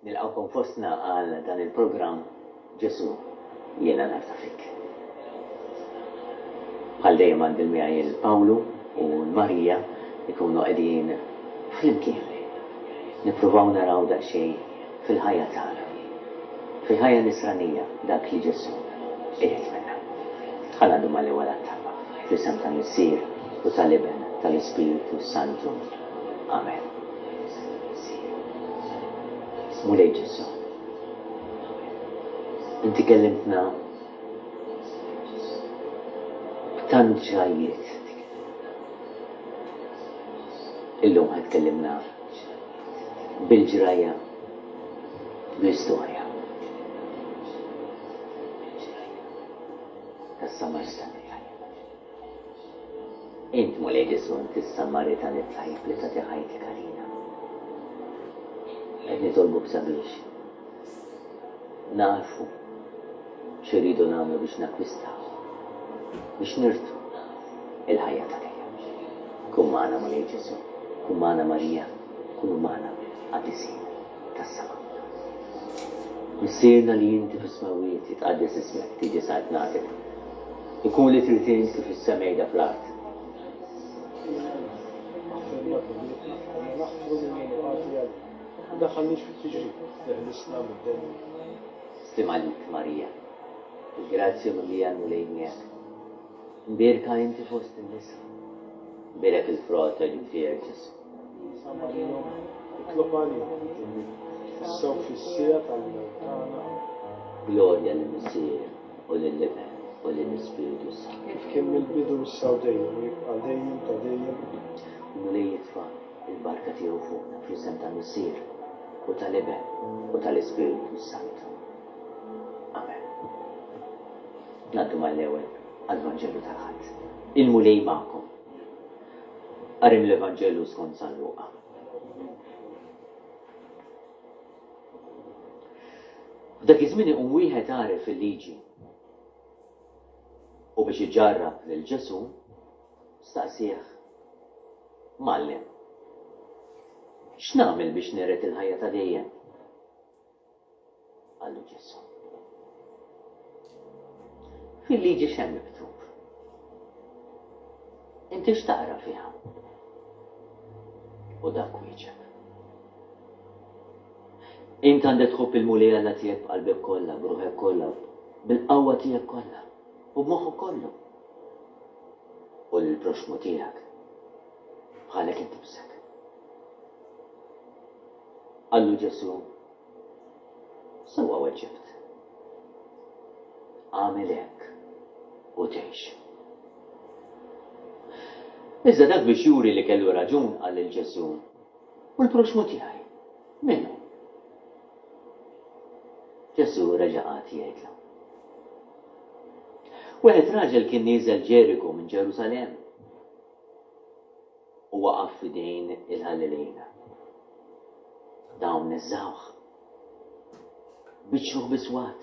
Nilqgħukom fostna għal dan il-programm Ġesù jiena nafda fik. Bħal dejjem għandi miegħi il-Pawlu u l-Marija ikunu qegħdin flimkien. Nippruvaw naraw daqsxejn fil-ħajja tagħna. Fil-ħajja nisranija dak li Ġesù irid minna. Ħa ngħaddu mal-ewwel għat-talba. Fl-isem tal-Missier u tal-Iben tal-Ispirtu Santu. Amen. Mulej Ġesù, inti kellimtna b'tant ġrajjiet. Illum ħa tkellimna bil-ġrajja, bl-istorja tas-Samaritan it-tajjeb. Int, Mulej Ġesù, inti s-Samaritan it-tajjeb li tagħti ħajtek għalina. Qed nitolbuk sabiex nagħrfu x'irridu nagħmlu biex nakkwistaw, biex nirtu il-ħajja ta' dejjem. Kun magħna Mulej Ġesù, kun magħna Marija, kunu magħna qaddisin tas-sema. Missierna li inti fis-smewwiet, jitqaddes ismek, tiġi saltnatek. Ikun li trid int kif fis-sema jda fl-art. Aħfrilna dnubietna bħalma naħfru lil min hu ħati għalina. U daħħalniex fit-tiġrib, eħlisna mid-deni. Sliem għalik Marija, bil-grazzja mimlija l-Mulej miegħek. Mbierka inti fost in-nisa. Mbierek il-frott ta' ġuf tiegħek Ġesù. Sa Marija, itlob għalina midinbin, issa u fis-siegħa tal-mewt tagħna. Amen. Glorja lill-Missier u lill-Iben u lill-Ispirtu s-Santu. Kif kien mill-bidu issa u dejjem u jibqa' dejjem ta' dejjem. Il-Mulej jitfa' l-barka tiegħu fuqna fl-isem tal-Missier u tal-Iben u tal-Ispirtu s-Santu. Amen. Ngħaddu mal-ewwel għall-Vanġelu tal-Ħadd. Il-Mulej magħkom. Qari mill-Evanġelju skont San Luqa. F'dak iż-żmien iqum wieħed għaref fil-liġi u biex iġarrab lil Ġesù staqsieh, Mgħallem, x'nagħmel biex niret il-ħajja ta' dejjem? Qallu Ġesù. Fil-liġi x'hemm miktub? Inti x'taqra fiha? U dak wieġeb. Int għandek tħobb il-Mulej Alla tiegħek b'qalbek kollha, b'ruħek kollha, bil-qawwa tiegħek kollha u b'moħħok kollu. U lill-proxxmu tiegħek bħalek innifsek. Qallu Ġesù, Sewwa weġġibt. Agħmel hekk u tgħix. Iżda dak biex juri li kellu raġun qal lil Ġesù, U l-proxxmu tiegħi, min hu? Ġesù reġa' qagħad jgħidlu. Wieħed raġel kien nieżel Ġeriku minn Ġerusalemm u waqaf f'idejn il-ħallelin. Dawn neżżgħuh, biċċruh bi swat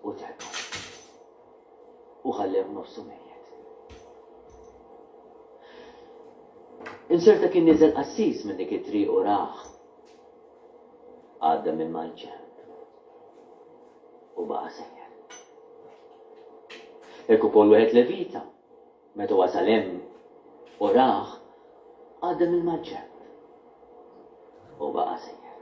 u telqu. U ħallewh nofsu mejjet. Inserta kien niżel qassis minn dik it-triq u rah. Għadda minn mal-ġenb u baqa' sejjer. Hekk ukoll wieħed Levita, meta wasal hemm u rah, għadda minn mal-ġenb u baqa' sejjer.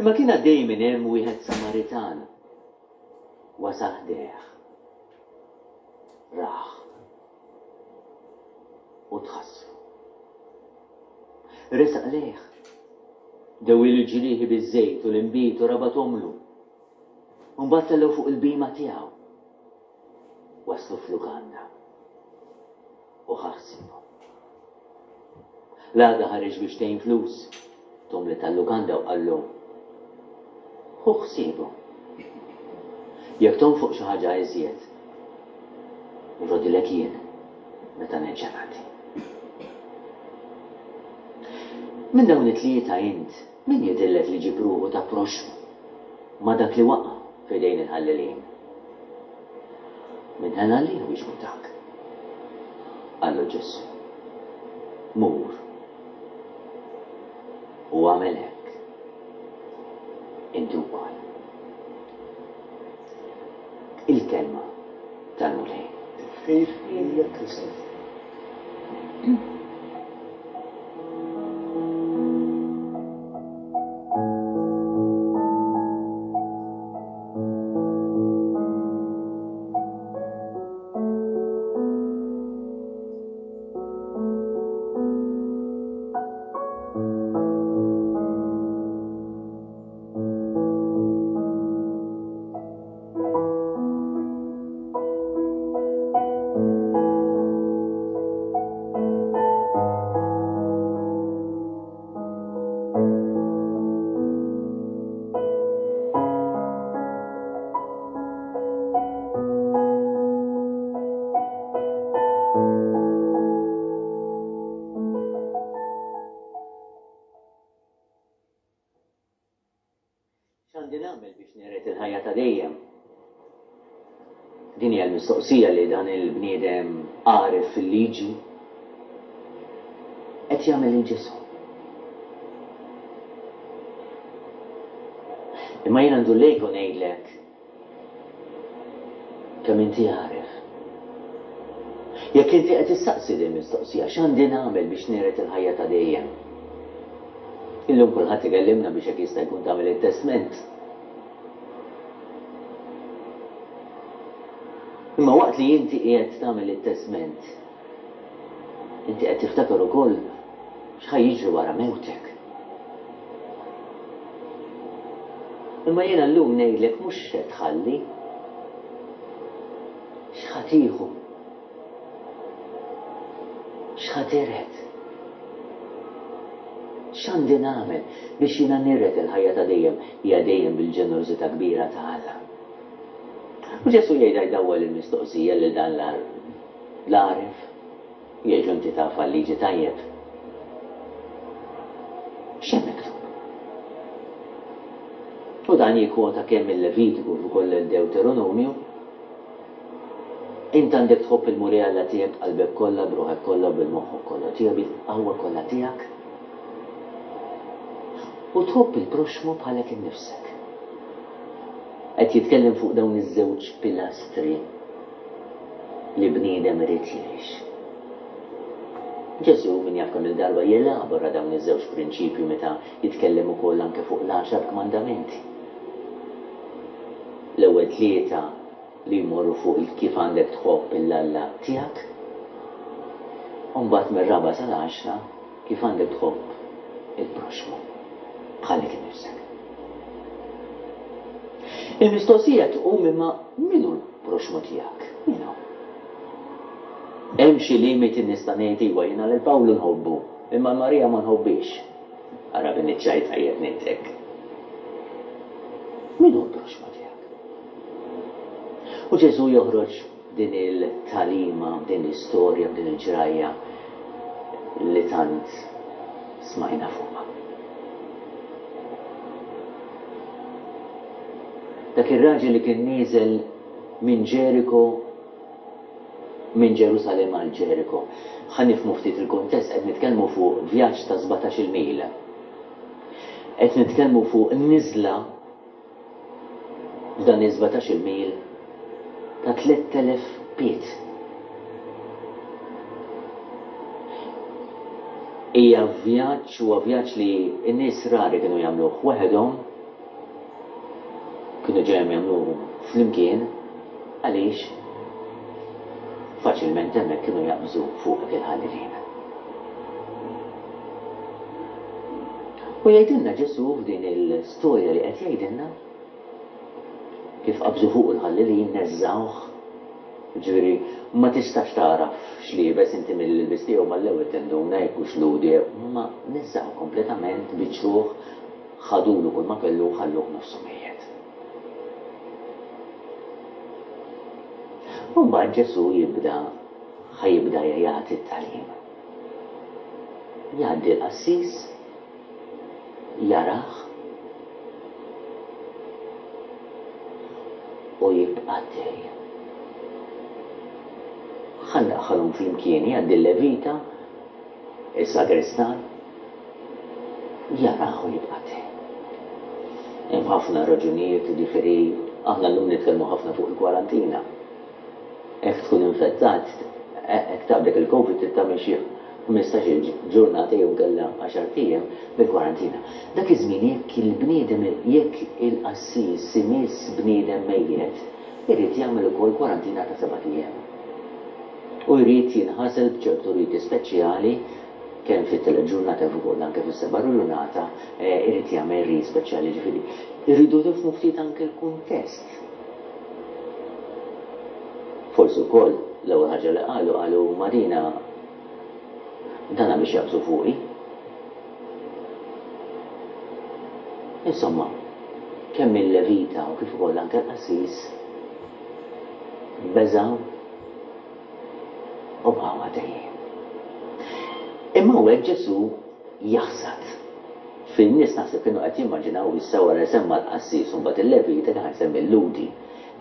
Imma kien għaddej minn hemm wieħed Samaritan, wasal ħdejh, rah u tħassru. Resaq lejh, dewwielu l-ġrieħi biż-żejt u l-inbid u rabathomlu. U mbagħad tellgħu fuq il-bhima tiegħu. Waslu f'lukanda u ħa ħsiebhom. L-għada ħareġ biex tgħin flus, tom li tal-lukanda u qallu, Ħu ħsiebu. Jekk tonfoq xi ħaġa iżjed, nrodilek jien meta nerġa' ngħaddi. Minn dawn it-tlieta int min jidhirlek li ġieb ruħu ta' proxxmu ma' dak li waqa' f'idejn il-ħallelin? Min ħen għalih wieġbu dak. Qallu Ġesù, Mur. U agħmel hekk inti wkoll. Il-Kelma tal-Mulej. Tifħir lilek Kristu. X'għandi nagħmel biex niret il-ħajja ta' dejjem? Din hija l-mistoqsija li dan il-bniedem għaref fil-liġi qed jagħmel lil Ġesù. Imma jiena ndur lejk u ngħidlek Kemm inti għaref. Jekk inti qed issaqsi din mistoqsija, x'għandi nagħmel biex niret il-ħajja ta' dejjem? Illum kulħadd ikellimna biex hekk jista' jkun tagħmel it-testment. Imma waqt li inti qiegħed tagħmel it-testment, inti qed tiftakar ukoll x'ħa jiġri wara mewtek. Imma jiena llum ngħidlek mhux x'se tħalli, x'ħa tieħu, x'ħa tiret. X'għandi nagħmel biex jiena niret il-ħajja ta' dejjem hija dejjem bil-ġenerożità kbira ta' Alla. U Ġesù jgħidha jdawwal il-mistoqsija lil dan l-għaref. Jgħidlu inti taf għal-liġi tajjeb. X'hemm miktub? U dan jikkwota kemm il-Levitiku kif ukoll il-Dewteronomju. Int għandek tħobb il-Mulej Alla tiegħek b'qalbek kollha, b'ruħek kollha u bil-moħħok kollu tiegħek, bil-qawwa kollha tiegħek. U tħobb il-proxxmu bħalek innifsek. Qed jitkellem fuq dawn iż-żewġ pilastri li bniedem irid jgħix. Ġesù min jaf kemm-il darba jelabora dawn iż-żewġ prinċipji meta jitkellem ukoll anke fuq l-għaxar kmandamenti. L-ewwel tlieta li jmorru fuq il-kif għandek tħobb 'il Alla tiegħek, u mbagħad mir-raba' sal-għaxra kif għandek tħobb il-proxxmu bħalek innifsek. Il-mistoqsija tqum imma min hu l-proxxmu tiegħek? Min hu? Hemm xi limiti nista' ngħid iwa jiena lil Pawlu nħobbu, imma 'l Marija ma nħobbhiex. Ara bin-niċċaj tajjeb ngħid hekk. Min hu l-proxxmu tiegħek? U Ġesù joħroġ b'din il-tagħlima, b'din l-istorja, b'din il-ġrajja li tant smajna fuqha. Dak ir-raġel li kien nieżel minn Ġeriko minn Ġerusalemm għal Ġeriko. Ħa nifhmu ftit il-kuntest, qed nitkellmu fuq vjaġġ ta' sbatax-il mil. Qed nitkellmu fuq niżla f'dan is-sbatax-il mil ta' 3,000 pied. Hija vjaġġ, huwa vjaġġ li n-nies rari kienu jagħmluh waħedhom, kienu ġejjem jagħmluh flimkien, għaliex faċilment hemmhekk kienu jaqbżu fuqek il-ħallelin. U jgħidilna Ġesù f'din il-storja li qed jgħidilna kif qabżu fuqu l-ħallelin neżżgħuh, jiġifieri ma tistax tagħraf x'liebes inti mill-ilbies tiegħu mal-ewwel tinduna jekk hux Lhudi jew imma neżżgħuh kompletament, biċċruh, ħadulu kull ma kellu u ħalluh nofsu mejjet. U mbagħad Ġesù jibda ħa jibda jagħti t-tagħlim. Jgħaddi l-qassis, jarah u jibqa' għaddej. Ħa ndaħħalhom flimkien, jgħaddi l-levita, is-sagristan. Jarah u jibqa' għaddej. Hemm ħafna raġunijiet, jiġifieri aħna llum nitkellmu ħafna fuq il-kwarantina. Jekk tkun infettat, jekk taqbdek il-Covid trid tagħmel xi 15-il ġurnata jew inkella għaxart ijiem bil-kwarantina. Dak iż-żmien jekk il-bniedem jekk il-qassis imiss bniedem mejjet, irid jagħmel ukoll kwarantina ta' sebat ijiem. U jrid jinħasel b'ċertu riti speċjali kemm fit-tielet ġurnata kif ukoll anke fis-seba' ġurnata irid jagħmel rit speċjali ġifieri rridu nifhmu ftit anke l-kuntest. Forsi wkoll l-ewwel ħaġa li qalu qalu Marina dana biex jaqbżu fuqi. Insomma, kemm il-levita u kif ukoll anke l-qassis beżgħu u baqgħu għaddejjin. Imma hawnhekk Ġesù jaħsad. Fin-nies naħseb kienu qed jimmaġinaw issa wara li semma l-qassis u mbagħad il-levita kien ħa jsemmi l-Lhudi.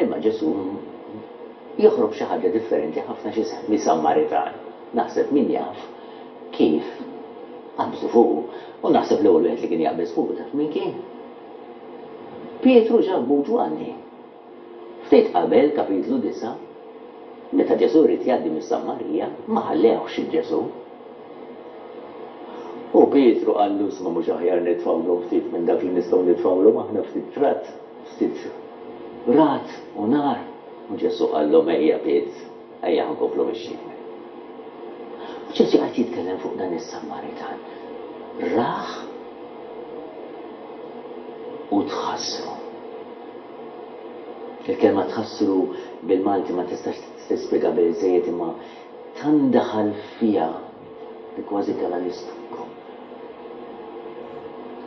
Imma Ġesù joħroq b'xi ħaġa differenti ħafna x'isemmi Sammaritan. Naħseb min jaf kif qabżu fuqu. U naħseb l-ewwel wieħed li kien jaqbeż fuqu taf min kien? Pietru, Ġakbu u Ġwanni. Ftit qabel, kapitlu 9, meta Ġesù ried jgħaddi mis-Sammarija, ma ħallewhx 'il Ġesù. U Pietru qallu, Isma' mhux aħjar nitfgħulhom ftit minn dak li nistgħu nitfgħulhom aħna, ftit trat, ftit ragħad u nar? U Ġesù qallhom, Ejja Piet, ejja ħa nkomplu mixjin. U Ġesù qed jitkellem fuq dan is-Sammaritan. Rah u tħassru. Il-kelma tħassru bil-Malti ma tistax tispjega biżżejjed imma tant daħal fiha li kważi tela' l-istonku.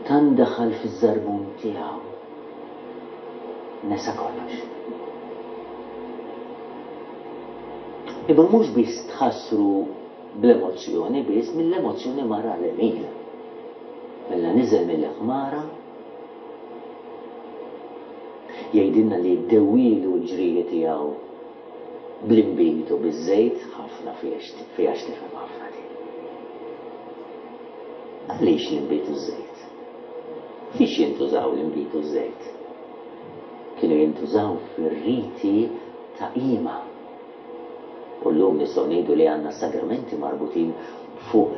Tant daħal fiż-żarbun tiegħu nesa kollox. Imma mhux biss tħassru bl-emozzjoni biss, mill-emozzjoni mar għall-għemil. Mela niżel mill-ħmara Jgħidilna li dewwielu l-ġrieħi tiegħu bl-inbid u biż-żejt, ħafna fiha x'tifhem ħafna din. Għaliex l-inbid u ż-żejt? Fiex jintużaw l-inbid u ż-żejt? Kienu jintużaw fir-riti ta' qima. U llum nistgħu ngħidu li għandna s-sagramenti marbutin fuq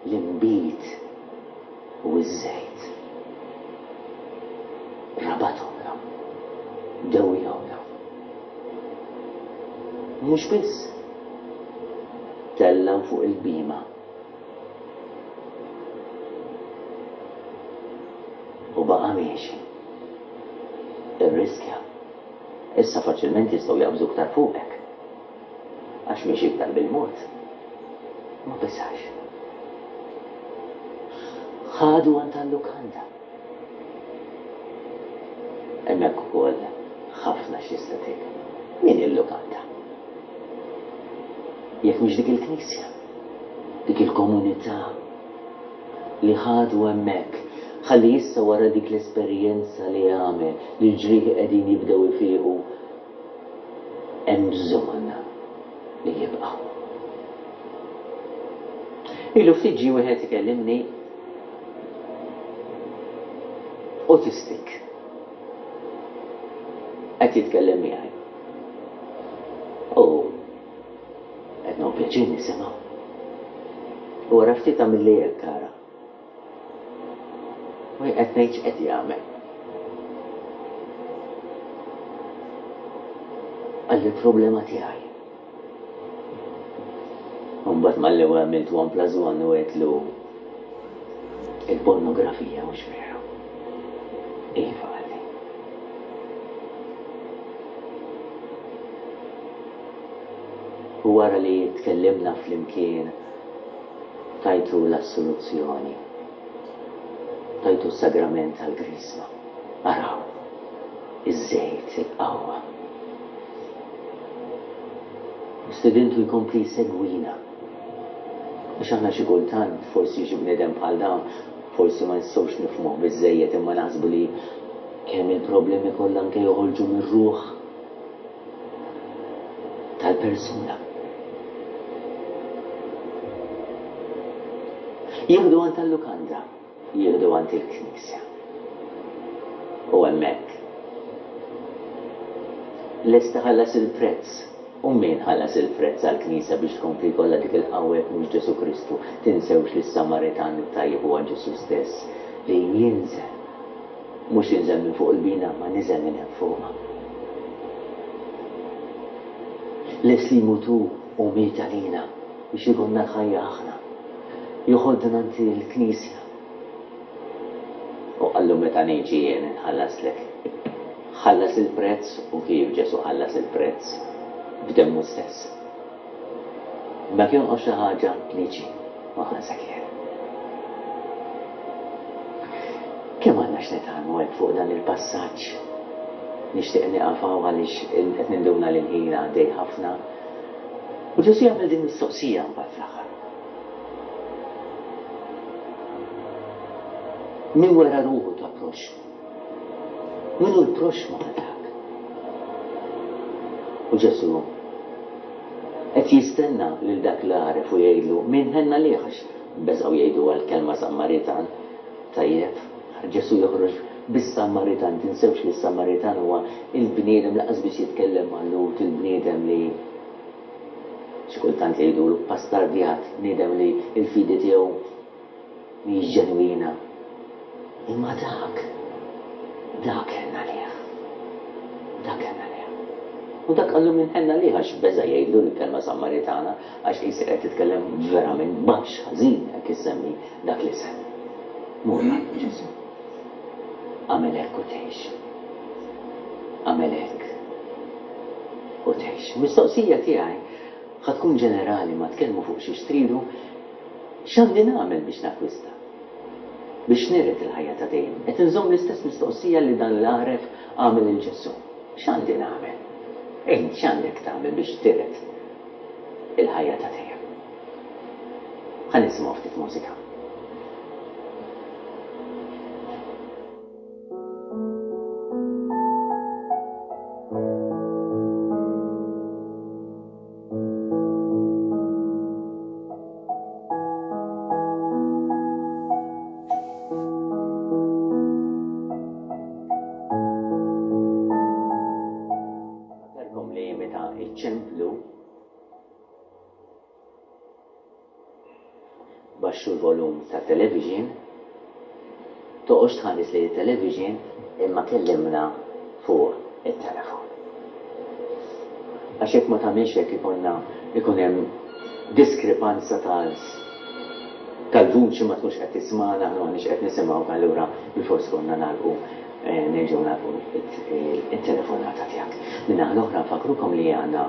l-inbid u ż-żejt. Rabathomlhom. Dewwihomlhom. Mhux biss. Tellgħu fuq il-bhima. U baqa' miexi. Irriskja. Issa faċilment jistgħu jaqbżu iktar fuqek. Għax miexi iktar bil-mod. Ma beżax. Ħadu għand tal-lukanda. Hemmhekk ukoll ħafna x'tista' tgħid. Min hi l-lukanda? Jekk mhix dik il-knisja, dik il-komunità li ħadu hemmhekk ħalli issa wara dik l-esperjenza li għamel li l-ġrieħi qegħdin jibdew ifiequ hemm bżonn li jibqa'. Ilu ftit ġie wieħed ikellimni autistic. Qed jitkellem miegħi. U qed nieħu pjaċir nisimgħu. U wara ftit għamilli hekk ara. U jien qed ngħid x'qed jagħmel. Qalli l-problema tiegħi. U mbagħad mal-ewwel għamilt one plus one u għedtlu il-pornografija mhux veru. Iva qalli. U wara li tkellimna flimkien Tajtu l-assoluzzjoni. Tajtu s-sagrament tal-Griżma. Araw, iż-żejt, il-qawwa. U stedintu jkompli jsegwina. Għax aħna xi kultant, forsi xi bniedem bħal dan, forsi ma nistgħux nifhmuh biżżejjed imma naħsbu li kemm il-problemi kollha anke joħorġu mir-ruħ. tal-persuna. Jieħdu għand tal-lukanda. Jieħdu għand il-knisja. U hemmhekk. Lest iħallas il-prezz. U min ħallas il-prezz għall-knisja biex tkompli jkollha dik il-qawwa jekk mhux Ġesù Kristu? Tinsewx li s-Samaritan it-tajjeb huwa Ġesù stess li jinżel. Mhux jinżel minn fuq il-bina imma niżel minn hemm fuq. Lest li jmut hu u miet għalina biex ikollna l-ħajja aħna. Joħodna għand il-knisja. U qallu meta niġi jien inħallaslek. Ħallas il-prezz u kif Ġesù ħallas il-prezz? B'demmu stess. Imma jekk jonqos xi ħaġa, niġi u nħallsek jien. Kemm għandna x'nitgħallmu hekk fuq dan il-passaġġ? Nixtieq nieqaf hawn għaliex qed ninduna li l-ħin għaddej ħafna. U Ġesù jagħmel din mistoqsija mbagħad fl-aħħar. Min wera ruħu ta' proxxmu? Min hu l-proxxmu ta' dak? U Ġesù qed jistenna lil dak l-għaref u jgħidlu min ħenna lih għax beżgħu jgħiduha l-kelma Sammaritan. Tajjeb, Ġesù joħroġ bis-Sammaritan, tinsewx li s-Sammaritan huwa il-bniedem lanqas biss jitkellem mal-Lhud, il-bniedem li xi kultant jgħidulu ppastardjat, bniedem li l-fidi tiegħu mhijiex ġenwina. Imma dak, dak ħenn għalih. Dak ħenn għalih. U dak qallu min ħenn għalih għax beża' jgħidlu l-kelma Sammaritana għax qisek qed titkellem verament baxx, ħażin hekk issemmi dak l-isem. Mur qallu Ġesù. Agħmel hekk u tgħix. Agħmel hekk u tgħix. Mistoqsija tiegħi ħa tkun ġenerali ma tkellmu fuq xiex tridu, x'għandi nagħmel biex nakkwista? Biex niret il-ħajja ta' dejjem. Qed inżomm l-istess mistoqsija li dan l-għaref għamel lil Ġesù. X'għandi nagħmel? Int x'għandek tagħmel biex tiret il-ħajja ta' dejjem? Ħa nisimgħu ftit mużika. Fakkarkom li meta iċċemplu Baxxu l-volum tat-television, toqgħodx tħares lejn it-television imma kellimna fuq it-telefon. Għax jekk ma tagħmilx hekk ikollna ikun hemm diskrepanza tal tal-vuċi ma tkunx qed tismagħna aħna m'aħniex qed nisimgħuk allura bilfors ikollna nagħlqu nerġgħu nagħlqu it-telefonata tiegħek. Min-naħa l-oħra nfakkrukom li għandna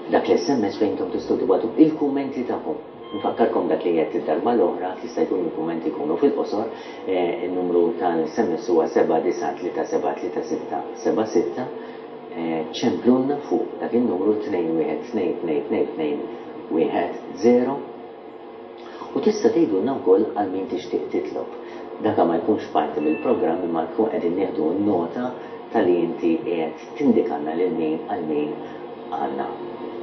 Dak l-SMS fejn intom tistgħu tibagħtu il-kummenti tagħkom. Nfakkarkom dak li għedt id-darba l-oħra, jista' jkun il-kummenti jkunu fil-qosor, in-numru tal-SMS huwa 79373676, ċemplulna fuq dak in-numru 21222210. U tista' tgħidulna wkoll għal min tixtieq titlob. Daka ma jkunx parti mill-programm imma nkun qegħdin nieħdu nota ta' li inti qiegħed tindikalna lil min għal min għandna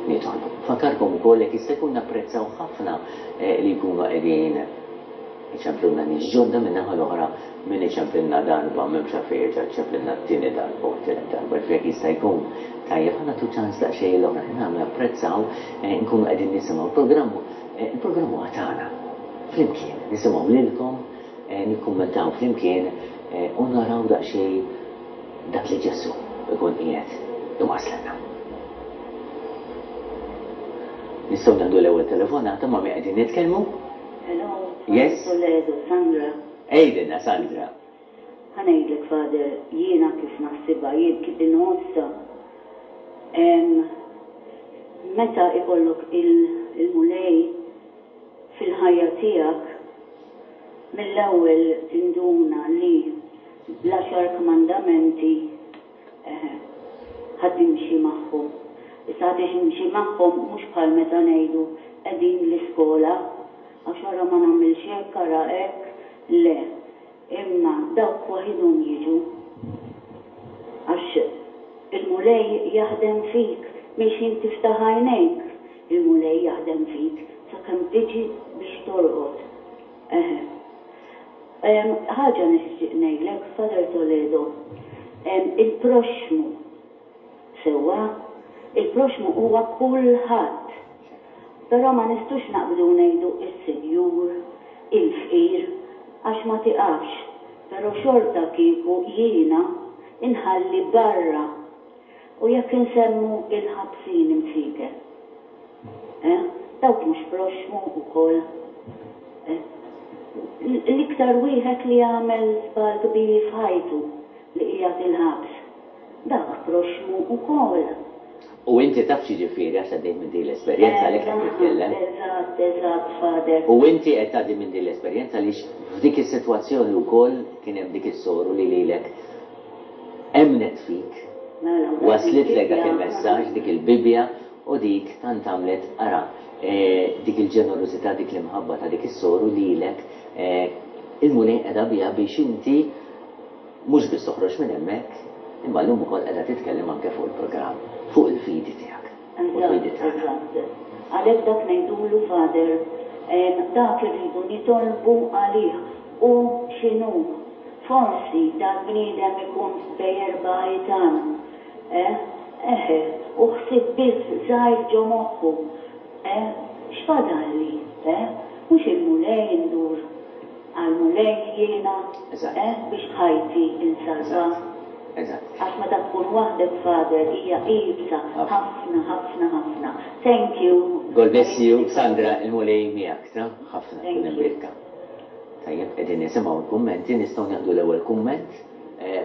nitolbu. Nfakkarkom ukoll jekk jista' jkun napprezzaw ħafna li jkunu qegħdin iċemplulna nies ġodda min-naħa l-oħra min iċemplilna darba m'hemmx għalfejn jerġa' jċemplilna t-tieni darba u t-tielet darba. Ġifieri jekk jista' jkun tajjeb ħa nagħtu ċans daqsxejn lill-oħrajn. Aħna napprezzaw nkunu qegħdin nisimgħu l-programm Il-programm huwa tagħna. Flimkien, nisimgħu lilkom, nikkummentaw flimkien u naraw daqsxejn dak li Ġesù jkun qiegħed iwasslilna. Nistgħu nieħdu l-ewwel telefonata ma' min qegħdin nitkellmu? Hello, Yes? Toledo, Sandra. Għidilna Sandra. Ħa ngħidlek Father, jiena kif naħsibha, jien kif inħossha, meta ikollok il-Mulej fil-ħajja tiegħek, mill-ewwel tinduna li l-għaxar kmandamenti eħe, ħa timxi magħhom. Issa ħa timxi magħhom mhux bħal meta ngħidu qegħdin l-iskola, għax ara ma nagħmilx hekk, ara hekk, le. Imma dawk waħidhom jiġu. Għax il-Mulej jaħdem fik minn x'ħin tiftaħ għajnejk, il-Mulej jaħdem fik sakemm tiġi biex torqod. Eħe. Ħaġa nixtieq ngħidlek, Father Toledo, il-proxxmu, sewwa? Il-proxxmu huwa kulħadd. Però ma nistgħux naqbdu u ngħidu s-sinjur, il-fqir, għax ma tiqafx. Però xorta kieku jiena nħalli barra. U jekk insemmu il-ħabsin imsieken? Eh? Dawk mhux proxxmu wkoll? Eh? L-iktar wieħed li għamel żball kbir f'ħajtu li qiegħed il-ħabs, dak proxxmu wkoll. U inti taf x'jiġifieri għax għaddejt minn din l-esperjenza għalhekk qed titkellem. Eżatt, eżatt, Father. U inti qed tgħaddi minn din l-esperjenza għaliex f'dik is-sitwazzjoni wkoll kien hemm dik is-soru li lilek emmnet fik, waslitlek dak il-messaġġ, dik il-Bibbja u dik tant għamlet, ara, dik il-ġenerożità, dik l-imħabba ta' dik is-soru lilek, il-Mulej qeda biha biex inti mhux biss toħroġ minn hemmhekk, imma llum ukoll qiegħda titkellem anke fuq il-programm, fuq il-fidi tiegħek u l-fidi tagħna. Eżatt, eżatt. Għalhekk dak ngħidulu, Father, dak irridu nitolbu għalih, hu x'inhu. Forsi dal-bniedem ikun bejn erbgħa ħitan, eh, eħe, u ħsieb biss żgħir ġo moħħu, eh, x'fadalli, eh, mhux il-Mulej indur Għall-Mulej jiena, eh, biex ħajti nsalva. Għax meta tkun waħdek Father hija iebsa ħafna ħafna ħafna. Thank you. God bless you Sandra, il-Mulej miegħek ta, ħafna tkun imbierka. Tajjeb, qegħdin nisimgħu l-kummenti, nistgħu nieħdu l-ewwel kumment.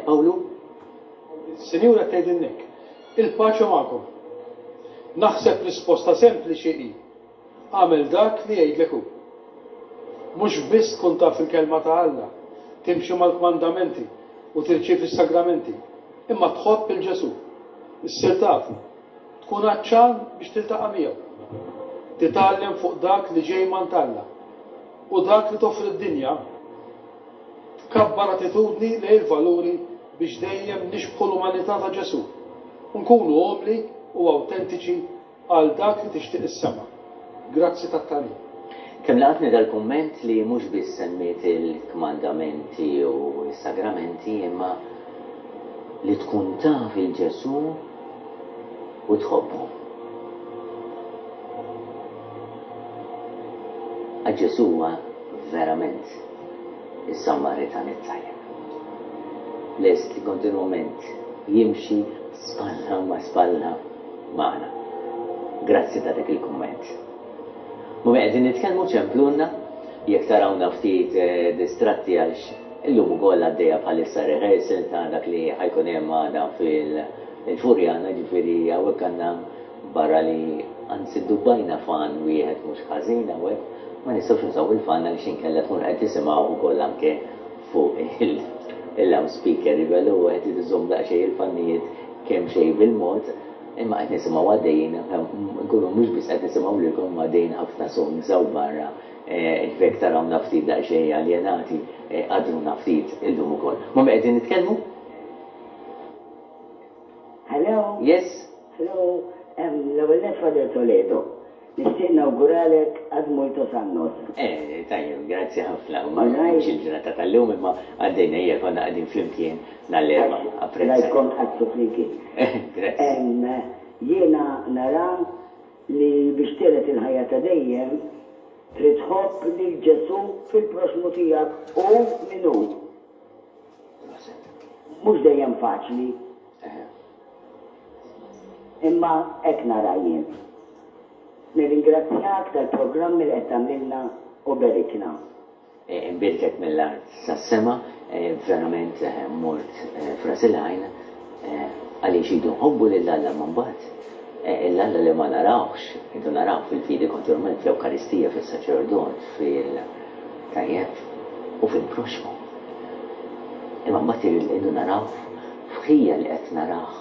Pawlu? Is-Sinjura qed tgħidilna hekk, Il-paċi magħkom. Naħseb risposta sempliċi hi, Agħmel dak li jgħidlek hu. Mhux biss tkun taf il-Kelma ta' Alla, timxi mal-kmandamenti u tirċievi s-sagramenti, imma tħobb 'il Ġesù, issir tafu, tkun għatxan biex tiltaqa' miegħu, titgħallem fuq dak li ġej m'għand Alla u dak li toffri d-dinja, tkabbar attitudni lejn il-valuri biex dejjem nixbħu l-umanità ta' Ġesù u nkunu umli u awtentiċi Għal dak li tixtieq is-sema. Grazzi tat-tagħlim. Kemm laqatni dal-kumment li mhux biss semmiet il-kmandamenti u s-sagramenti imma li tkun taf 'il Ġesù u tħobbu. Għax Ġesù huwa verament is-Sammaritan it-tajjeb. Lest li kontinwament jimxi spalla ma' spalla magħna. Grazzi ta' dak il-kumment. Mummy qegħdin nitkellmu ċemplulna jekk tarawna ftit distratti għax illum ukoll għaddejja bħalissa rehearsal ta' dak li ħa jkun hemm għada fil-Furjana ġifieri hawnhekk għandna barra li anzi ddubbajna fan wieħed mhux ħażin hawnhekk ma nistgħux nużaw il-fan għaliex inkella tkunu qed tisimgħuh ukoll anke fuq il-loudspeaker jiġifieri allura wieħed irid iżomm daqsxejn il-fannijiet kemxejn bil-mod, imma qed nisimgħu għaddejjin, nkunu mhux biss qed nisimgħu lilkom imma għaddejjin ħafna songs hawn barra, ġifieri jekk tarawna ftit daqsxejn aljenati, għadruna ftit illum ukoll. Ma' min qegħdin nitkellmu? Hello. Yes. Hello, l-ewwel nett Father Toledo. Nixtieq nawguralek ad multos annos. Eh, tajjeb, grazzi ħafna. Ma mhux il-ġurnata tal-lum imma għaddejna hija konna qegħdin flimkien nhar l-Erbgħa. Apprezzajt. Rajtkom tqaddsu flimkien. Grazzi. Jiena nara li biex tiret il-ħajja ta' dejjem trid tħobb lil Ġesù fil-proxxmu tiegħek hu min hu. Proset. Mhux dejjem faċli. Imma hekk nara jien. Nirringrazzjak tal-programmi li qed tagħmlilna u berikna. Imbierkek mill-art sas-sema, verament mort f'ras il-għajn għaliex idu nħobbu lil Alla imma mbagħad 'l Alla li ma narawhx, idu narawh fil-fidi kontinwament fl-Ewkaristija, fis-saċerdot, fil tajjeb u fil-proxxmu. Imma mbagħad idu narawh f'ħija li qed narah.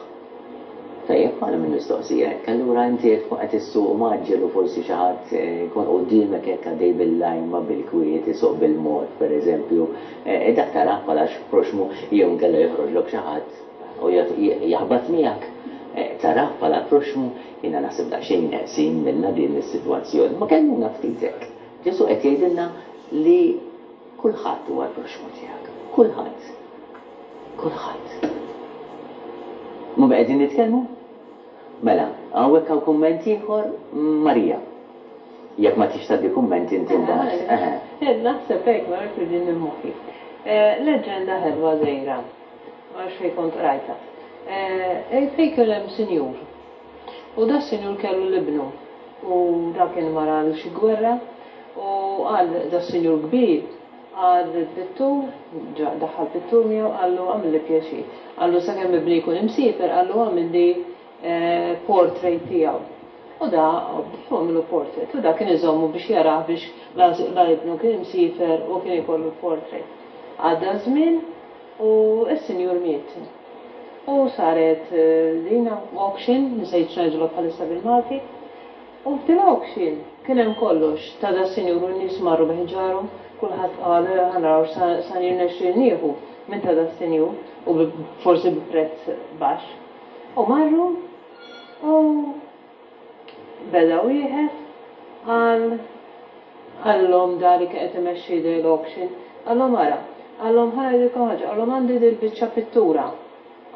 Tajjeb, għala minn mistoqsija hekk? Allura inti jekk tkun qed issuq mgħaġġel u forsi xi ħadd jkun quddiemek hekk għaddej bil-lajma bil-kwiet isuq bil-mod pereżempju, dak tarah bħala proxxmu jew inkella joħroġlok xi ħadd u jaħbat miegħek, tarah bħala proxxmu? Jiena naħseb daqsxejn neqsin minnha din is-sitwazzjoni. Ma kellmuna ftit hekk. Ġesù qed jgħidilna li. Kulħadd huwa l-proxxmu tiegħek. Kulħadd. Kulħadd. Ma' min qegħdin nitkellmu? Mela, hawnhekk hawn kumment ieħor, Marija. Jekk ma tridx tgħaddi kumment inti mbagħad. Eħe. Naħseb hekk, ma nafx li minn moħħi. Leġġenda ħelwa żgħira, ma nafx fejn kont qrajtha. Fejn kien hemm sinjur. U da sinjur kellu l-ibnu u da kien mar għal xi gwerra u qal da sinjur kbir qal lill-pittur, daħħal pittur miegħu qallu agħmilli pjaċir. Qallu sakemm ibni jkun imsiefer qallu agħmilli portrait tiegħu. U da obdieh u għamillu portrait. U da kien iżommu biex jarah biex la ibnu kien imsiefer u kien ikollu l-portrait. Għadda ż-żmien u s-sinjur miet. U saret din auction, nsejt x'ngħidulha bħalissa bil-Malti. U f'din auction kien hemm kollox ta' das-sinjur u n-nies marru bi ħġarhom, kulħadd qal ħa naraw x'sa jirnexxieli nieħu minn ta' das-sinjur u forsi bi prezz baxx. U marru u beda wieħed qal qalilhom da li kien qed imexxi l-auction, qalhom ara, qalhom ħa ngħidilkom ħaġa, qalhom għandi dil-biċċa pittura.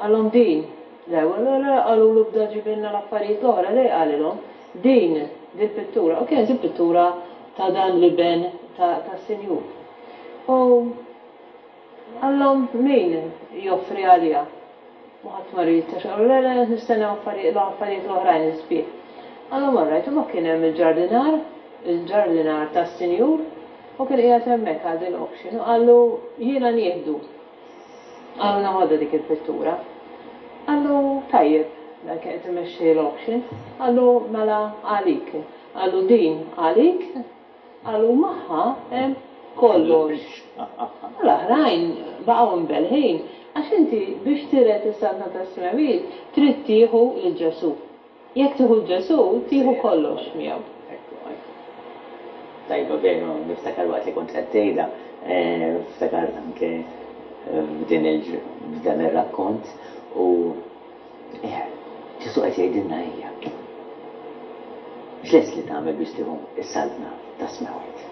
Qalhom din. Le, le, le, qalulu bda ġibilna l-affarijiet l-oħra, le qalilhom, din, dil-pittura. U kienet il-pittura ta' dan l-iben tas-sinjur. U qallhom min joffri għaliha? U ħadd ma ried għax qalu le, le, qed nistennew l-affarijiet l-oħrajn is-sbieħ. Qalhom all right, u ma kien hemm il-ġardinar, il-ġardinar tas-sinjur, u kien qiegħed hemmhekk għal din l-auction u qallu jiena nieħdu. Qallu neħodha dik il-pittura. Qallu tajjeb, dak kien qed imexxi l-auction, qallu mela għalik. Qallu din għalik, qallu magħha hemm kollox. U l-oħrajn baqgħu mbellħin għax inti biex tiret is-Saltna tas-Smewwiet trid tieħu lil Ġesù. Jekk tieħu 'l Ġesù, tieħu kollox miegħu. Ekku, ekku. Tajba veru, niftakar waqt li kont qed tgħidha, ftakart anke f'din il f'dan ir-rakkont u eh, Ġesù qed jgħidilna ejja. X'lest li tagħmel biex tieħu s-saltna tas-smewwiet?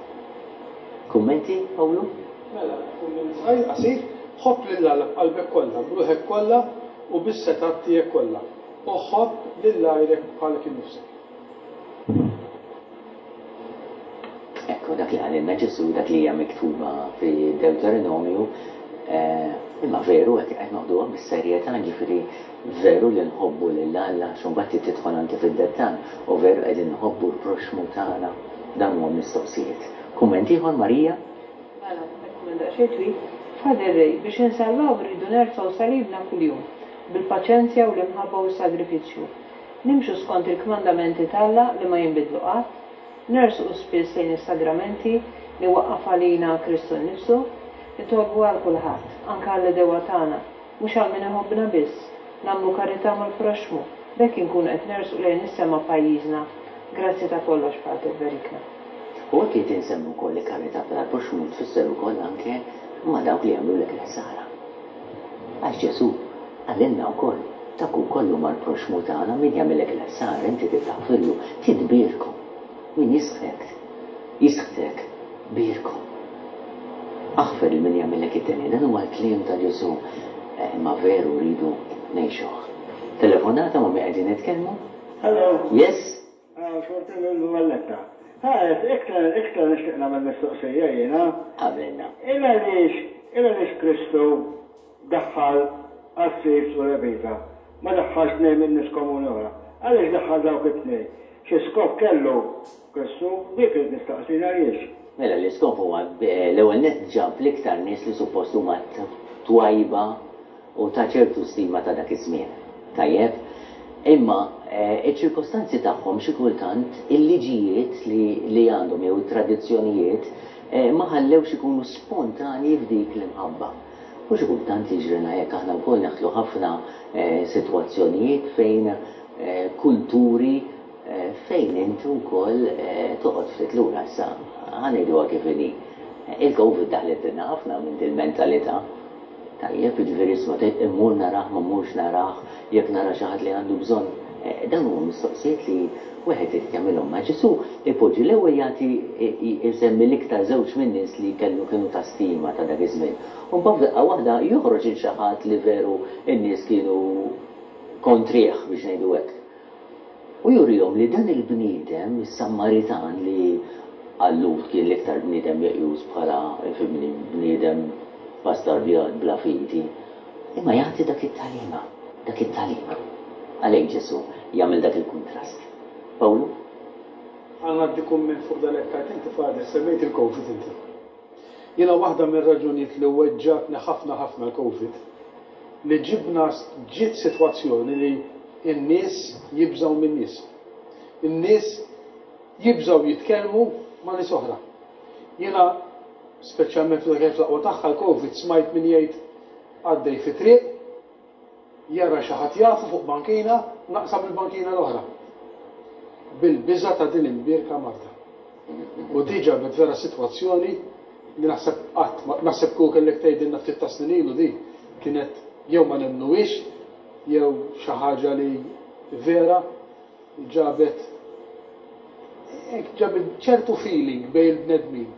Kummenti, Pawlu? Mela, kumment żgħir, qasir, ħobb lil Alla b'qalbek kollha, b'ruħek kollha u bis-setgħat tiegħek kollha. U ħobb lil għajrek bħalek innifsek. Ekku, dak li qalilna Ġesù, dak li hija miktuba fi Dewteronomju, imma veru hekk qed noħduha bis-serjetà, jiġifieri veru li nħobbu lil Alla għax imbagħad trid tidħol anke fid-dettall, u veru qegħdin nħobbu l-proxxmu tagħna? Dawn huma mistoqsijiet. Kumment ieħor, Marija? Mela, hekk kumment daqsxejn twil. Father Ray, biex insalvaw irridu nerfgħu salibna kuljum. bil-paċenzja u l-imħabba u s-sagrifiċċju. Nimxu skont il-kmandamenti t'Alla li ma jinbidlu qatt, nersqu spiss lejn is-sagramenti li waqqaf għalina Kristu nnifsu, nitolbu għal kulħadd, anke għall-għedewwa tagħna, mhux għal min iħobbna biss, nagħmlu karità mal-proxxmu, b'hekk inkunu qed nersqu lejn is-sema pajjiżna. Grazzi ta' kollox, Pater, berikna. U hekk qed insemmu wkoll li karità bħala l-proxxmu tfisser ukoll anke ma' dawk li jagħmlulek il-ħsara. Għax Ġesù qalilna wkoll, Dak ukoll huma l-proxxmu tagħna, min jagħmillek il-ħsara inti trid taħfirlu, trid tbierku. Min jisħtek, jisħtek, bierku. Aħfer lil min jagħmillek id-deni. Dan huwa l-kliem ta' Ġesù, imma veru rridu ngħixuh. Telefonata ma' min qegħdin nitkellmu? Hello. Yes? Xorti minn Valletta. Ha, iktar iktar nixtieq nagħmel mistoqsija jiena. Għamilna. Il għaliex il għaliex Kristu daħħal qassis u levita, ma daħħalx tnejn minn nies komuni oħra? Għaliex daħħal dawk it-tnejn? Xi skop kellu Kristu? Dik irrid nistaqsi jien għaliex? Mela l-iskop huwa l-ewwel nett ġab l-iktar nies li suppost huma twajba u ta' ċertu stima ta' dak iż-żmien. Tajjeb? Imma ċ-ċirkostanzi tagħhom xi kultant il-liġijiet li li għandhom jew it-tradizzjonijiet ma ħallewx ikunu spontanji f'dik l-imħabba. U xi kultant jiġrilna hekk aħna wkoll neħtlu ħafna sitwazzjonijiet fejn kulturi fejn inti wkoll toqgħod ftit lura. Issa ħa ngħiduha kif inhi. Il-Covid daħlitilna ħafna minn dil-mentalità. Tajjeb, jiġifieri isma' tgħid immur narah ma mmurx narah, jekk nara xi ħadd li għandu bżonn. Dawn huma mistoqsijiet li wieħed irid jagħmilhom. Ma Ġesù ipoġġi l-ewwel jagħti jsemmi l-iktar żewġ min-nies li kellu kienu ta' stima ta' dak iż-żmien. U mbagħad f'daqqa waħda joħroġ il xi ħadd li veru n-nies kienu kontrih biex ngħidu hekk. U jurihom li dan il-bniedem, is-Sammaritan li għal-Lhud kien l-iktar bniedem meqjus bħala, ifhimni, bniedem bastardjat bla fidi, imma jagħti dak it-tagħlima, dak it-tagħlima. Għalhekk Ġesù jagħmel dak il-kuntrast. Pawlu? Ħa ngħaddi kumment fuq dan li qed tgħid inti Father, semmejt il-Covid inti. Jiena waħda mir-raġunijiet li weġġgħatni ħafna ħafna l-Covid, li ġibna ġiet sitwazzjoni li n-nies jibżgħu min-nies. In-nies jibżgħu jitkellmu ma' nies oħra. Jiena speċjalment meta kienet fl-aqwa tagħha l-Covid smajt min jgħid għaddej fit-triq, Jara xi ħadd jafu fuq bankina, naqsam il-bankina l-oħra. Bil-biża' ta' din imbierka marda. U di ġabet vera sitwazzjoni li naħseb qatt ma, naħseb kieku kellek tgħidilna ftit ta' snin ilu di kienet jew ma nemmnuhiex jew xi ħaġa li vera ġabet hekk ġabet ċertu feeling bejn il-bnedmin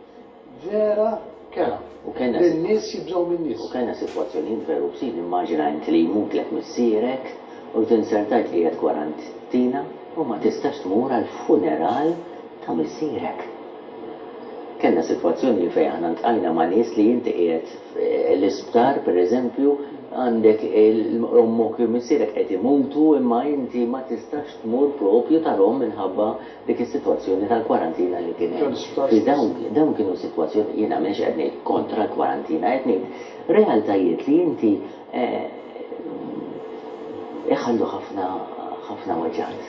vera kerha. U kellna Li n-nies jibżgħu min-nies. U kellna sitwazzjonijiet veru bsin, immaġina int li jmutlek missierek u tinsertajt qiegħed kwarantina u ma tistax tmur għall-funeral ta' missierek. Kellna sitwazzjoni fejn aħna ltqajna ma' nies li inti qiegħed l-isptar pereżempju għandek ommok jew missierek qed imutu imma inti ma tistax tmur propju tarhom minħabba dik is-sitwazzjoni tal-kwarantina li kien hemm. Ġifieri dawn dawn kienu sitwazzjoni jiena m'iniex qed ngħid kontra l-kwarantina, qed ngħid realtajiet li inti iħallu ħafna ħafna weġgħat.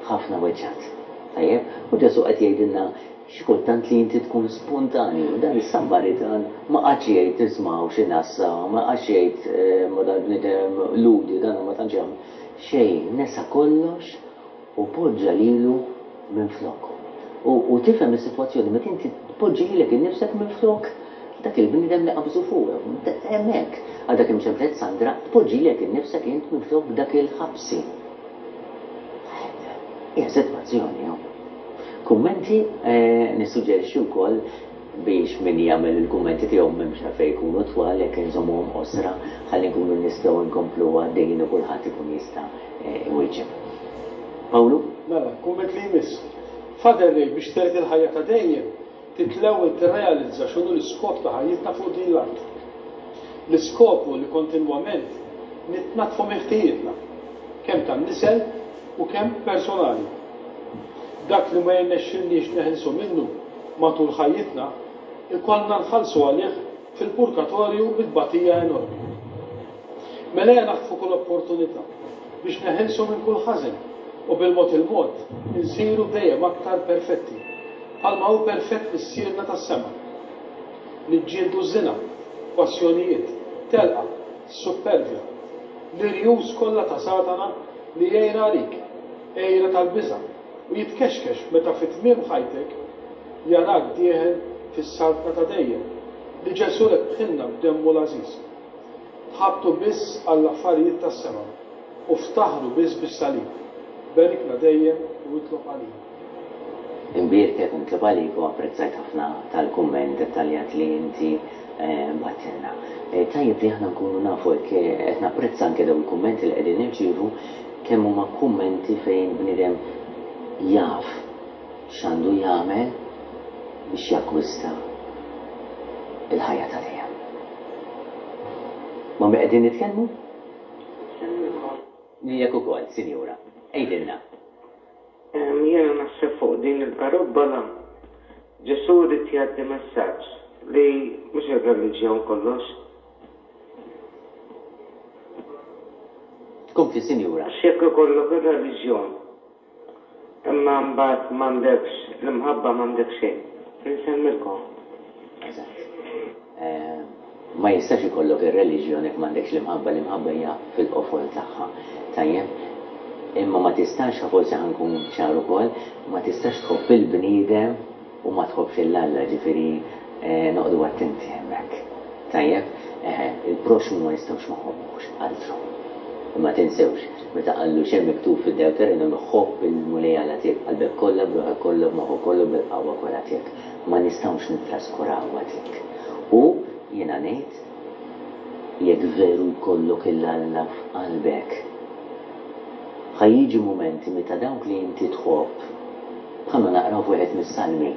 Ħafna weġgħat. Tajjeb? U Ġesù qed jgħidilna Xi kultant li inti tkun spontanju. Dan is-Sammaritan ma qagħadx jgħid isma' hawn xi nassa, ma qagħadx jgħid ma dal-bniedem Lhudi dan ma tantx jagħmel. Xejn, nesa kollox u poġġa lilu minfloku. U, u tifhem is-sitwazzjoni meta inti tpoġġi lilek innifsek minflok dak il-bniedem li qabżu fuqek. Hemmhekk, għadha kemm ċemplet Sandra, tpoġġi lilek innifsek int minflok dak il-ħabsi. Hija sitwazzjoni, hu. Kummenti, Nissuġġerixxi wkoll biex min jagħmel il-kummenti tiegħu m'hemmx għalfejn ikunu twal jekk inżommuhom qosra ħalli nkunu nistgħu nkomplu għaddejjin u kulħadd ikun jista' iwieġeb. Pawlu? Mela, kumment li jmiss. Father Ray, biex terid il-ħajja ta' dejjem, trid l-ewwel tirrealizza x'inhu l-iskop ta' ħajjitna fuq din l-art. L-iskop hu li kontinwament nitnaddfu minn ħtijietna, kemm tan-nisel u kemm personali. Dak li ma jirnexxilniex neħilsu minnu matul ħajjitna, ikollna nħallsu għalih fil-purgatorju bi tbatija enormi. Mela ejja naħtfu kull opportunità biex neħilsu minn kull ħażen u bil-mod il-mod insiru dejjem aktar perfetti, bħalma hu perfett Missierna tas-sema. Niġġieldu ż-żina, passjonijiet, telqa, s-suppervja, l-irjus kollha ta' Satana li għira għalik, għira tal-biża', u jitkexkex meta fi tmiem ħajtek jarak dieħel fis-Saltna ta' dejjem li Ġesù rebħilna b'demmu l-għażiż. Tħabtu biss għall-affarijiet tas-sema u ftaħru biss bis-salib. Berikna dejjem u itlob għalina. Imbierkek u nitlob għalik u apprezzajt ħafna tal-kumment dettaljat li inti bgħattilna. Tajjeb li aħna nkunu nafu hekk qed napprezza anke dawn il-kummenti li qegħdin nirċievu kemm huma kummenti fejn bniedem jaf x'għandu jagħmel biex jakkwista l-ħajja ta' dejjem. Ma' min qegħdin nitkellmu? Insellmilkom. Lilek ukoll, sinjura. Għidilna. Jiena naħseb fuq din il-parabbola, Ġesù ried jgħaddi messaġġ li mhux ir-reliġjon kollox. Kompli sinjura. Għax jekk ikollok ir-reliġjon imma mbagħad m'għandekx l-imħabba m'għandek xejn. Insellmilkom. Eżatt. Ma jistax ikollok ir-reliġjon jekk m'għandekx l-imħabba, l-imħabba hija fil-qofol tagħha. Tajjeb? Imma ma tistax, forsi ħa nkun ċar ukoll, ma tistax tħobb il-bniedem u ma tħobbx 'il Alla, ġifieri noqogħdu attenti hemmhekk. Tajjeb? Eħe, il-proxxmu ma nistgħux ma nħobbuhx, altru. Imma tinsewx, meta qallu x'hemm miktub fid-Dewteronomju, ħobb il-Mulej Alla tiegħek b'qalbek kollha, b'ruħek kollha, b'moħħok kollu, bil-qawwa kollha tiegħek. Ma nistgħux nittraskurawha dik. U, jiena ngħid, jekk veru jkollok 'il Alla f'qalbek, ħa jiġi mumenti meta dawk li inti tħobb, bħalma naqraw f'wieħed mis-Salmi,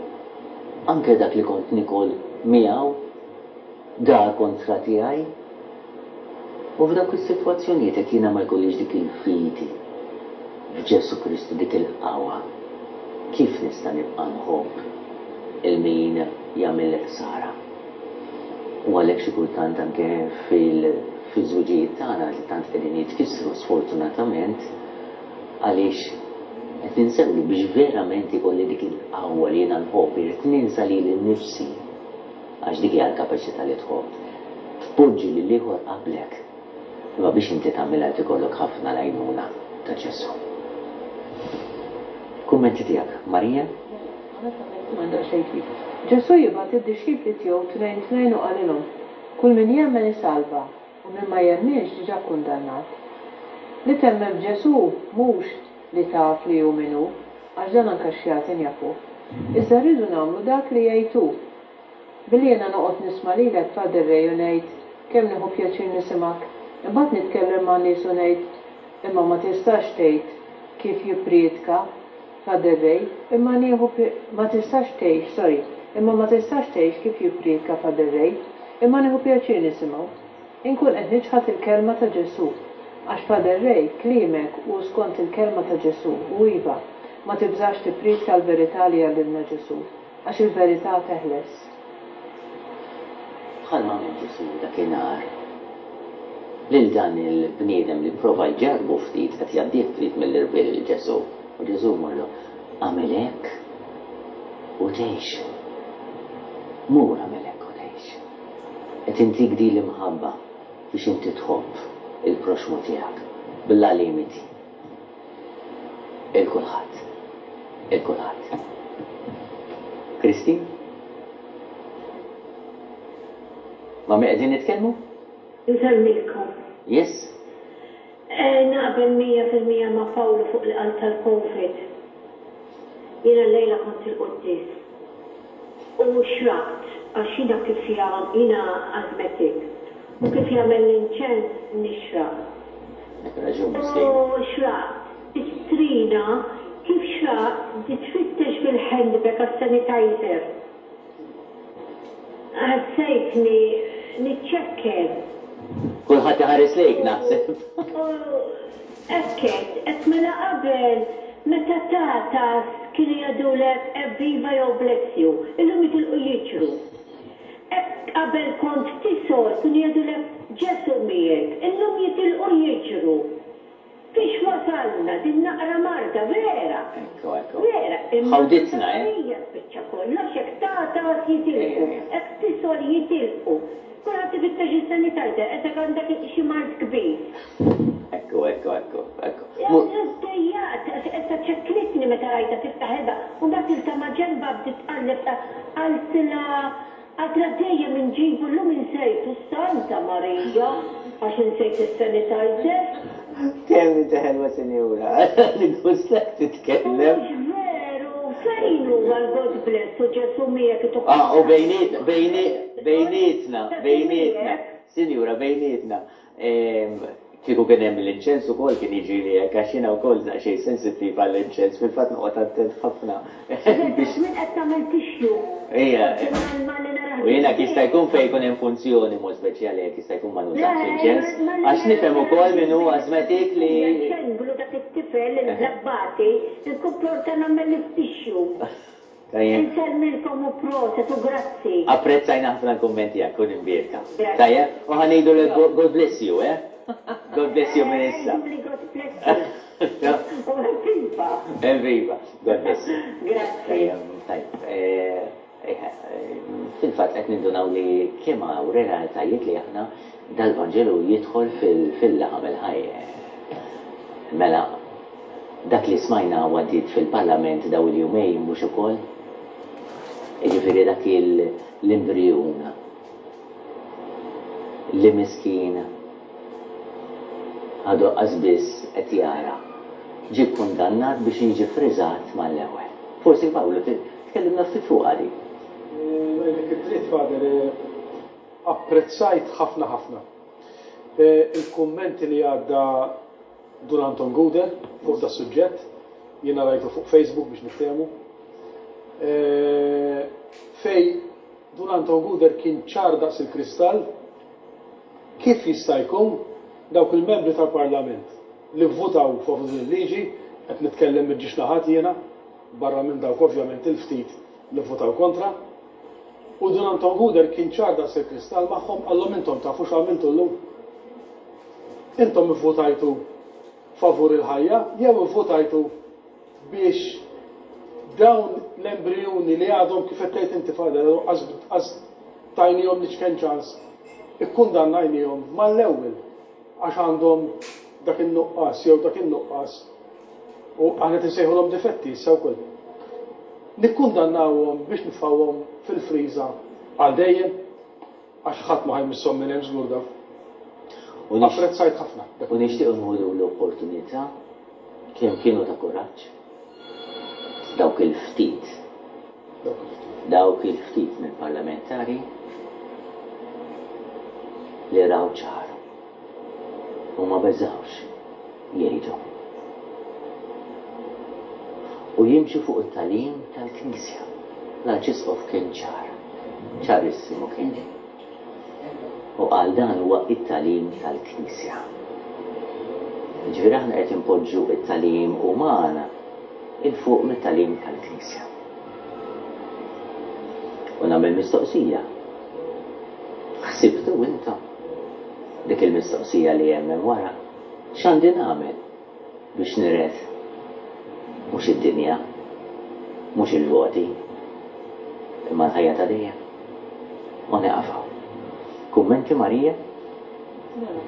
anke dak li kont niekol miegħu, dar kontra tiegħi. U f'dawk is-sitwazzjonijiet jekk jiena ma jkollix dik il-fidi f'Ġesù Kristu, dik il-qawwa, kif nista' nibqa' nħobb 'il min jagħmilli ħsara? U għalhekk xi kultant anke fil-żwiġijiet tagħna li tant qegħdin jitkissru sfortunatament għaliex qed ninsew li biex verament ikolli dik il-qawwa li jiena nħobb irrid ninsa lili nnifsi. Għax dik hija l-kapaċità li tħobb. Tpoġġi lill-ieħor qablek. Imma biex inti tagħmilha jrid ikollok ħafna l-għajnuna ta' Ġesù. Kummenti tiegħek, Maria? Mela, għamiltha kumment daqsxejn twil. Ġesù jibgħat id-dixxipli tiegħu tnejn tnejn u qalilhom, Kull min jemmen isalva, u min ma jemminx diġà kkundannat. Li temmen f'Ġesù mhux li taf li hu min hu, għax dan anke x-xjaten jafuh. Iżda rridu nagħmlu dak li jgħid hu. Billi jiena noqgħod nisma' lilek Father Ray u ngħid kemm nieħu pjaċir nisimgħek, imbagħad nitkellem man-nies u ngħid imma ma tistax tgħid kif jipprietka Father Ray, imma nieħu ma tistax tgħix sorry, imma ma tistax tgħix kif jipprietka Father Ray, imma nieħu pjaċir nisimgħu. Inkun qed niċħad il-kelma ta' Ġesù. Għax Father Ray, kliemek hu skont il-kelma ta' Ġesù u iva, ma tibżax tipprietka l-verità li għallimna Ġesù. Għax il-verità teħles. Bħalma għamel Ġesù dakinhar lil dan il-bniedem li pprova jġarrbu ftit, qed jgħaddih ftit mill-irbil lil Ġesù. U Ġesù jmorlu, Agħmel hekk u tgħix. Mur agħmel hekk u tgħix. Qed intik din l-imħabba biex inti tħobb il-proxxmu tiegħek bla limiti. 'il kulħadd. 'Il kulħadd. Christine? Ma' min qegħdin nitkellmu? Insellmilkom. Yes? Naqbel 100% ma' Pawlu fuq li qal tal-Covid. Jiena llejla kont il-quddies u xraqt għax jiena kif jiena asthmatic u kif jagħmel l-inċens nixraq. Għandek raġun miskina. U xraqt. Is-strina kif xraqt bdiet tfittex fil-handbag għas-sanitizer. Ħassejtni niċċekken. Kulħadd iħares lejk naħseb. U hekk għedt, għedt mela qabel meta tagħtas kienu jgħidulek evviva jew bless you, illum jitilqu jiġru. Hekk qabel kont tisgħol kienu jgħidulek Ġesù miegħek, illum jitilqu jiġru. Fiex wasalna din naqra marda, vera! Ekku, ekku. Vera, imma Ħawditna, eh? hija spiċċa kollox, jekk tagħtas jitilqu, jekk tisgħol jitilqu. Kulħadd ifittex is-sanitizer, qisek għandek xi mard kbir. Ekku, ekku, ekku, ekku. Iddejjaqt, għax qisha ċekknitni meta rajtha tiftaħ il-bab. U mbagħad ilta ma' ġenbha bdiet tqalleb qaltilha Għadna dejjem inġibu llum insejtu Santa Marija għax insejt is-sanitizer. Kemm inti ħelwa sinjura. Nigustak titkellem. Mhux veru, fejn huwa l-God bless u Ġesù miegħek ituh. Ah, u bejnietna, bejnietna, bejnietna, sinjura, bejnietna. Kieku kien hemm l-inċens ukoll kien jiġrili hekk għax jiena wkoll daqsxejn sensittiv għall-inċens, fil-fatt noqgħod attent ħafna biex. Min qed tagħmel tissue. Ejja. U jiena jista' jkun fejn ikun hemm funzjoni mod speċjali jekk jista' jkun ma nużax l-inċens għax nifhem ukoll min hu asthmatic li. Xenglu dak it-tifel il-żabbati nkun pronta nagħmel it-tissue. Tajjeb. Insellmilkom u proset u grazzi. Apprezzajna ħafna l-kumment tiegħek, kun imbierka. Tajjeb? U ħa ngħidulek God bless you, eh? God bless you minn issa. Għiduli God bless you. U evviva. Evviva. God bless you. Grazzi. Tajjeb. Fil-fatt qed nindunaw li kemm hawn realtajiet li aħna dal-Vanġelu jidħol fil-laħam il-ħaj. Mela, dak li smajna u għaddiet fil-Parlament dawn il-jumejn mhux ukoll? Jiġifieri dak l-imbrijun li miskin. Għadu qas biss qed jara. Ġie kkundannat biex jiġi ffriżat mal-ewwel. Forsi Pawlu tkellimna ftit fuqha din. Ngħidlek id-dritt Father, apprezzajt ħafna ħafna il-kummenti li għadda Dun Anton Gouder fuq das-suġġett, jiena rajtu fuq Facebook biex niftehmu, fejn Dun Anton Gouder kien ċar daqs il-kristall kif jista' jkun dawk il-membri tal-Parlament li vvutaw favur din il-liġi, qed nitkellem miġġiex naħat jiena, barra minn dawk ovvjament il-ftit li vvutaw kontra, u Dun Anton Gouder kien ċar daqs il-kristall magħhom qallhom intom tafu x'għamiltu llum? Intom ivvutajtu favur il-ħajja jew ivvutajtu biex dawn l-embrijuni li għadhom kif qed tgħid inti Father għadhom qas tajnihom l-iċken ċans ikkundannajnihom mal-ewwel għax għandhom dak in-nuqqas jew dak in-nuqqas u aħna qed insejħulhom difetti issa wkoll. Nikkundannawhom biex nitfgħuhom fil-friża għal dejjem? Għax ħadd ma ħa jmisshom minn hemm żgur dawn. Apprezzajt ħafna dak U nixtiequ nieħdu l-opportunità kemm kienu ta' kuraġġ dawk il-ftit dawk il-ftit mill-parlamentari li raw ċar u ma beżgħux jgħidu u jimxu fuq it-tagħlim tal-Knisja. L-Arċisqof kien ċar, ċarissimu kien. U qal dan huwa t-tagħlim tal-Knisja. Jiġifieri aħna qed inpoġġu t-tagħlim uman 'il fuq mit-tagħlim tal-Knisja. U nagħmel mistoqsija. Ħsibtu intom dik il-mistoqsija li hemm hemm wara? X'għandi nagħmel biex niret mhux id-dinja, mhux il-voti, imma l-ħajja ta' dejjem? U nieqaf hawn. Kummenti Marija? Mela.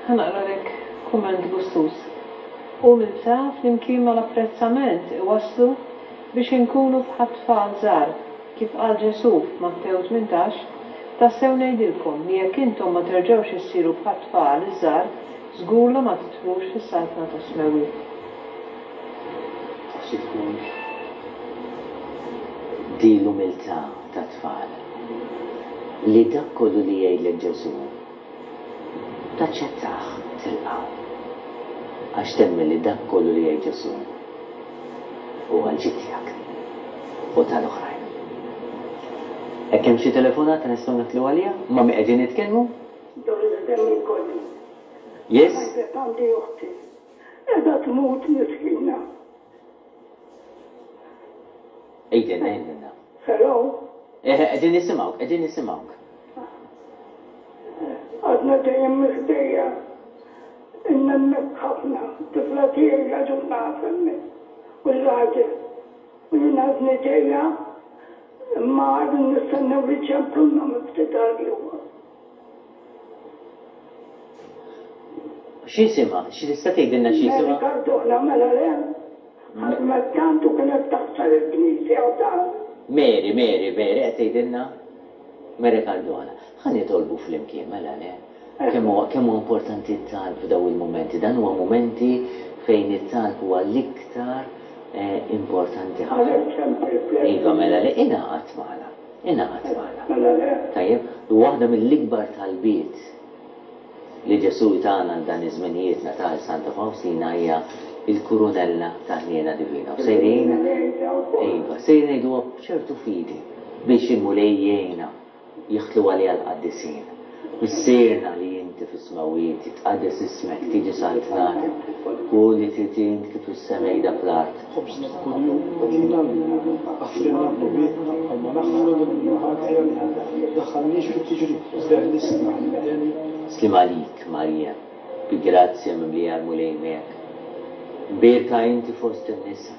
Ħa naqralek kumment gustuż. Umiltà flimkien mal-apprezzament iwasslu biex inkunu bħat-tfal żgħar, kif qal Ġesù f'Mattew 18, Tassew ngħidilkom li jekk intom ma terġgħux issiru bħat-tfal iż-żgħar, żgur la ma tidħlux fis-saltna tas-smewwiet. Taf xi tkun di l-umiltà tat-tfal, li dak kollu li jgħidlek Ġesù, taċċettah, tilqgħu, għax temmen li dak kollu li jgħid Ġesù hu għall-ġid tiegħek u tal-oħrajn. Hekk hemm xi telefonata nistgħu nidħlu għaliha? Ma' min qegħdin nitkellmu? Doris Demicoli. Yes? Ngħidlek għandi oħti. Qiegħda tmut miskina. Għidilna, għidilna. Hello? Eħe, qegħdin nisimgħuk, qegħdin nisimgħuk. Għadna dejjem miħdejja. Inna hemmhekk ħafna, tifla tiegħi l-għaġuna hemmhekk u r-raġel. U jien għadni ġejja imma għadni nistennew li ċempluna minn ftit għal ieħor. X'jisimha? X'tista' tgħidilna x'jisimha? Mary Cardona mela le? Ħadmet tant u kienet taħsel il-knisja u dan. Mary, Mary, Mary qed tgħidilna? Mary Cardona. Ħa nitolbu flimkien mela le? Kemm huwa kemm huwa importanti t-talb f'dawn il-mumenti. Dan huwa mumenti fejn it-talb huwa l-iktar importanti ħafna. Iva mela le ingħaqad magħna. Ingħaqad magħna. Tajjeb? U waħda mill-ikbar talbiet li Ġesù tana għal dan iż-żminijiet Natal Santa Fawstina hija l-kurunella ta' ħniena divina. U sejrin, iva, sejrin ngħiduha b'ċertu fidi biex il-Mulej jgħinna jidħlu għaliha l-qaddisin. Missierna li inti fis-smewwiet, jitqaddes ismek, tiġi saltnatek, kun li trid int kif fis-sema qiegħda fl-art. Ħobżna ta' kuljum agħtina llum. Aħfrilna dnubietna bħalma naħfru lil min hu ħati għalina. Tdaħħalniex fit-tiġrib, iżda eħlisna mid-deni. Sliem għalik, Marija, bi grazzja mimlija l-Mulej miegħek. Mbierka inti fost in-nisa.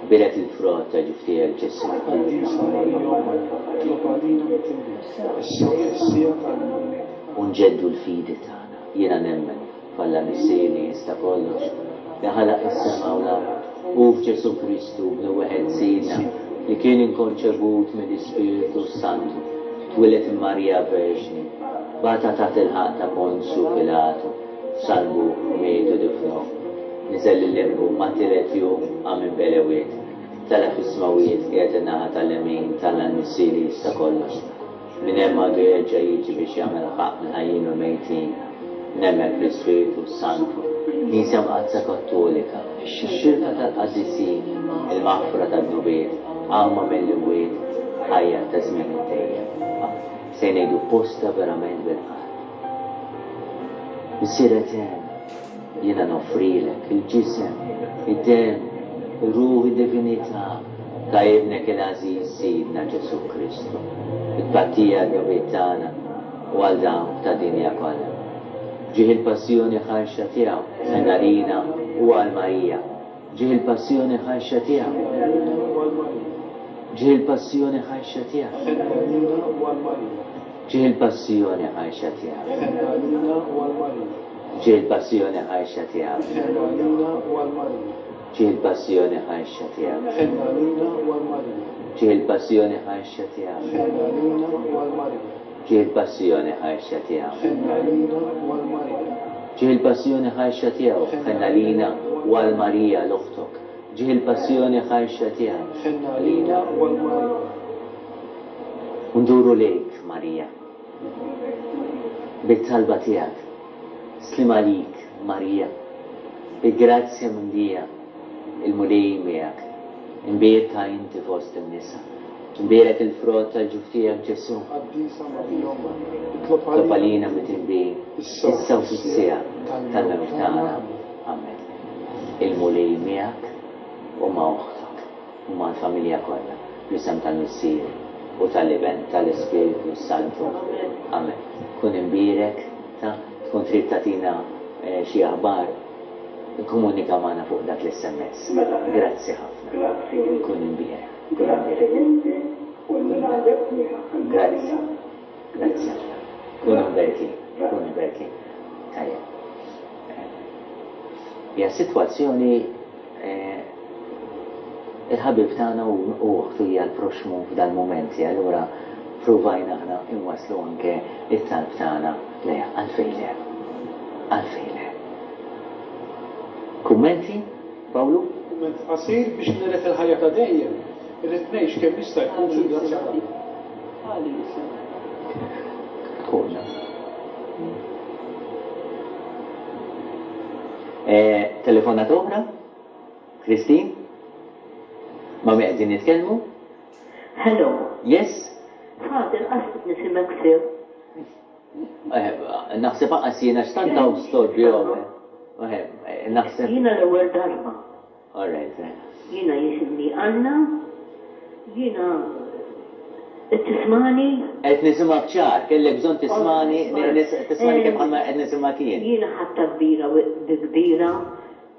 Bierek il-frott ta' ġuf tiegħek, Ġesù. Qaddisa Marija Omm Alla, itlob għalina midinbin, issa u fis-siegħa tal-mewt. U nġeddu l-fidi tagħna. Jiena nemmen f'Alla Missier li jista' kollox, li ħalaq is-sema u l-art, u f'Ġesù Kristu, Bnu wieħed Sidna, li kien inkonċebut mill-Ispirtu s-Santu, twieled minn Marija Verġni, bata taħt il-ħaqq ta' Ponzju Pilatu. Salbu, miet u difnuh. Niżel lil-limbu, mat-tielet jum qam minn bejn l-ewiet. Tela' fis-smewwiet, qiegħed in-naħa tal-lemin t'Alla l-Missier li jista' kollox. Minn hemm għandu jerġa' jiġi biex jagħmel ħaqq mill-ħajjin u l-mejtin. Nemmen fl-Ispirtu s-Santu, Knisja Mqaddsa Kattolika, ix-xirka tal-qaddisin, il-maħfra tad-dnubiet, qawma mill-imwiet, ħajja ta' żmien id-dejjem. Amen. Se ngħidu posta verament bil-qalb. Missier Etern, jiena noffrilek il-ġisem, id-demm, ir-ruħ, id-divinità ta' Ibnek il-għażiż Sidna Ġesù Kristu, bi tpattija għad-dnubiet tagħna u għal dawk tad-dinja kollha. F'ġieħ il-passjoni ħarxa tiegħu, ħenn għalina u għal Marija. F'ġieħ il-passjoni ħarxa tiegħu. Ħenn għalina u għal Marija. F'ġieħ il-passjoni ħarxa tiegħu. Ħenn għalina u għal Marija. F'ġieħ il-passjoni ħarxa tiegħu. Ħenn għalina u għal Marija. F'ġieħ il-passjoni ħarxa tiegħu. Ħenn għalina u għal Marija. F'ġieħ il-passjoni ħarxa tiegħu. Ħenn għalina u għal Marija. F'ġieħ il-passjoni ħarxa tiegħu. Ħenn għalina u għal Marija. F'ġieħ il-passjoni ħarxa tiegħu. Ħenn għalina u għal Marija. F'ġieħ il-passjoni ħarxa tiegħu. Ħenn għalina u għal Marija l-oħtok. F'ġieħ il-passjoni ħarxa tiegħu. Ħenn għalina u għal Marija. U nduru lejk, Marija. Bit-talba tiegħek. Sliem għalik, Marija. Bi grazzja mimlija, il-Mulej miegħek. Imbierka inti fost in-nisa. Imbierek il-frott tal-ġuf tiegħek, Ġesù. Qaddisa Marija Omm Alla, itlob Itlob għalina midinbin, issa u fis-siegħa tal-mewt tagħna. Amen. Il-Mulej miegħek u ma' oħtok. U mal-familja kollha, fl-isem tal-Missier, u tal-Iben, tal-Ispirtu s-Santu. Amen. Kun imbierek, ta' tkun trid tagħtina xi aħbar, ikkomunika magħna fuq dak l-SMS. Grazzi ħafna. Kun imbierek. Kun imbierek. Grazzi. Grazzi ħafna. Kunu mberkin. Kunu mberkin. Tajjeb. Hija sitwazzjoni Il-ħabib tagħna u oħtu hija l-proxxmu f'dal-mumenti, allura pruvajna aħna inwasslu anke t-talb tagħna lejha. Għalfejn le? Għalfejn le? Kummenti, Pawlu? Kumment qasir, biex niret il-ħajja ta' dejjem, irrid ngħix kemm jista' jkun fil-grazzja t'Alla. Konna. Telefonata oħra? Christine? Ma' min qegħdin nitkellmu? Hello. Yes? Father, qas qed nisimgħek sew. Naħseb anqas jiena x'tant hawn storbju hawn. Naħseb. Jiena l-ewwel darba. All right. Jiena jisimni Anna, jiena qed tismani? Qed nisimgħek ċar, kellek bżonn tismani, tismani kif bħalma qed nisimgħek jien. Jiena ħadtha kbira bi kbira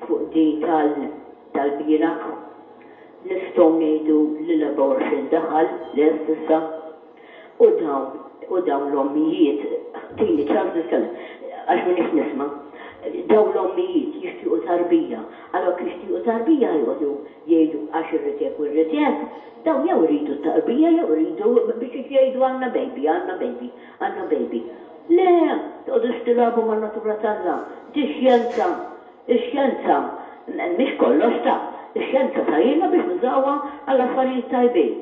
fuq din tal tal-bieraħ. Nistgħu ngħidu li l-abortion daħal lest issa. U dawn, u dawn l-ommijiet, tini ċans nitkellem, għax m'iniex nisma', dawn l-ommijiet jixtiequ tarbija, allura jekk jixtiequ tarbija joqogħdu jgħidu għax irrid hekk u rrid hekk, dawn jew iridu t-tarbija jew iridu biex jgħidu għandna baby, għandna baby, għandna baby. Le, toqgħodux tilagħbu man-natura t'Alla, di xjenza, ix-xjenza mhix kollox ta, ix-xjenza tgħinna biex nużawha għall-affarijiet tajbin.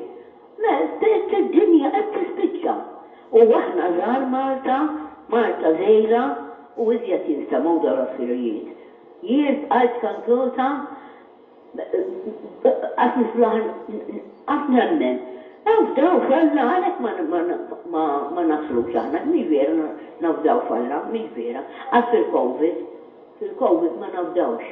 Id-dinja qed tispiċċa. U aħna żgħar Malta, Malta żgħira u iżjed jinstemgħu dawn l-affarijiet. Jien bqajt kanzuta qatt niflaħ qatt nemmen. Nafdaw f'Alla għalhekk ma naslux aħna, mhix vera nafdaw f'Alla, mhix vera. Qatt fil-Covid, fil-Covid ma nafdawx.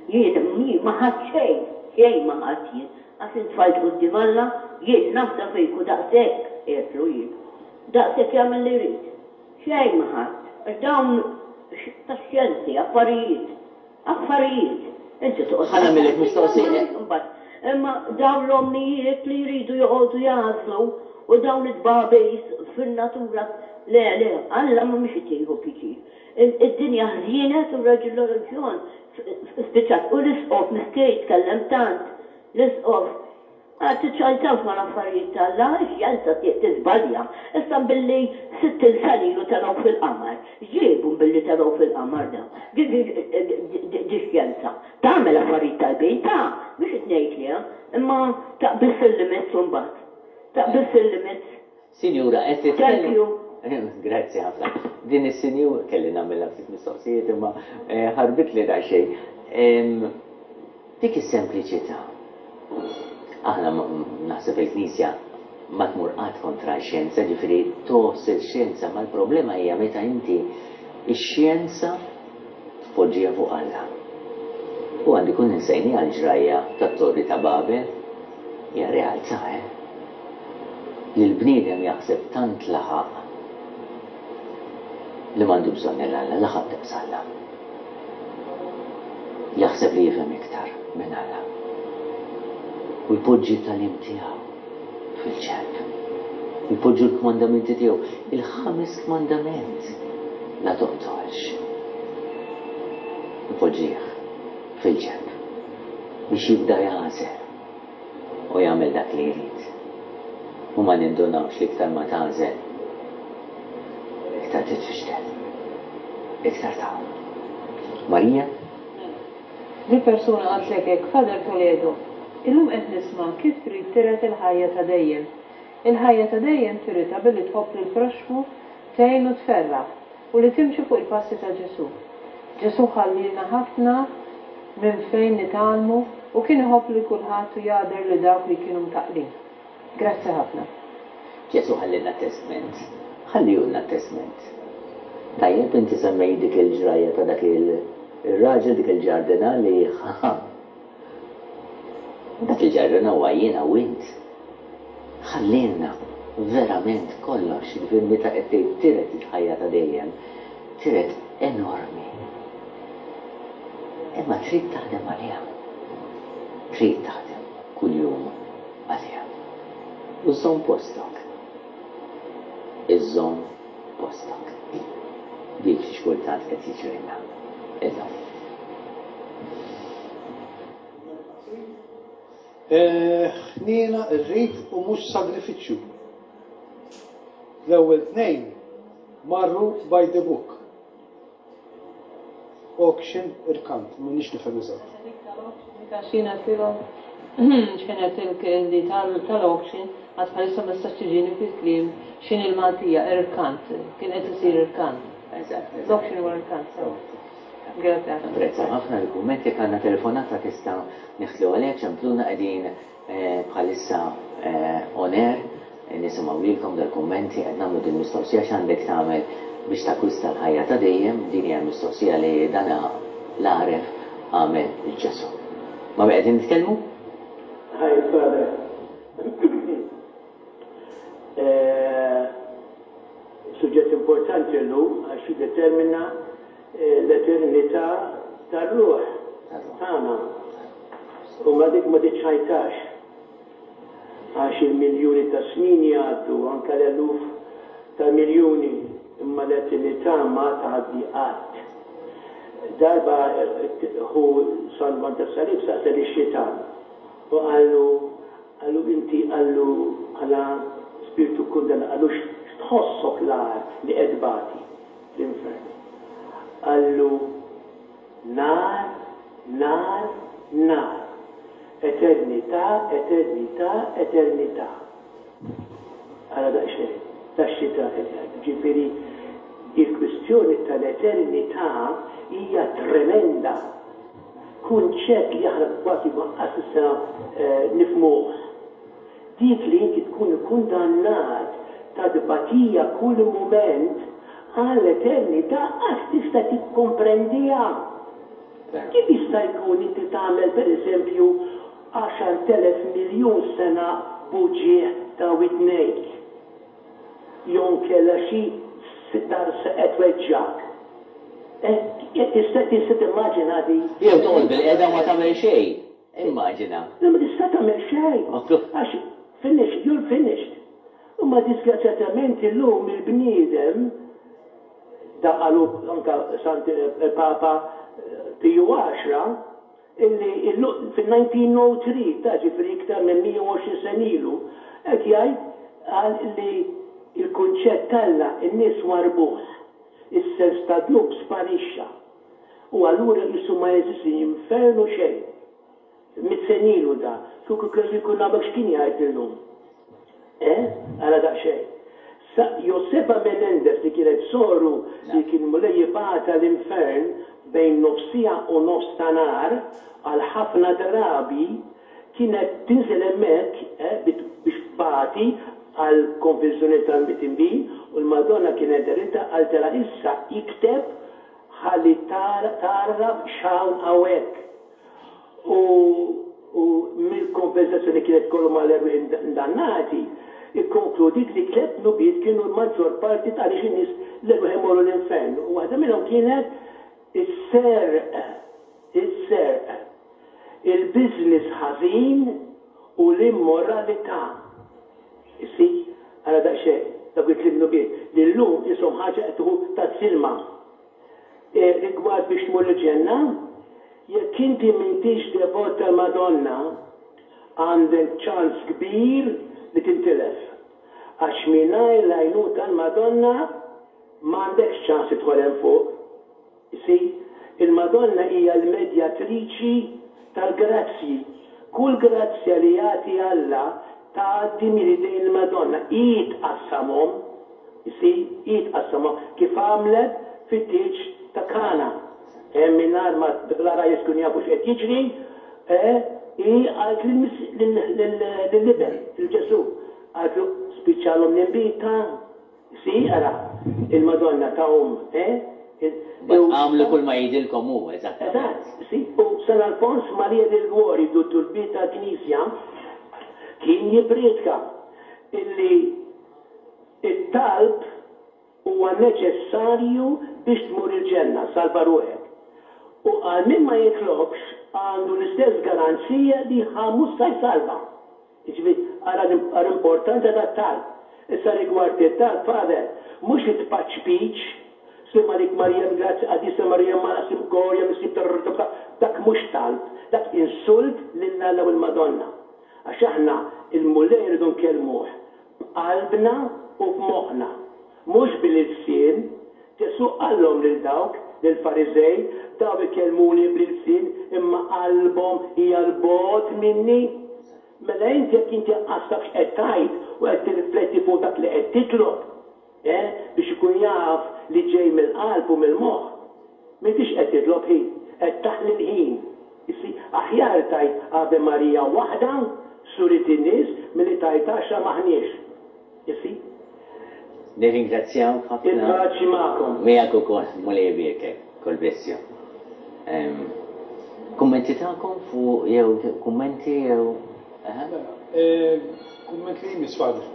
Jien ma ħadt xejn, xejn ma ħadt jien. Għax intfajt quddiem Alla, jien nafda fik u daqshekk, għedtlu jien. Daqshekk jagħmel li jrid. Xejn ma ħadt, għax dawn tax-xjenzi, affarijiet. Affarijiet. Inti toqgħod. Ħa nagħmillek mistoqsija. Imbagħad, imma dawn l-ommijiet li jridu joqogħdu jagħżlu u dawn it-tbagħbis fin-natura, le, le, Alla mhumiex qed jieħu pjaċir. Id-dinja ħżienet u r-reliġjon spiċċat u l-isqof miskien jitkellem tant, l-isqof. Għad tiċċajtawx mal-affarijiet t'Alla, ix-xjenza tiżbalja. Issa billi 60 sena ilu telgħu fil-qamar, x'ġiebu billi telgħu fil-qamar dawn? Di xjenza. Tagħmel affarijiet tajbin, ta, mhux qed ngħid le, imma taqbiż il-limits imbagħad. Taqbiż il-limits. Sinjura, qed titkellem. Thank you. Grazzi ħafna. Din is-sinjura, kelli nagħmilha ftit mistoqsijiet imma ħarbitli daqsxejn. Dik is-sempliċità. Aħna naħseb il-Knisja ma tmur qatt kontra x-xjenza, ġifieri tgħożż il-xjenza, ma l-problema hija meta inti x-xjenza tpoġġiha fuq Alla. U għandi kun insejniha l-ġrajja tat-Torri ta' Babel, hija realtà, eh? Li l-bniedem jaħseb tant laħaq li m'għandu bżonn 'il Alla, laħaq daqs Alla. Jaħseb li jifhem iktar minn Alla. U jpoġġi t-tagħlim tiegħu fil-ġenb. Jpoġġu l-kmandamenti tiegħu, il-ħames kmandament, la toqtolx. Ipoġġih fil-ġenb biex jibda jagħżel u jagħmel dak li jrid. U ma nindunawx li iktar ma tagħżel, iktar titfixkel, iktar tgħum. Marija? Mela. Di persuna qaltlek hekk, Father Toledo, illum qed nisma' kif trid tiret il-ħajja ta' dejjem. Il-ħajja ta' dejjem tiritha billi tħobb lill-proxxmu, tgħin u tferraħ, u li timxi fuq il-passi ta' Ġesù. Ġesù ħallielna ħafna minn fejn nitgħallmu u kien iħobb lil kulħadd u jagħder lil dawk li kienu mtaqqlin. Grazzi ħafna. Ġesù ħallielna testment. Ħallihulna t-testment. Tajjeb, inti semmejt dik il-ġrajja ta' dak ir-raġel, dik il-ġardina li ħa. Dak il-ġardina huwa jiena u int. Ħallielna verament kollox, jiġifieri meta qed tgħid tiret il-ħajja ta' dejjem, tiret enormi. Imma trid taħdem għaliha. Trid taħdem kuljum għaliha. U żżomm postok. Iżżomm postok. Dik xi kultant qed jiġrilna illum. Ħniena rrid u mhux sagrifiċċju. L-ewwel tnejn marru by the book. Auction irkant, m'iniex nifhem eżatt. Dik tal-auction, dik għax jien għedtilhom x'ħin għedtilk li tal-auction għad bħalissa ma tistax tiġini fil-kliem x'inhi l-Maltija, irkant, kien qed isir irkant. Eżatt. L-auction huwa irkant, sewwa. Grazzi ħafna. Napprezzaw ħafna l-kumment, jekk għandna telefonata tista' neħtlu għaliha, ċempluna qegħdin Bħalissa on air nisimgħu lilkom dal-kummenti, qed nagħmlu din mistoqsija x'għandek tagħmel biex takkwista l-ħajja ta' dejjem, din hija l-mistoqsija li dan l-għaref għamel lil Ġesù. Ma' min qegħdin nitkellmu? Hi Father. Suġġett importanti llum għax jiddetermina l-eternità tar-ruħ tagħna. U ma dik ma tiċċajtax. Għax il-miljuni ta' snin jgħaddu, anke l-eluf ta' miljuni, imma l-eternità ma tgħaddi qatt. Darba ħu San Juan tas-Salib saqsa lix-xitan u qallu, qallu inti qallu bħala spirtu kkundannat, qallu x'tħossok l-agħar li qed tbati? Fl-infern. Qallu, Nar, nar, nar. Eternità, eternità, eternità. Ara daqsxejn, tax-xita qed jgħid. Ġifieri, il-kwistjoni tal-eternità hija tremenda. Kunċett li aħna kważi ma qas issa nifhmuh. Dik li inti tkun ikkundannat ta' tbatija kull mument għal eternità qas tista' tikkomprendiha. Kif jista' jkun inti tagħmel pereżempju 10,000 miljun sena b'uġigħ ta' widnejk? Jew inkella xi darsa qed tweġġgħek? Tista' tista' timmaġina din? Jew toqgħod bilqiegħda u ma tagħmel xejn. Immaġina. Le ma tista' tagħmel xejn. Għax finished, you're finished. Imma disgrazzjatament illum il-bniedem, da qalu anke Sant il-Papa Piju Għaxra, Illi fil-1903, ta' ġifieri iktar minn 120 sena ilu, qed jgħid qal li l-kunċett t'Alla n-nies warrbuh. Is-sens ta' dnub sparixxa. U allura qisu ma jeżisti infern u xejn. Mit sena ilu da. Kieku kellu jkun hawnhekk x'kien jgħid illum? Eh? Ara daqsxejn. Sa Josefa Menendez li kienet soru li kien Mulej jibgħatha l-infern bejn nofs siegħa u nofs ta' nhar għal ħafna drabi kienet tinżel hemmhekk eh biex tbati għall-konfessjoni tal-midinbin u l-Madonna kienet deritha qaltilha issa ikteb ħalli tgħarraf x'hawn hawnhekk. U u mill-konversazzjoni li kienet ikollhom mal-erwieħ indannati, ikkonkludiet li tlett dnubiet kienu l-maġġor parti ta' għaliex in-nies l-erwieħ imorru l-infern. U waħda minnhom kienet is-serq. Is-serq. Il-business ħażin u l-immoralità. Issib? Ara daqsxejn, dawk it-tliet dnubiet li llum qishom ħaġa qed tieħu tazz ilma. Rigward biex tmur il-ġenna, jekk inti m'intix devot tal-Madonna, għandek ċans kbir li tintilef. Għax mingħajr l-għajnuna tal-Madonna m'għandekx ċans tidħol hemm fuq. You see? Il-Madonna hija l-medjatriċi tal-grazzji. Kull grazzja li jagħti Alla tgħaddi minn idejn il-Madonna. Hi tqassamhom. You see? Hi tqassamhom. Kif għamlet fit-tieġ ta' Kana. Eh, mingħajr ma l-għarajjes kienu jafu x'qed jiġri, eh, hi qalet lill-Iben, lil Ġesù, qaltlu, spiċċalhom l-inbid ta'. See, ara, il-Madonna ta' omm, eh? Mbagħad agħmlu kull ma jgħidilkom hu, eżattament. Eżatt, see, u San Alfons Maria de Liguori, duttur kbir tal-Knisja, kien jipprietka illi t-talb huwa neċessarju biex tmur il-ġenna, salva ruħek. U qal min ma jitlobx għandu l-istess garanzija li ħa mhux sa jsalva. Jiġifieri, ara l-importanza tat-talb. Issa rigward it-talb, Father, mhux it-tpaċpiċ, Sliem għalik Marija bil-grazzja qaddisa Marija mara sliem gorja mis-sliem tararararara dak mhux talb, dak insult lil Alla u l-Madonna. Għax aħna l-Mulej irridu nkellmuh b'qalbna u b'moħħna, mhux bil-ilsien. Ġesù qallhom lil dawk, lill-Fariżej, daw ikellmuni bl-ilsien imma qalbhom hija 'l bogħod minni. Mela int jekk inti anqas taf x'qed tgħid u qed tirrifletti fuq dak li qed titlob, eh, biex ikun jaf li ġej mill-qalb u mill-moħħ, m'intix qed titlob ħin, qed taħli l-ħin. You see? Aħjar tgħid Ave Maria waħda f'suret in-nies milli tgħid għaxra m'aħniex. You see? Nirringrazzjawk ħafna. Il-paċi magħkom. Miegħek ukoll, Mulej ibierkek. God bless you. Kummenti tagħkom fuq jew kummenti jew eħe? Mela, kumment li jmiss Father.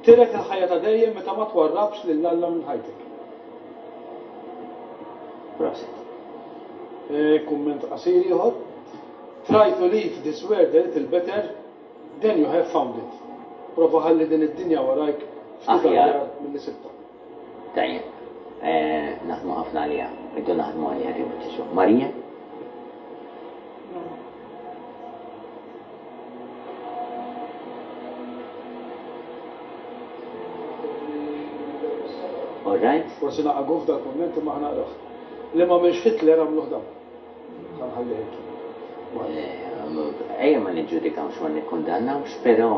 Tiret il-ħajja ta' dejjem meta ma twarrabx lil Alla minn ħajtek. Prosit. Kumment qasir ieħor. Try to leave this world a little better Then you have found it. Prova ħalli din id-dinja warajk ftit aħjar milli sibtha. Tajjeb. Naħdmu ħafna għaliha. Irridu naħdmu għaliha din biċċa xogħol. Marija? All right. Forsi naqagħu f'dal-kumment imma ħa naqrah. Li m'għamilx Hitler għamluh dawn. Ħa nħallih hekk. Ejja ma niġġudikawx ma nikkundannawx, però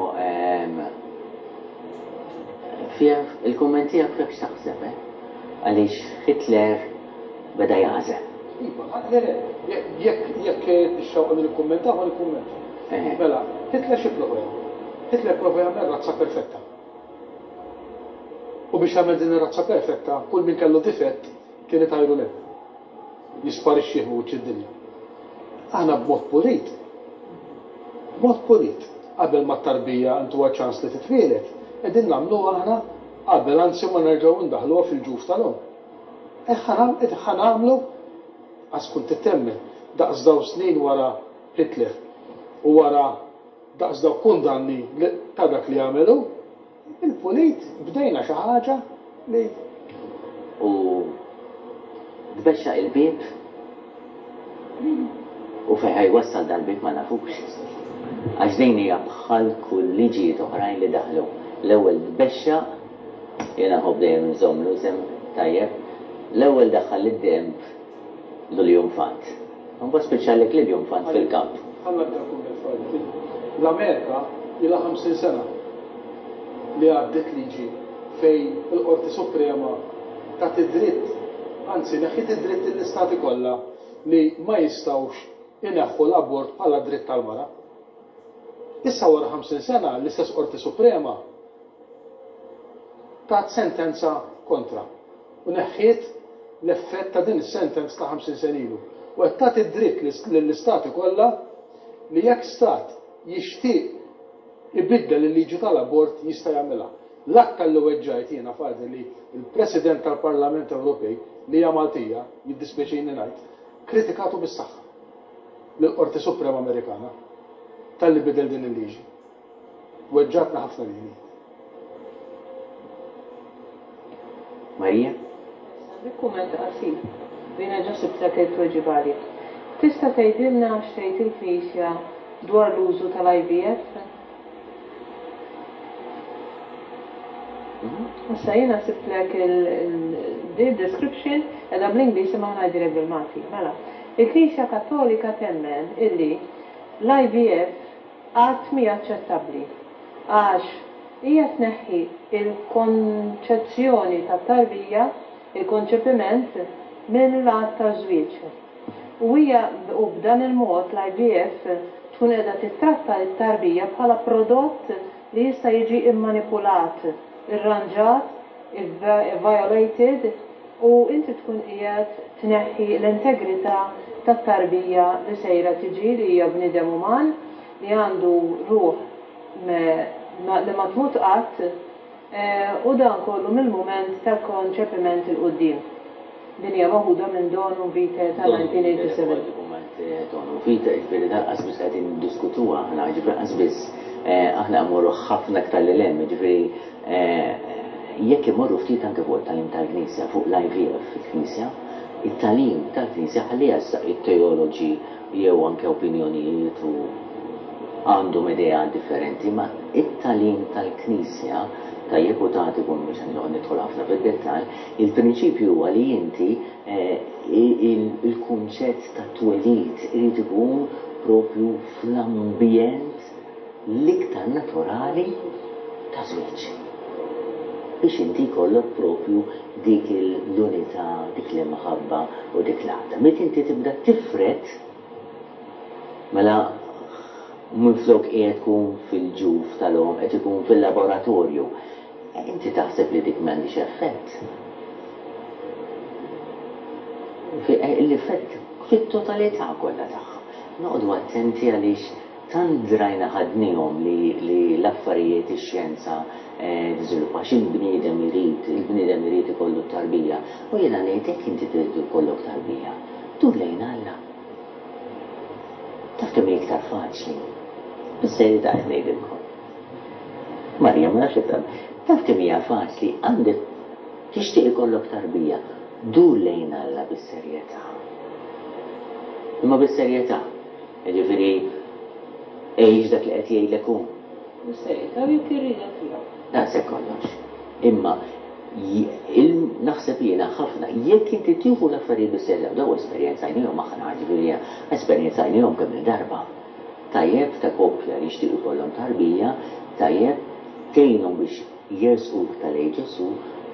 fiha il-kumment tiegħek fih x'taħseb, eh? Għaliex Hitler beda jagħżel. Iva, le le, jekk jekk ix-xewqa li nikkummentaw ħa nikkummenta. Mela, Hitler xi pprova jagħmel? Hitler prova jagħmel razza perfetta. U biex jagħmel din ir-razza perfetta, kull min kellu difett kien itajru 'l hemm. Jisparixxih minn wiċċ id-dinja. Aħna b'mod pulit, b'mod pulit, qabel ma t-tarbija ntuha ċans li titwieled, qegħdin nagħmluha aħna qabel anzi ma nerġgħu ndaħħluha fil-ġuf tal-omm. Hekk ħa nagħmlu għax tkun trid temmen, daqs dawn snin wara Hitler u wara daqs dawk kundanni ta' dak li għamel hu, Il-pulit bdejna xi ħaġa li. U tbexxaq il-bieb. U fejn ħa jwassal dal-bieb ma nafux. Għax din hija bħal kull liġijiet oħrajn li daħlu. L-ewwel tbexxaq, jiena nħobb dejjem inżomm l-isem tajjeb, l-ewwel daħħal lid-denb l-iljunfant. Imbagħad spiċċalek l-iljunfant fil-kamp. Ħa nagħti kumment Fadli. L-Amerika ilha 50 sena li għaddiet liġi fejn il-Qorti Suprema tat id-dritt, anzi neħħiet id-dritt lill-istati kollha li ma jistgħux ineħħu l-abort bħala dritt tal-mara. Issa wara 50 sena l-istess Qorti Suprema tat sentenza kontra u neħħiet l-effett ta' din is-sentenza ta' 50 sena ilu u qed tagħti d-dritt lill-istati kollha li jekk stat jixtieq ibiddel il-liġi tal-abort jista' jagħmilha. L-aktar li weġġajt jiena Father li l-President tal-Parlament Ewropej, li hija Maltija, jiddispjaċini ngħid, kritikatu bis-saħħa lill-Qorti Suprema Amerikana talli bidel din il-liġi. Weġġgħatni ħafna lili. Maria? Għandi kumment qasir, u jiena ġa sibtlek it-tweġiba għalih. Tista' tgħidilna x'tgħid il-Knisja dwar l-użu tal-IVF? Issa jiena sibtlek il-description, qiegħda bl-Ingliż imma ħa ngħidilek bil-Malti. Mela, il-Knisja Kattolika temmen illi l-IVF qatt mhi aċċettabbli għax hija tneħħi l-konċezzjoni tat-tarbija, il-konċepiment, mill-att taż-żwieġ. U hija u b'dan il-mod l-IVF tkun qiegħda tittratta t-tarbija bħala prodott li jista' jiġi mmanipulat, irranġat, violated u inti tkun qiegħed tneħħi l-integrità tat-tarbija li sejra tiġi li hija bniedem uman li għandu ruħ li ma tmut qatt u dan kollu mill-mument tal-konċepiment 'il quddiem. Din hija meħuda minn Donum Vitae ta' 1987. Donum Vitae, jiġifieri dan qas biss qegħdin niddiskutuha aħna, jiġifieri qas biss aħna mmorru ħafna aktar lil hemm, jiġifieri jekk immorru ftit anke fuq it-tagħlim tal-Knisja, fuq l-IVF fil-Knisja, it-tagħlim tal-Knisja ħalliha issa it-teoloġi jew anke opinjonijiet u għandhom ideat differenti, ma it-tagħlim tal-Knisja, tajjeb u tagħti kun mhux se noqgħod nidħol ħafna fid-dettall, il-prinċipju huwa li inti il-kunċett tat-twelid irid ikun propju fl-ambjent l-iktar naturali ta' żwieġ. Biex inti jkollok propju dik l-unità, dik l-imħabba u dik l-għaqda. Meta inti tibda tifred, mela minflok qiegħed tkun fil-ġuf tal-omm qed ikun fil-laboratorju. Inti taħseb li dik m'għandhiex effett? L-effett fit-totalità kollha tagħha. Noqogħdu attenti għaliex Tant drajna ħadniehom li li l-affarijiet ix-xjenza tiżviluppa għax il-bniedem irid, il-bniedem irid ikollu t-tarbija. U jiena ngħid jekk inti trid ikollok tarbija, dur lejn Alla. Taf kemm hi iktar faċli? Bis-serjetà qed ngħidilkom. Marija ma nafx jekk taf. Taf kemm hija faċli għandek tixtieq ikollok tarbija, dur lejn Alla bis-serjetà. Imma bis-serjetà. Jiġifieri għix dak li qed jgħidlek hu. Bis-serjetà u jekk ir-rieda tiegħu. Daqshekk kollox. Imma naħseb jiena ħafna, jekk inti tieħu l-affarijiet bis-serjetà, u dawn esperjenzajniehom aħna, jiġifieri esperjenzajniehom kemm-il darba. Tajjeb ta' koppja li jixtiequ jkollhom tarbija, tajjeb tgħinhom biex jersqu iktar lejn Ġesù,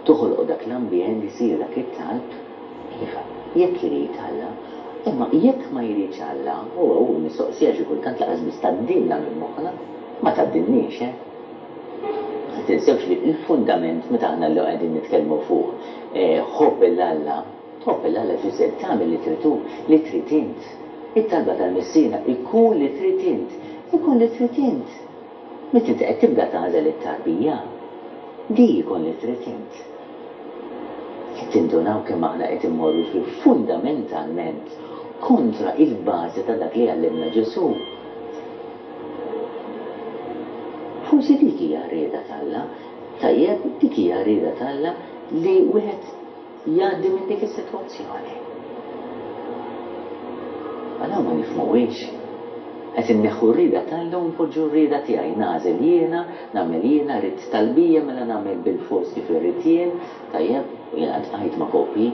toħolqu dak l-ambjent, isir dak it-talb, iva, jekk irid Alla. Imma jekk ma jridx Alla, u hu mistoqsija xi kultant lanqas biss tgħaddilna minn moħħna, ma tgħaddilniex, eh? Ma tinsewx li l-fundament meta aħna llum qegħdin nitkellmu fuq ħobb 'il Alla, tħobb 'il Alla jfisser tagħmel li trid hu, li trid int. It-talba tal-Missierna ikun li trid int, ikun li trid int. Meta inti qed tibda tagħżel it-tarbija, di jkun li trid int. Qed tindunaw kemm aħna qed immorru fi fundamentalment kontra il-bażi ta' dak li għallimna Ġesù. Forsi dik hija r-rieda t'Alla. Tajjeb, dik hija r-rieda t'Alla li wieħed jgħaddi minn dik is-sitwazzjoni. Ma dawn ma nifhmuhiex. Qed inneħħu r-rieda t'Alla u npoġġu r-rieda tiegħi. Nagħżel jiena, nagħmel jiena, ridt talbija mela nagħmel bilfors kif irrid jien, tajjeb, u jiena ltqajt ma' koppji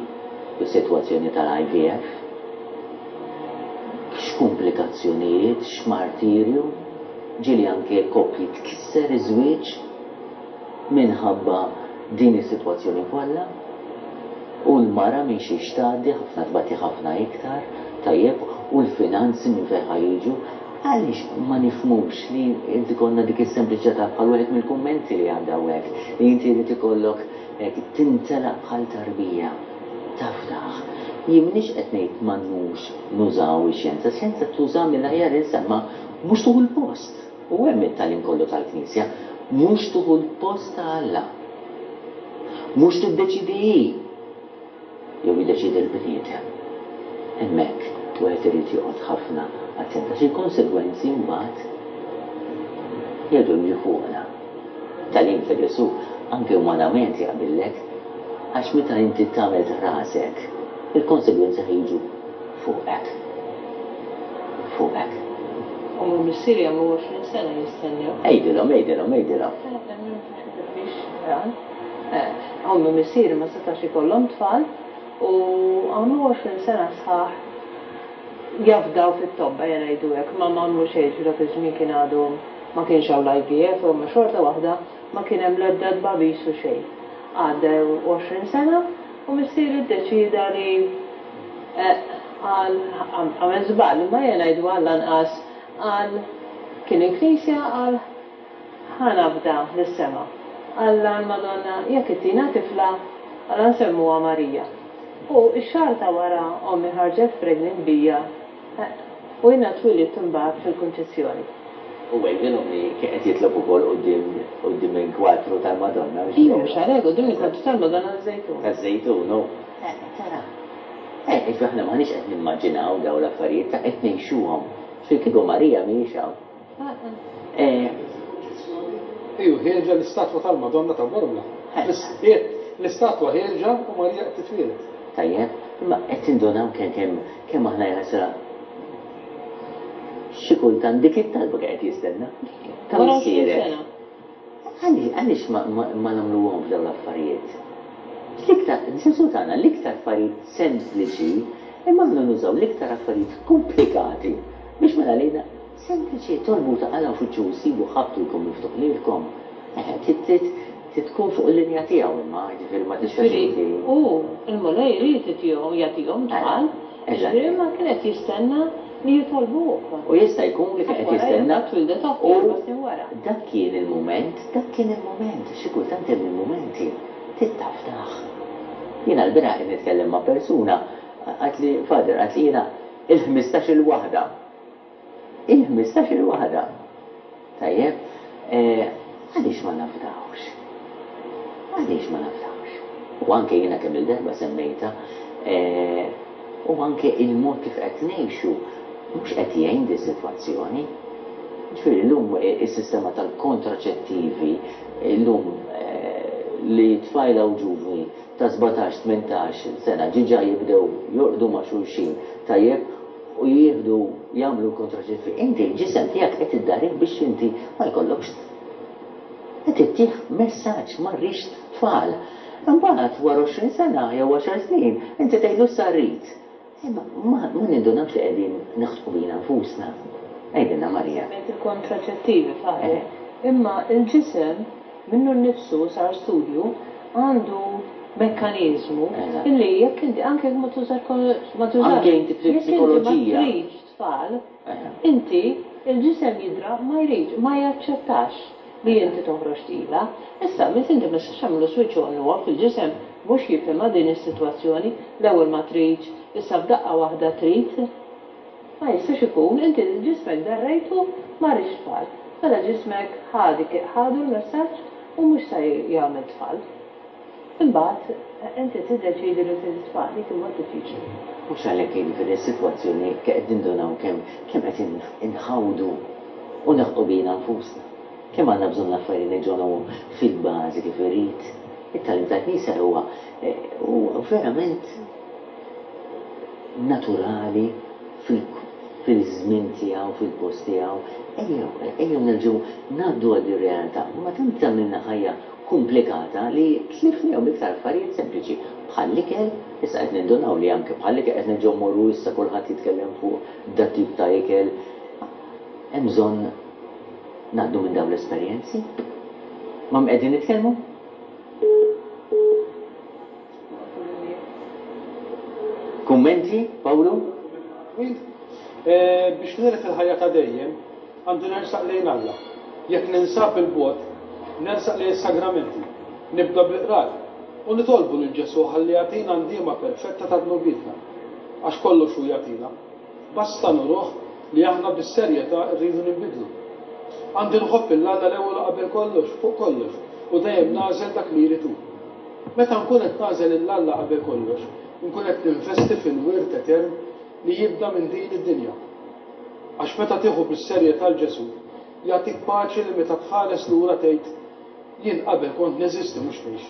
fis-sitwazzjoni tal-IVF. X'kumplikazzjonijiet, x'martirju, ġieli anke koppji tkisser iż-żwieġ minħabba din is-sitwazzjoni kollha. U l-mara minn xiex tgħaddi, ħafna tbati ħafna iktar, tajjeb, u l-finanzi minn fejn ħa jiġu. Għaliex ma nifhmux li jrid ikollna dik is-sempliċità ta' bħal wieħed mill-kummenti li għadda hawnhekk, li inti jrid ikollok hekk tintelaq bħal tarbija, tafdaħ. Jien m'iniex qed ngħid m'għandnux nużaw ix-xjenza, ix-xjenza tuża mill-aħjar insa, imma mhux tieħu l-post. U hemm it-tagħlim kollu tal-Knisja, mhux tieħu l-post ta' Alla. Mhux tiddeċiedi hi jew jiddeċiedi l-bniedem. Hemmhekk wieħed irid joqgħod ħafna attent għax il-konsegwenzi mbagħad jerġgħu jiġu fuqna. It-tagħlim ta' Ġesù anke umanament jaqbillek għax meta inti tagħmel ta' rasek, il-konsegwenzi ħa jiġu fuqek. Fuqek. Ommi u missieri għamlu 20 sena jistennew. Għidilhom, għidilhom, għidilhom. Ommi u missieri ma setax ikollhom tfal u għamlu 20 sena sħaħ jafdaw fit-tobba, ejja ngħidu hekk, ma m'għamlu xejn ġifieri dak iż-żmien kien għadu ma kienx hawn l-IVF imma xorta waħda ma kien hemm l-ebda tbagħbis u xejn. Għaddew 20 sena u missieri ddeċieda li Qal, għamel żball, imma ejja ngħidu għall-anqas qal, kien il-knisja qal ħa nafda lis-sema. Alla l-Madonna jekk ittina tifla, alla nsemmuha Marija. U x-xahar ta' wara ommi ħarġet pregnant bija u jiena twilidt imbagħad fil-Kunċizzjoni. U għidilhom li kien qed jitlob ukoll quddiem quddiem il-kwadru tal-Madonna, hux veru? Iva, mhux għalhekk, quddiem il-kwadru tal-Madonna taż-Żejtun. Taż-Żejtun, hu. Eh, tara. Eh, jiġifieri aħna m'aħniex qed nimmaġinaw dawn l-affarijiet, ta' qed ngħixuhom. Ġifieri kieku Marija mhijiex hawn. Eh. Iju, ħierġa l-istatwa tal-Madonna ta' Bormla. L-istatwa ħierġa u Marija qed titwieled. Tajjeb, imma qed tindunaw kemm kemm kemm aħna jaħasra Xi kultant dik it-talba kien qed jistenna. Ta' missierek. Għaliex ma nagħmluhomx dawn l-affarijiet? L-iktar, Ġesù tana l-iktar affarijiet sempliċi, imma aħna nużaw l-iktar affarijiet komplikati biex mela lejna sempliċi tolbu taqalgħu fittxu u ssibu ħabbtu jkun miftuħ lilkom. Trid tkun fuq il-linja tiegħu imma, jiġifieri ma tistax inti. Jiġifieri hu, il-Mulej ried itihom, jagħtihom tfal, jiġifieri imma kien qed jistenna li jitolbuh. U jista' jkun li kien qed jistenna. Għax wara twildet oħti erba' snin wara. U dak kien il-mument, dak kien il-mument, xi kultant hemm il-mumenti, trid tafdah. Jiena l-bieraħ qed nitkellem ma' persuna, qaltli, Father, qaltli jiena il-ħmistax-il waħda. Il-ħmistax-il waħda. Tajjeb, għaliex ma nafdawx? Għaliex ma nafdawx? U anke jiena kemm-il darba semmejtha, u anke il-mod kif qed ngħixu mhux qed jgħin dis-sitwazzjoni. Ġifieri llum is-sistema tal-kontraċettivi llum li tfajla u ġuvni ta' 17, 18 sena ġiġa jibdew jorqdu ma' xulxin, tajjeb, u jieħdu jagħmlu l-kontraċettivi, inti l-ġisem tiegħek qed iddarih biex inti ma jkollokx qed ittih messaġġ ma rridx tfal. Imbagħad wara 20 sena jew għaxar snin inti tgħidlu issa rrid. Imma ma nindunawx li qegħdin naħdqu bina nfusna. Għidilna Maria. Semmejt il-kontraċettivi, Father. Imma l-ġisem minnu nnifsu sar studju għandu mekkaniżmu illi jekk inti anke jekk ma tużax ma tużax Anke inti fil-psikoloġija. Jekk inti ma tridx tfal, inti il-ġisem jidra ma jridx, ma jaċċettax li inti toħroġ tqila. Issa, meta inti ma tistax tagħmlu switch on u off, il-ġisem mhux jifhimha din is-sitwazzjoni, l-ewwel ma tridx, issa f'daqqa waħda trid. Ma jistax ikun, inti ġismek darrejtu ma riedx tfal. Mela ġismek ħa dik ħadu l-messaġġ u mhux sa jagħmel tfal. Imbagħad inti tiddeċiedi li trid it-tfal, dik imbagħad diffiċli. Mhux għalhekk jiġifieri s-sitwazzjoni qed nindunaw kemm kemm qed inħawdu u neħqu bina nfusna. Kemm għandna bżonn l-affarijiet neġonhom fil-bażi kif irid. It-tagħlim tal-Knisja huwa huwa verament naturali fil. fil-żmien tiegħu, fil-post tiegħu. Ejjew, ejjew nerġgħu ngħaddu għal din realtà. Ma tant għamilna ħajja komplikata li tlifnihom iktar affarijiet sempliċi bħall-ikel, issa qed nindunaw li anke bħall-ikel qed nerġgħu mmorru issa kulħadd jitkellem fuq dat-tip ta' ikel. Hemm bżonn ngħaddu minn dawn l-esperjenzi? Ma' min qegħdin nitkellmu? Kummenti, Pawlu? Twil. Biex niret il-ħajja ta' dejjem, għandi nersaq lejn Alla. Jekk ninsab 'il bogħod, nersaq lejn is-sagramenti. Nibda bil-qrar, u nitolbu lil Ġesù ħalli jagħtina ndiema perfetta ta' dnubietna. Għax kollox hu jagħtina. Basta nuruh li aħna bis-serjetà rridu ninbidlu. Għandi nħobb 'il Alla l-ewwel u qabel kollox, fuq kollox, u dejjem nagħżel dak li jrid hu. Meta nkun qed nagħżel 'il Alla qabel kollox, inkun qed ninvesti fil-wirt etern li jibda minn din id-dinja. Għax meta tieħu bis-serjetà 'l Ġesù, jagħtik paċi li meta tħares lura tgħid, Jien qabel kont neżisti mhux ngħix.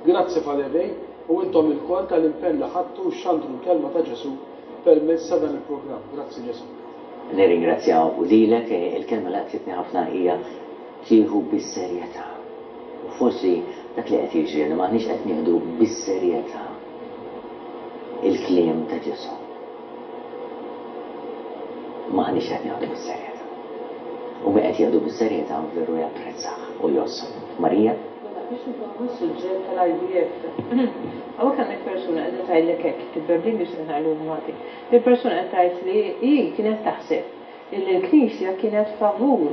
Grazzi Father Ray u intom ilkoll tal-impenn li ħadtu u xxandru l-kelma ta' Ġesù permezz ta' dan il-programm. Grazzi Ġesù. Nirringrazzjaw lilek, il-kelma li laqtitni ħafna hija tieħu bis-serjetà. U forsi dak li qed jiġri li m'aħniex qed nieħdu bis-serjetà il-kliem ta' Ġesù. M'aħniex qed nieħdu bis-serjetà. U min qed jieħdu bis-serjetà veru japprezzah u jgħożżu. Marija? Mela, biex nkomplu s-suġġett tal-IVF. Hawnhekk għandek persuna qiegħda tgħidlek hekk, kitba bl-Ingliż qed ngħidu bil-Malti. Il-persuna qed tgħid li hi kienet taħseb illi l-Knisja kienet favur,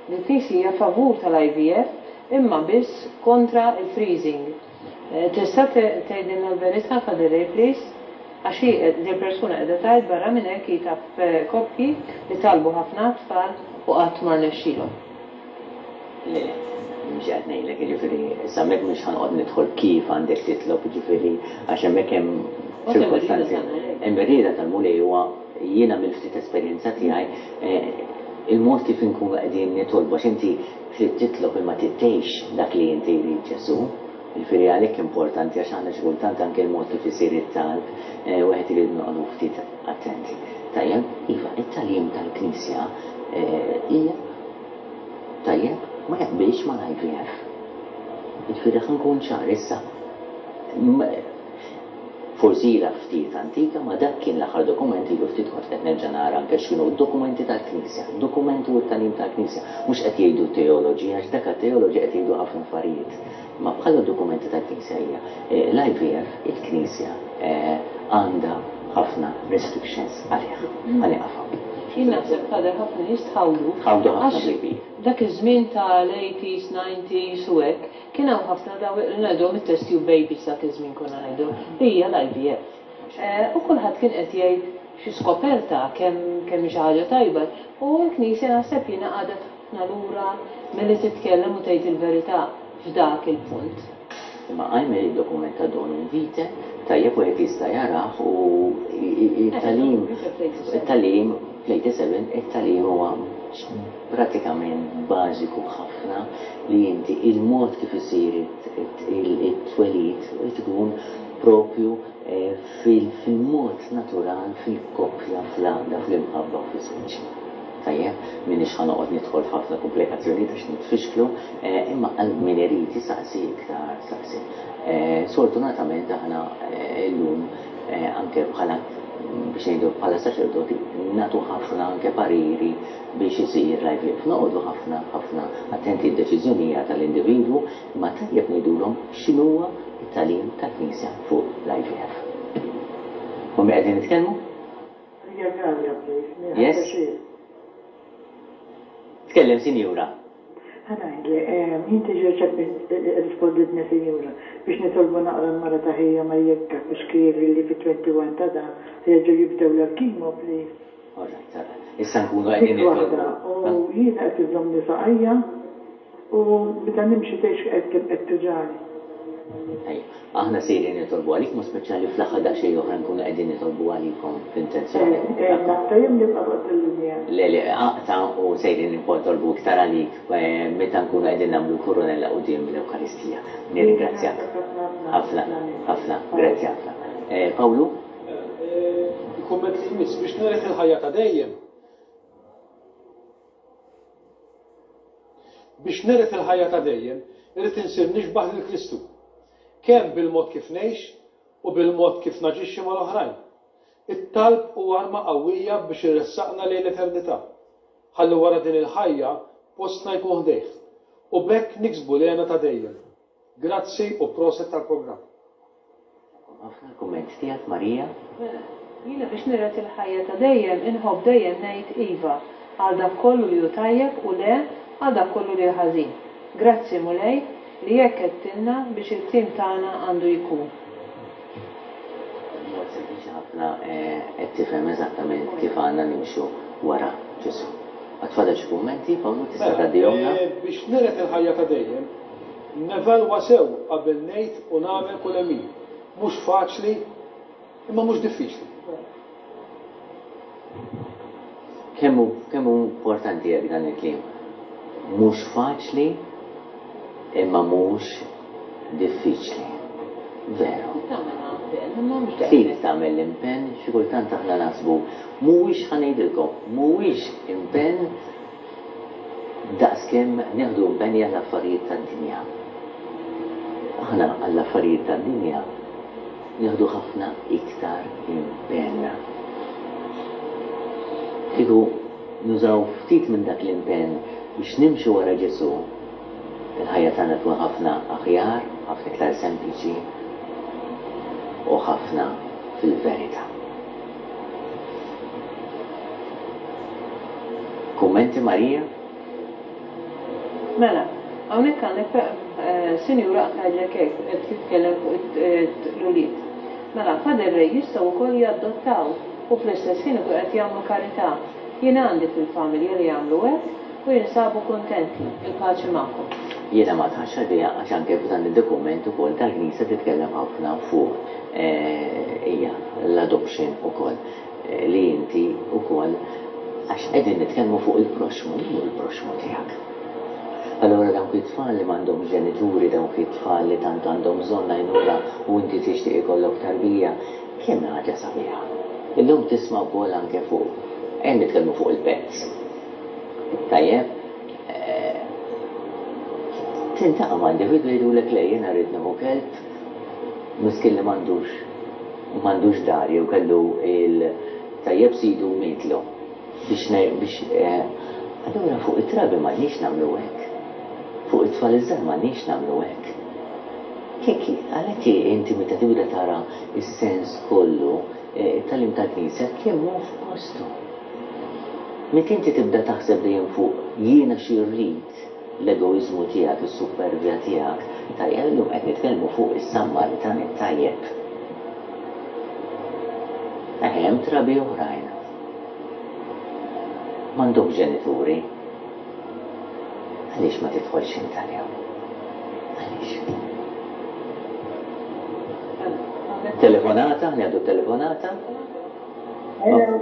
li l-Knisja hija favur tal-IVF imma biss kontra l-freezing. Tista' tgħidilna l-verità, Father Ray, please? Għax hi, dil-persuna qiegħda tgħid barra minn hekk hi taf koppji li talbu ħafna għat-tfal u qatt ma rnexxielhom. Le, mhux qed ngħidlek, jiġifieri, issa hemmhekk mhux ħa noqgħod nidħol kif għandek titlob, jiġifieri, għax hemmhekk hemm ċirkostanzi. Hemm ir-rieda tal-Mulej huwa jiena mill-ftit esperjenza tiegħi, il-mod kif inkunu qegħdin nitolbu, għax inti trid titlob imma trid tgħix dak li inti jrid Ġesù. Jiġifieri għalhekk importanti għax aħna xi kultant anke l-mod kif isir it-talb, wieħed irid noqogħdu ftit attenti. Tajjeb, iva, it-tagħlim tal-Knisja hija Tajjeb, ma jaqbilx mal-IVF. Jiġifieri ħa nkun ċar issa. Forsi ilha ftit antika ma dak kien l-aħħar dokument ilu ftit kont qed nerġa' nara anke x'kienu d-dokumenti tal-Knisja. Dokumenti u t-tagħlim tal-Knisja. Mhux qed jgħidu teoloġi għax dak għat-teoloġi qed jgħidu ħafna affarijiet. Imma bħala dokumenti tal-Knisja hija l-IVF il-Knisja għandha ħafna restrictions għalih. Ħa nieqaf hawn. Jien naħseb Father ħafna nies tħawdu. Tħawdu ħafna bl-IVF. Dak iż-żmien tal-eighties, nineties u hekk, kien hawn ħafna dawn li ngħidulhom it-test tube babies dak iż-żmien konna ngħidulhom, li hija l-IVF. U kulħadd kien qed jgħid xi skoperta, kemm kemm hi xi ħaġa tajba. U l-Knisja naħseb jiena qagħdet ħafna lura milli titkellem u tgħid il-verità f'dak il-punt. Imma qajm id-dokument ta' Donum Vitae, tajjeb wieħed jista' jarah u t-tagħlim, it-tagħlim fl-87, it-tagħlim huwa pratikament bażiku ħafna li inti il-mod kif isir it-twelid irid ikun propju fil-mod natural, fil-koppja, fl-għaqda, fl-imħabba u fiż-żwieġ. Tajjeb, m'iniex ħa noqgħod nidħol f'ħafna kumplikazzjonijiet għax nitfixklu, imma għal min irid isaqsi iktar saqsi. Sfortunatament aħna llum anke bħala biex ngħidu bħala saċerdoti nagħtu ħafna anke pariri biex isir l-IVF. Noqogħdu ħafna ħafna attenti d-deċiżjoni hija tal-individwu imma tajjeb ngħidulhom x'inhuwa t-tagħlim tal-Knisja fuq l-IVF. Ma' min qegħdin nitkellmu? Maria Galea please, may I Yes? have pjaċir. Tkellem sinjura. Ħa ngħidlek, inti ġa rrisponditni sinjura, biex nitolbu naqra l-mara ta' ħija Maria Cuschieri li fit-21 ta' dan se jerġgħu jibdewlha l-chemo please. All right, all right. Issa nkunu qegħdin Dik waħda, nitolbu. u jiena qed iżżommni saqajja u meta nimxi tgħidx qed kemm qed tuġagħni. Tajjeb. Aħna sejrin nitolbu għalik, mod speċjali fl-aħħar daqsxejn oħra nkunu qegħdin nitolbu għalikom fl-intenzjoni. Eh, eh, naqta' jew nibqa' fuq il-linja? Le, le, aqta' u sejrin nitolbu iktar għalik meta nkunu qegħdin nagħmlu l-kurunella quddiem l-Ewkaristija. Nirringrazzjak. Ħafna, ħafna, grazzi ħafna. Pawlu? Il-kumment li jmiss, biex niret il-ħajja ta' dejjem. Biex niret il-ħajja ta' dejjem, irrid insir nixbah lil Kristu. Kemm bil-mod kif ngħix u bil-mod kif naġixxi mal-oħrajn. It-talb hu arma qawwija biex iressaqna lejn l-eternità. Ħalli wara din il-ħajja postna jkun ħdejh. U b'hekk niksbu l-hena ta' dejjem. Grazzi u proset tal-programm. Ħafna l-kumment tiegħek Marija. Mela, jiena biex niret il-ħajja ta' dejjem inħobb dejjem ngħid iva għal dak kollu li hu tajjeb u le għal dak kollu li hu ħażin. Grazzi Mulej li hekk għedtilna biex il-kliem tagħna għandu jkun. B'mod sempliċi ħafna qed tifhem eżattament kif għandna nimxu wara Ġesù. Għad fadal xi kummenti, Pawlu, tista' Mela, tgħaddihomlna? biex niret il-ħajja ta' dejjem, Nevalwa sew qabel ngħid u nagħmel kull għemil. Mhux faċli, imma mhux diffiċli. Kemm hu kemm hu importanti hekk dan il-kliem. Mhux faċli, imma mhux diffiċli. Veru. Trid tagħmel impenn, imma mhux Trid daqshekk. tagħmel l-impenn, xi kultant aħna naħsbu mhuwiex ħa ngħidilkom, mhuwiex impenn Daqskemm nieħdu impenji għall-affarijiet tad-dinja. Aħna għall-affarijiet tad-dinja nieħdu ħafna iktar impenn. Kieku nużaw ftit minn dak l-impenn biex nimxu wara Ġesù, il-ħajja tagħna tkun ħafna aħjar, ħafna iktar sempliċi u ħafna fil-verità. Kummenti Marija? Mela, hawnhekk għandek sinjura qed tgħidlek hekk, qed titkellem fuq l-ulied. Mela, Father Ray jistgħu wkoll jaddottaw u fl-istess ħin ikunu qed jagħmlu karità. Jien għandi fil-familja li jagħmlu hekk u jinsabu kuntenti. Il-paċi magħkom. Jiena ma dħaltx għaliha għax anke f'dan id-dokument ukoll tal-Knisja titkellem ħafna fuq hija l-adoption ukoll li inti ukoll għax qegħdin nitkellmu fuq il-proxxmu, min hu l-proxxmu tiegħek? Allura dawk it-tfal li m'għandhomx ġenituri, dawk it-tfal li tant għandhom bżonn għajnuna u inti tixtieq ikollok tarbija, kemm hi ħaġa sabiħa. Illum tisma' wkoll anke fuq, ejja nitkellmu fuq il-pets. Tajjeb? Tiltaqa' ma' individwi jgħidulek le jiena rrid nieħu kelb, Miskin li m'għandux m'għandux dar jew kellu il tajjeb sidu u mietlu biex biex allura fuq it-trabi m'għandniex nagħmlu hekk. Fuq it-tfal iż-żgħar m'għandniex nagħmlu hekk. Jekk għalhekk inti meta tibda tara s-sens kollu it-tagħlim tal-Knisja kemm hu f'postu. Meta inti tibda taħseb dejjem fuq jiena xi rrid, l-egoiżmu tiegħek, is-suppervja tiegħek, tajjeb, illum qed nitkellmu fuq is-Sammaritan it-tajjeb. Eħe, hemm trabi oħrajn. M'għandhomx ġenituri. Għaliex ma tidħolx int għalihom? Għaliex? Telefonata, ngħidu telefonata? Hello.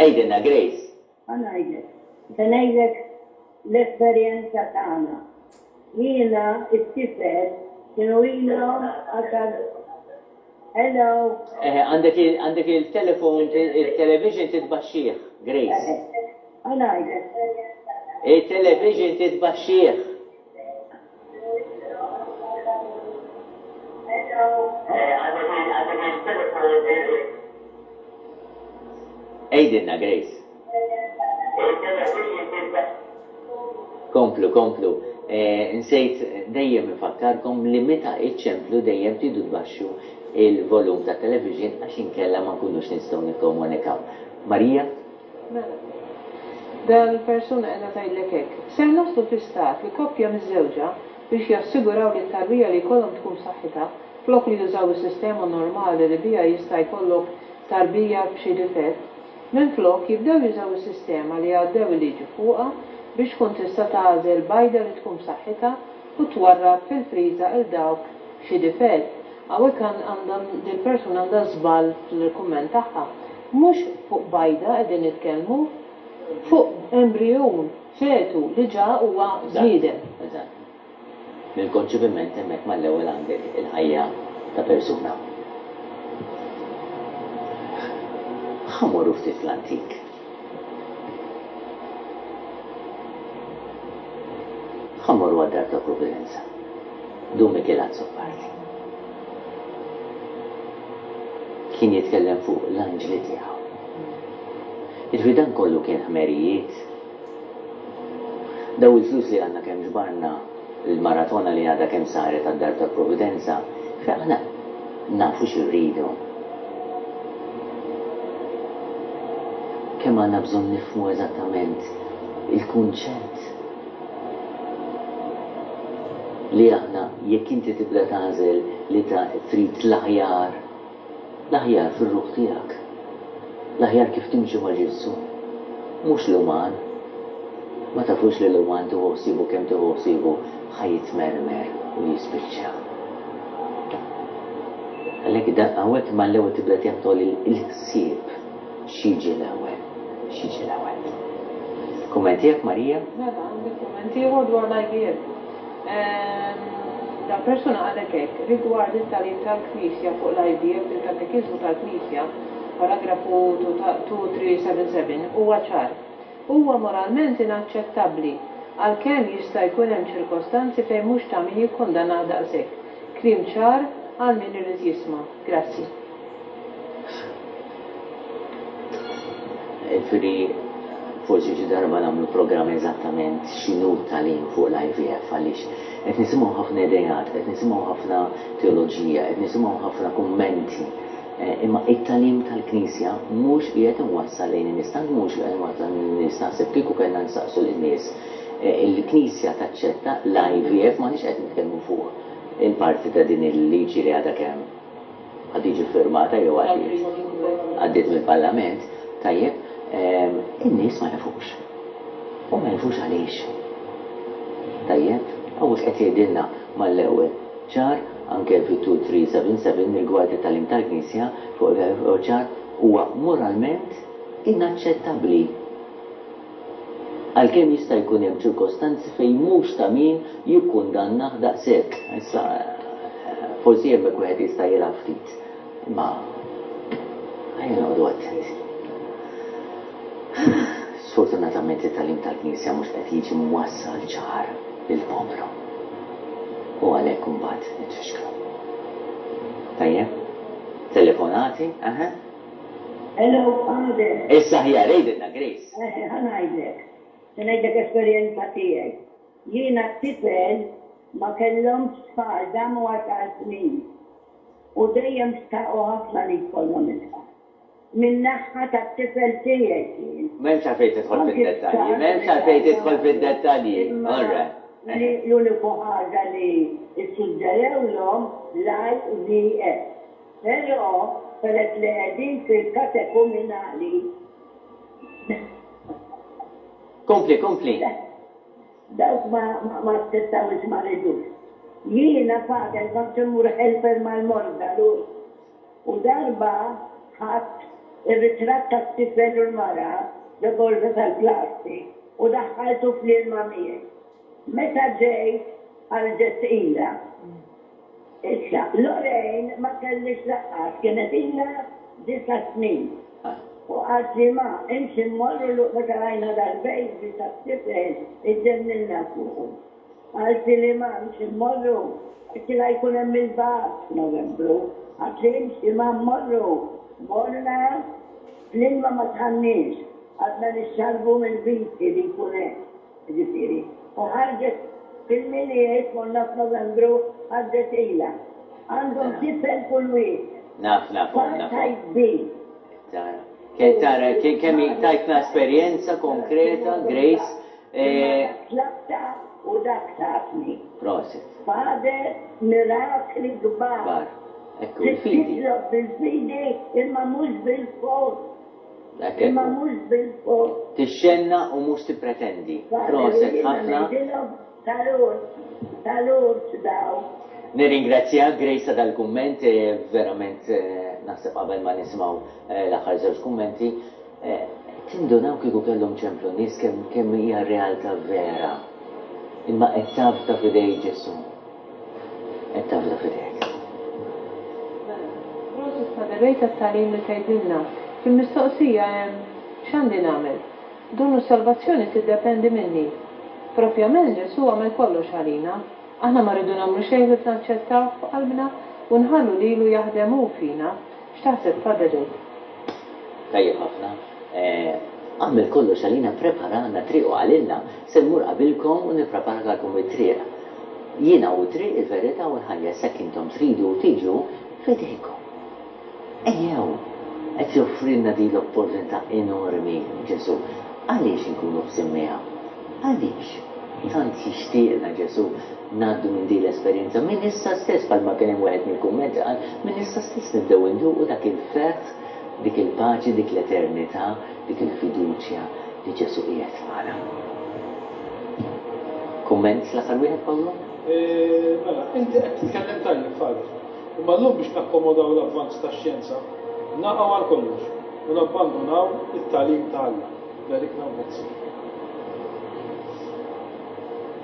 Għidilna Grace. Ħa ngħidlek. Se ngħidlek l-esperjenza tagħna. Jiena t-tifel kienu ilhom għaxar Hello. Eħe, għandek għandek il-telefon, il-television titbaxxih, Grace. Ħa ngħidlek. Il-television titbaxxih. Għidilna, Grace. Komplu, komplu. Nsejt dejjem infakkarkom li meta iċċemplu dejjem tridu tbaxxu il-volum tat-television għax inkella ma nkunux nistgħu nikkomunikaw. Marija? Mela. Dal-persuna qiegħda tgħidlek hekk, Ser naslu fi stat li koppja miżżewġa, biex jassiguraw li t-tarbija li jkollhom tkun b'saħħitha, flok li jużaw is-sistema normali li biha jista' jkollok tarbija b'xi difett, minflok jibdew jużaw is-sistema li għaddew il-liġi fuqha biex tkun tista' tagħżel bajda li tkun b'saħħitha u twarrab fil-friża 'l dawk b'xi difett. Hawnhekk għandha dil-persuna għandha żball fil-kumment tagħha. Mhux fuq bajda qegħdin nitkellmu, fuq embrijun, fetu, li ġa huwa bniedem. Eżatt. Mill-konċepiment hemmhekk mal-ewwel għandek il-ħajja ta' persuna. Ħa mmorru ftit fl-antik. imorru għad-Dar tal-Providenza. Dun Mikiel Azzopardi. Kien jitkellem fuq l-anġli tiegħu. Jiġifieri dan kollu kien ħmerijiet. Daw il-flus li għadna kemm ġbarna, il-maratona li għadha kemm saret għad-Dar tal-Providenza, fejn aħna nafu xi rridu. Kemm għandna bżonn nifhmu eżattament il-kunċett li aħna jekk inti tibda tagħżel li ta' trid l-aħjar, l-aħjar fir-ruħ tiegħek, l-aħjar kif timxi ma' Ġesù, mhux l-uman. Ma tafux li l-uman tieħu ħsiebu kemm tieħu ħsiebu ħa jitmermer u jispiċċa. Għalhekk da hawnhekk mal-ewwel tibda teħtol il-ħsieb x'jiġi l-ewwel, x'jiġi l-ewwel. Kumment tiegħek Marija? Mela, għandi kumment ieħor dwar l-IVF. Dal-persuna qalek hekk, rigward it-tagħlim tal-Knisja fuq l-IVF fil-Katekiżmu tal-Knisja, paragrafu 2377, huwa ċar. Huwa moralment inaċċettabbli, għalkemm jista' jkun hemm ċirkostanzi fejn mhux ta' min jikkundannah daqshekk. Kliem ċar għal min irid jisma'. Grazzi. Jiġifieri forsi xi darba nagħmlu programm eżattament x'inhu t-tagħlim fuq l-IVF għaliex qed nisimgħu ħafna ideat, qed nisimgħu ħafna teoloġija, qed nisimgħu ħafna kummenti. Imma it-tagħlim tal-Knisja mhux qiegħed imwassal lejn in-nies, tant mhux qiegħed imwassal lejn in-nies naħseb kieku kellna nsaqsu lin-nies il-Knisja taċċetta l-IVF m'aħniex qed nitkellmu fuq il-parti ta' din il-liġi li għadha kemm ħa tiġi ffirmata jew għaddiet għaddiet mill-Parlament, tajjeb, in-nies ma jafux. U ma jafux għaliex. Tajjeb, hawnhekk qed jgħidilna mal-ewwel ċar anke fit-2377 rigward it-tagħlim tal-Knisja fuq ċar huwa moralment inaċċettabbli. Għalkemm jista' jkun hemm ċirkostanzi fejn mhux ta' min jikkundannah daqshekk. Issa, forsi hemmhekk wieħed jista' jilgħab ftit. Imma ejja noqogħdu attenti. Sfortunatament it-tagħlim tal-Knisja mhux qed jiġi mwassal ċar lill-poplu. U għalhekk imbagħad nitfixklu. Tajjeb? Telefonati? Aha. Hello, Father. Issa aħjar, għidilna Grace. Eħe, ħa ngħidlek. Se ngħidlek esperjenza tiegħi. Jiena t-tifel ma kellhomx tfal damu għaxar snin. U dejjem xtaqu ħafna li jkollhom it-tfal. Min-naħa tat-tifel tiegħi kien. M'hemmx għalfejn tidħol fid-dettalji, m'hemmx għalfejn tidħol fid-dettalji. Imma l-uniku ħaġa li ssuġġerewlhom l-IVF. Però, peress li qegħdin fil-katekuminali. Kompli, kompli. Dawk ma ma aċċettawhiex ma ridux. Jiena Father kont immur helper mal-morda l U darba ħadt ir-ritratt tat-tifel u l-mara ġo borża tal-plastik u daħħaltu fl-ilma miegħi. Meta ġejt ħarġet tqila. Issa, Lorraine ma kellhiex lanqas, kienet ilha disa' snin. U qaltli ma, imxi mmorru l meta rajna dal-baby tat-tifel iġġenninna fuqu. Qaltli li ma, imxi mmorru. Għedtilha jkun hemm il-bagħat f'Novembru. Qaltli imxi ma mmorru. Morna, fl-ilma ma dħalniex, qgħadna nixxarrbu mill-viti li jkun hemm. Jiġifieri, u ħarġet fil-Milied, konna f'Novembru, ħarġet ilha. Għandhom tifel kull wieħed. Naf, nafhom, nafhom. Type B. Tara. Tara, kemm tajtna esperjenza konkreta, Grace. Imma dak tlabta u dak tatni. Prosit. Father, mirakli kbar. Kbar. Ekku, il-fidi. Titlob bil-fidi imma mhux bil-fors. Imma mhux bil-fors. Tixxenna u mhux tippretendi. Proset ħafna. Salut, salut daw. Nirringrazzjak Grace ta' dal-kumment, verament naħseb qabel ma nisimgħu l-aħħar żewġ kummenti, tindunaw kieku kellhom ċemplu n-nies kemm kemm hija realtà vera. Imma qed tafda f'idej Ġesù. Qed tafda f'idejk. Mela, prosit Father Ray tat-tagħlim li tgħidilna. Fil-mistoqsija hemm x'għandi nagħmel? Donnu s-salvazzjoni tiddependi minni. Propjament Ġesù għamel kollox għalina. Aħna ma rridu nagħmlu xejn ħlief naċċettawh f'qalbna u nħallu lilu jaħdem hu fina. X'taħseb Father int? Tajjeb ħafna. Għamel kollox għalina, ppreparalna triq u qalilna, Se mmur qabilkom u nippreparakalkom it-triq. Jiena hu t-triq, il-verità u l-ħajja, issa jekk intom tridu tiġu, f'idejkom. Ejjew! Qed joffrilna din l-opportunità enormi Ġesù. Għaliex inkunu ħżin miegħu? Għaliex? Tant jixtieqna Ġesù ngħaddu minn din l-esperjenza minn issa stess, bħalma kien hemm wieħed mill-kummenti qal, minn issa stess nibdew induqu dak il-ferħ, dik il-paċi, dik l-eternità, dik il-fiduċja li Ġesù qiegħed magħna. Kumment l-aħħar wieħed, Pawlu? Mela, inti qed titkellem tajjeb, Father. Imma llum biex nakkomodaw l-avvanz tax-xjenza, naqgħu għal kollox u nabbandunaw it-tagħlim ta' Alla. Berikna u grazzi.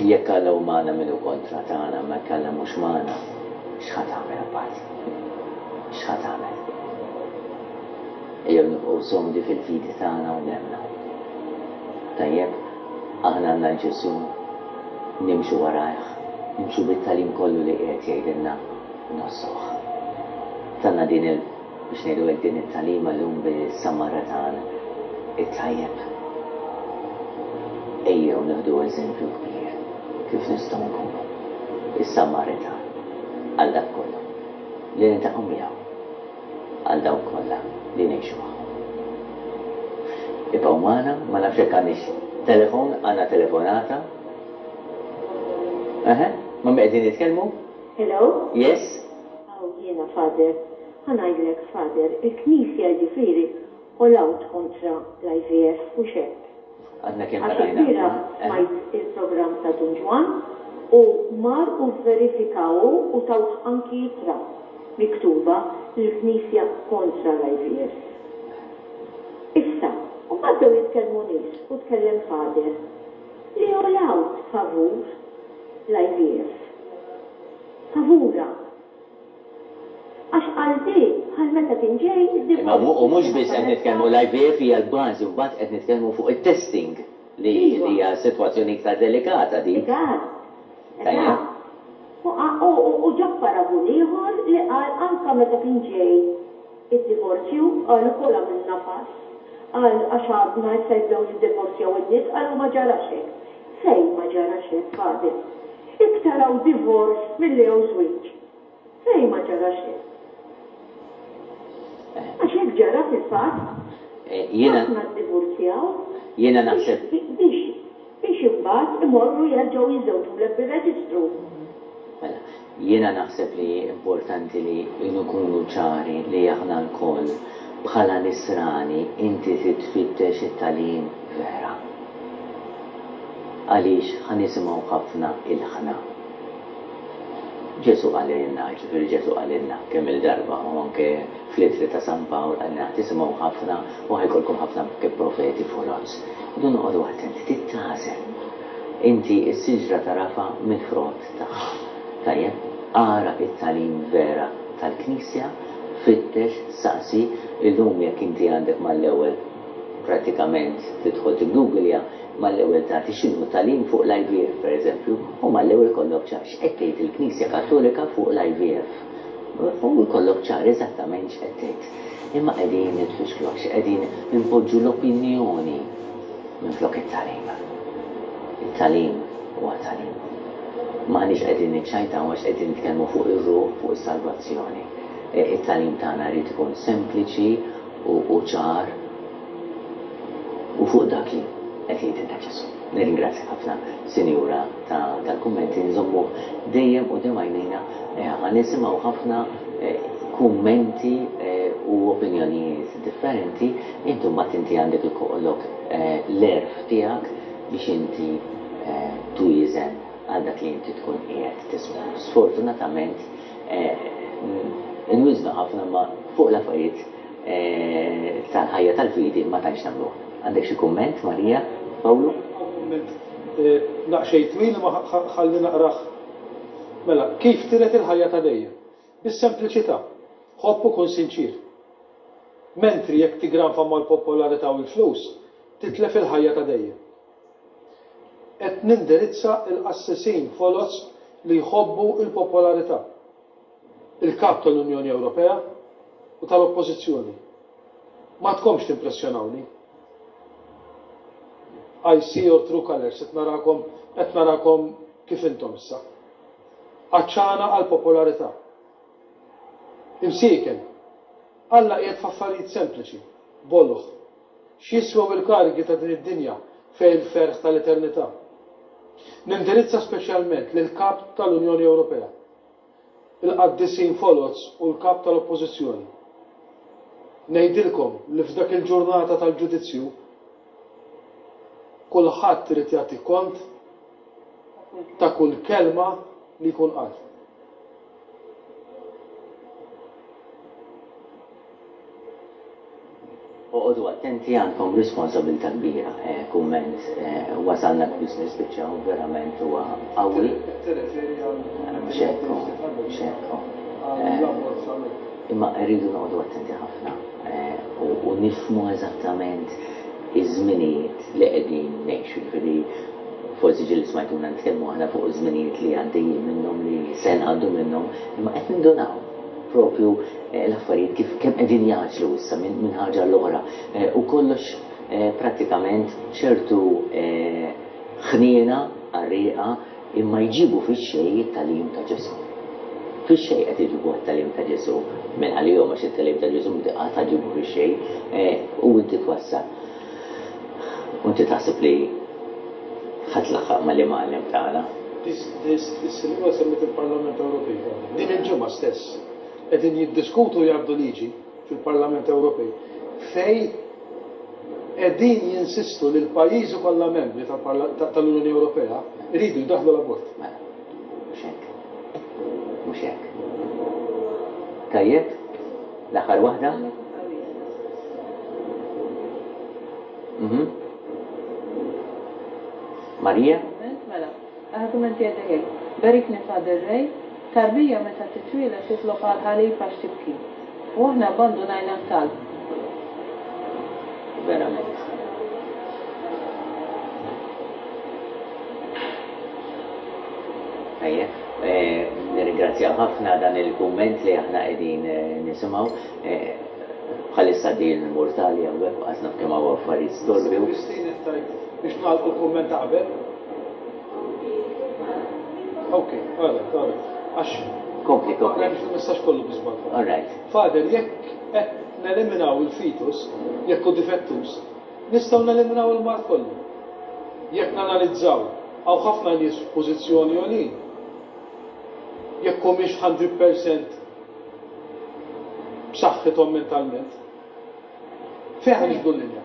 Jekk Alla hu magħna min hu kontra tagħna, imma jekk Alla mhux magħna, x'ħa tagħmel imbagħad? X'ħa tagħmel? Ejjew nibqgħu somdi fil-fidi tagħna u nemmnu. Tajjeb, aħna għandna 'l Ġesù, nimxu warajh, nimxu bit-tagħlim kollu li qiegħed jgħidilna u ngħożżuh. Tana din il, biex ngħidu hekk, din it-tagħlima llum bis-Samaritan it-tajjeb. Ejjew nieħdu eżempju kbir kif nistgħu nkunu is-Samaritan għal dak kollu li niltaqgħu miegħu. għal dawk kollha li ngħixu magħhom. Ibqgħu magħna, ma nafx jekk għandniex telefon, għandna telefonata. Eħe, ma' min qegħdin nitkellmu? Hello? Yes? Hawn jiena Father. Ħa ngħidlek Father, il-Knisja jiġifieri all out kontra l-IVF, hux hekk? Għadna kemm Għax qrajna. ilbieraħ smajt il-programm ta' Dun Ġwann u mar u vverifika hu u tawh anki ittra miktuba li l-Knisja kontra l-IVF. Issa, u mbagħad bdew jitkellmu nies u tkellem Father li all out favur l-IVF. Favurha. Għax għal di bħal meta kien ġej id-divorzju. Imma u mhux biss qed nitkellmu l-IVF hija l-bażi u mbagħad qed nitkellmu fuq it-testing li hija sitwazzjoni iktar delikata dik. Eżatt. Eżatt. U ġab paragun ieħor li qal anke meta kien ġej id-divorzju qal ukoll għamilna pass. Qal għax għadna issa jibdew jiddivorzjaw in-nies qal u ma ġarax hekk. Fejn ma ġarax hekk Father? Iktar hawn divorce milli hawn żwieġ. Fejn ma ġara xejn. Għax hekk ġara fil-fatt. Ħafna ddivurzjaw. Jiena naħseb. Biex biex imbagħad imorru jerġgħu jiżżewġulek bir-reġistru. Mela, jiena naħseb li importanti li nkunu ċari li aħna lkoll bħala nisrani inti trid tfittex it-tagħlim vera. Għaliex ħa nisimgħu ħafna ilħna. Ġesù qalilna, jiġifieri Ġesù qalilna kemm-il darba u anke fl-ittri ta' San Pawl qalilna ħa tisimgħu ħafna u ħa jkollkom ħafna anke profeti foloz. Irridu noqogħdu attenti, trid tagħżel. Inti s-siġra tagħrafha mill-frott tagħha. Tajjeb? Ara t-tagħlim vera tal-Knisja, fittex, saqsi, illum jekk inti għandek mal-ewwel prattikament tidħol tiggooglja, mal-ewwel tagħti x'inhu t-tagħlim fuq l-IVF pereżempju, u mal-ewwel ikollok ċar x'qed tgħid il-Knisja Kattolika fuq l-IVF. U jkollok ċar eżattament x'qed tgħid. Imma qegħdin nitfixklu għax qegħdin inpoġġu l-opinjoni minflok it-tagħlim. It-tagħlim huwa tagħlim. M'aħniex qegħdin niċċajtaw għax qegħdin nitkellmu fuq ir-ruħ, fuq is-salvazzjoni. It-tagħlim tagħna jrid ikun sempliċi u ċar u fuq dak li qed jgħidilna Ġesù. Nirringrazzjak ħafna, Sinjura, ta' dal-kummenti, nżommuh dejjem quddiem għajnejna, ħa nisimgħu ħafna kummenti u opinjonijiet differenti, inti mbagħad inti għandek ikollok l-għerf tiegħek biex inti twieżen għal dak li inti tkun qiegħed tisma'. Sfortunatament nwiżnu ħafna imma fuq l-affarijiet tal-ħajja tal-fidi ma tantx nagħmluha. Għandek xi kumment, Marija, Pawlu? Hawn kumment daqsxejn twil imma ħalli naqrah. Mela, kif tiret il-ħajja ta' dejjem? Bis-sempliċità. Ħobb u kun sinċier. Mentri jekk tigranfa mal-popolarità u l-flus, titlef il-ħajja ta' dejjem. Qed nindirizza l-qassisin foloz li jħobbu l-popolarità. Il-Kap tal-Unjoni Ewropea u tal-Oppożizzjoni. M'għadkomx timpressjonawni. I see your true colours, qed narakom, qed narakom kif intom issa. Għatxana għall-popolarità. Imsieken, Alla qiegħed f'affarijiet sempliċi, boloh. X'jiswew il-karigi ta' din id-dinja fejn il-ferħ tal-eternità? Nindirizza speċjalment lill-Kap tal-Unjoni Ewropea, il-qaddisin foloz u l-Kap tal-Oppożizzjoni. Ngħidilkom li f'dak il-ġurnata tal-ġudizzju, kulħadd irid jagħti kont ta' kull kelma li jkun qal. Oqogħdu attenti għandkom responsabilità kbira. Kumment wasalna biex nispiċċaw verament huwa qawwi. Mhux hekk hu, mhux hekk hu. Imma rridu noqogħdu attenti ħafna u nifhmu eżattament iż-żminijiet li qegħdin ngħixu. Jiġifieri forsi ġieli smajtuna nitkellmu aħna fuq iż-żminijiet li għaddejjin minnhom li se ngħaddu minnhom, imma qed nindunaw propju l-affarijiet kif kemm qegħdin jgħaġġlu issa minn ħaġa għall-oħra u kollox prattikament b'ċertu ħniena qarrieqa imma jġibu fix-xejn it-tagħlim ta' Ġesù. Fix-xejn qed iġibuh it-tagħlim ta' Ġesù minn għalihom għax it-tagħlim ta' Ġesù qatt ma ġibu fix-xejn u inti twassal. U inti taħseb li ħa tlaħħaq mal-imgħallem tagħna? Is-Sinjura semmiet il-Parlament Ewropej. Din il-ġimgħa stess qegħdin jiddiskutu u jgħaddu liġi fil-Parlament Ewropej fejn qegħdin jinsistu li l-pajjiżi kollha membri tal-Unjoni Ewropea jridu jdaħħlu l-abort. Mela, mhux hekk. Mhux hekk. Tajjeb? L-aħħar waħda? Mhm. Marija? Mela, l-aħħar kumment jgħidlek hekk. Berikni Father Ray, tarbija meta titwieled titlob għall-ħalib għax tibki. U aħna abbandunajna t-talb. Verament. Tajjeb. Nirringrazzjaw ħafna dan il-kumment li aħna qegħdin nisimgħu. Bħalissa għaddejjin il-murtali hawnhekk u qas naf kemm hawn affarijiet storbju. Christine qed tgħid biex nagħlqu l-kumment ta' qabel. Ok, all right, all right. Għax Kompli, kompli. Biex il-messaġġ kollu bi żball. All right. Father, jekk qed neliminaw il-fetus, jekk hu difettuż, nistgħu neliminaw il-mard kollu. Jekk nanalizzaw, hawn ħafna nies f'pożizzjoni għolin. Jekk humiex 100% b'saħħithom mentalment. Fejn ħa niġbdu l-linja?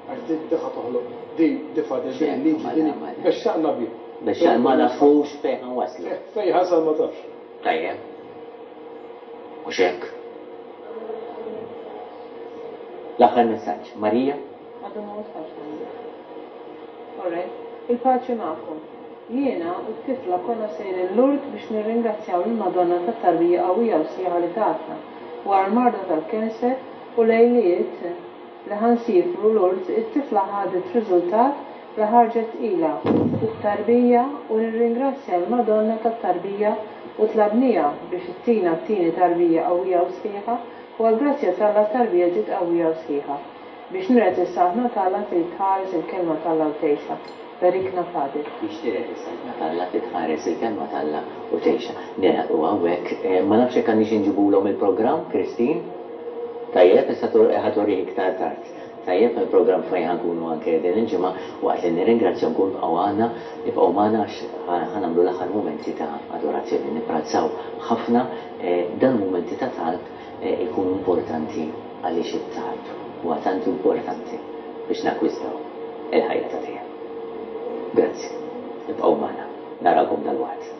Għax di di ħa toħloq di di fader din il-liġi din bexxaqna bih. Bexxaq ma nafux fejn ħa nwasslu. Fejn ħasal ma tafx. Tajjeb. Mhux hekk? L-aħħar messaġġ. Marija? Għadu ma wasalx għandi. All right. Il-paċi magħkom. Jiena u t-tifla konna sejrin Lourdes biex nirringrazzjaw lill-Madonna tat-tarbija qawwija u sħiħa li tatna, wara l-marda tal-cancer u lejliet li ħa nsiefru Lourdes it-tifla ħadet riżultat li ħarġet tqila u b'tarbija u nirringrazzja l-Madonna tat-tarbija u tlabniha biex ittina t-tieni tarbija qawwija u sħiħa u għall-grazzja t'Alla t-tarbija ġiet qawwija u sħiħa. Biex niret is-Saltna t'Alla trid tħares il-Kelma t'Alla u tgħixha. Berikna Father. Biex tiret is-Saltna t'Alla trid tħares il-Kelma t'Alla u tgħixha. Nilħqu hawnhekk. Ma nafx jekk għandniex inġibulhom il-programm, Christine? Tajjeb, issa ħa turih iktar tard. Tajjeb, il-programm fejn ħa nkunu anke din il-ġimgħa, waqt li nirringrazzjawkom ibqgħu għandna, ibqgħu magħna għax ħa nagħmlu l-aħħar mumenti ta' adorazzjoni. Nipprezzaw ħafna dawn il-mumenti ta' talb ikunu importanti għaliex it-talb huwa tant importanti biex nakkwistaw il-ħajja ta' dejjem. Grazzi. Ibqgħu magħna. Narawkom dalwaqt.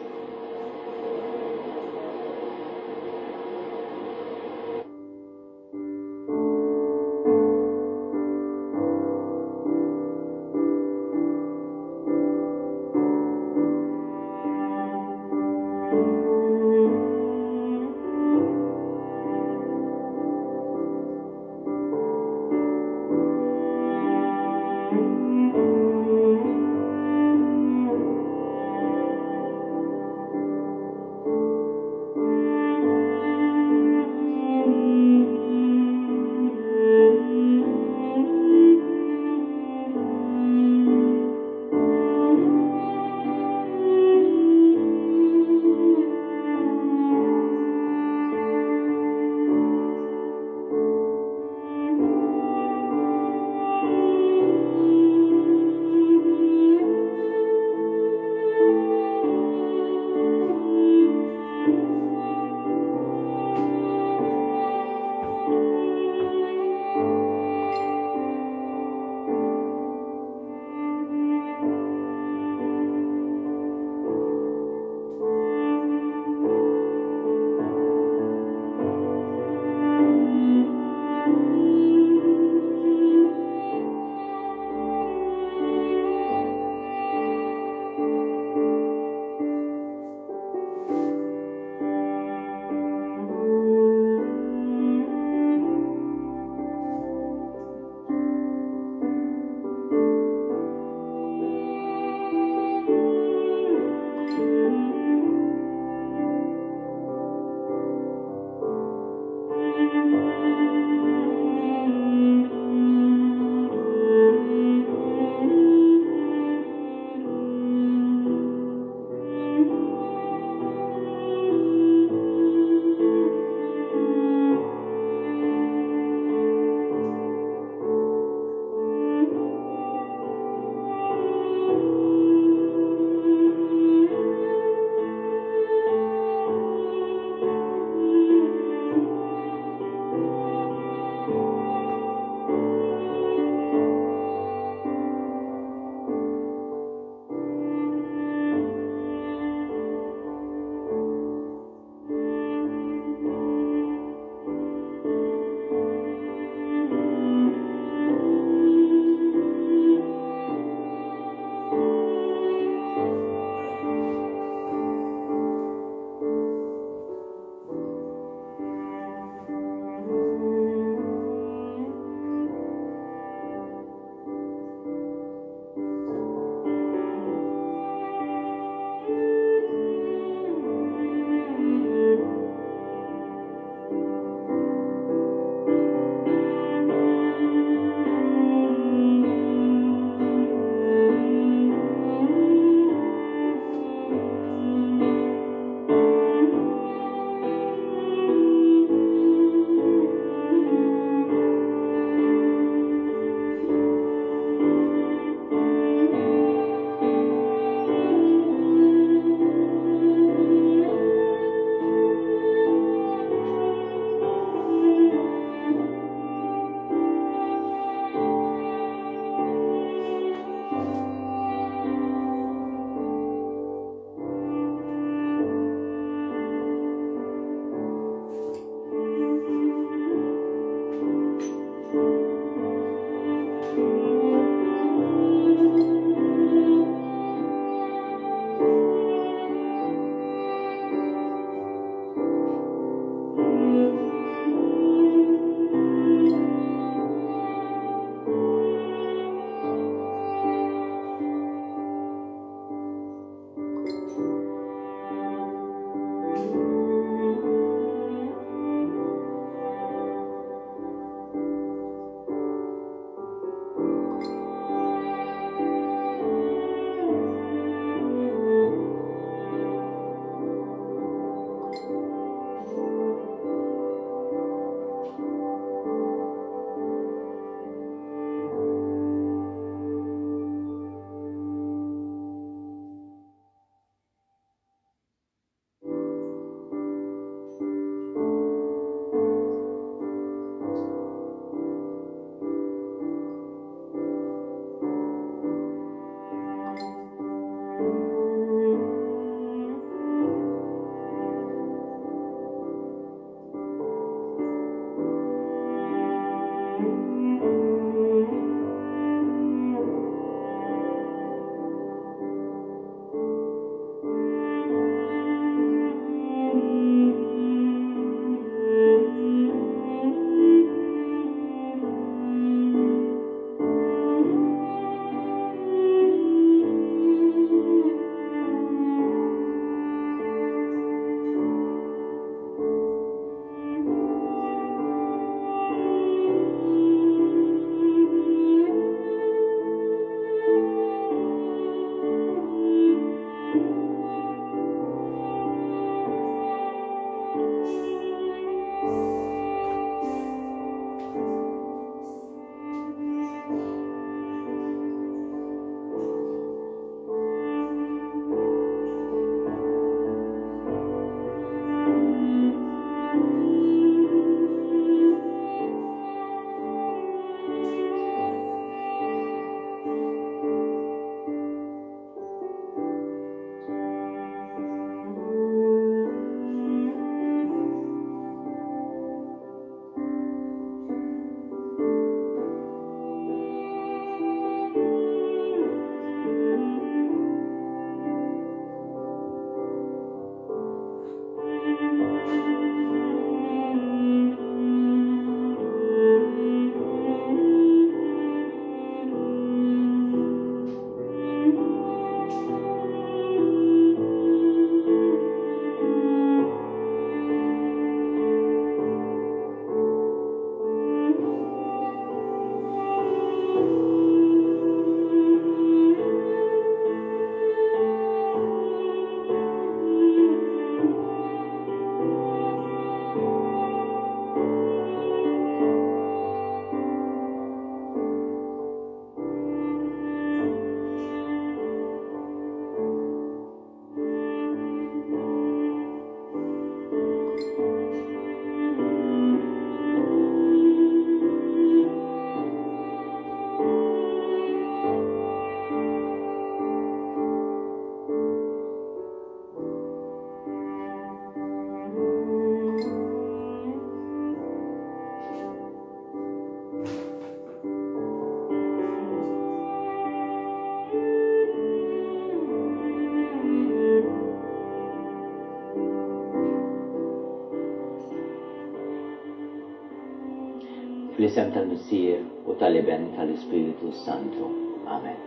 Fl-isem tal-Missier u tal-Iben u tal-Ispirtu s-Santu. Amen.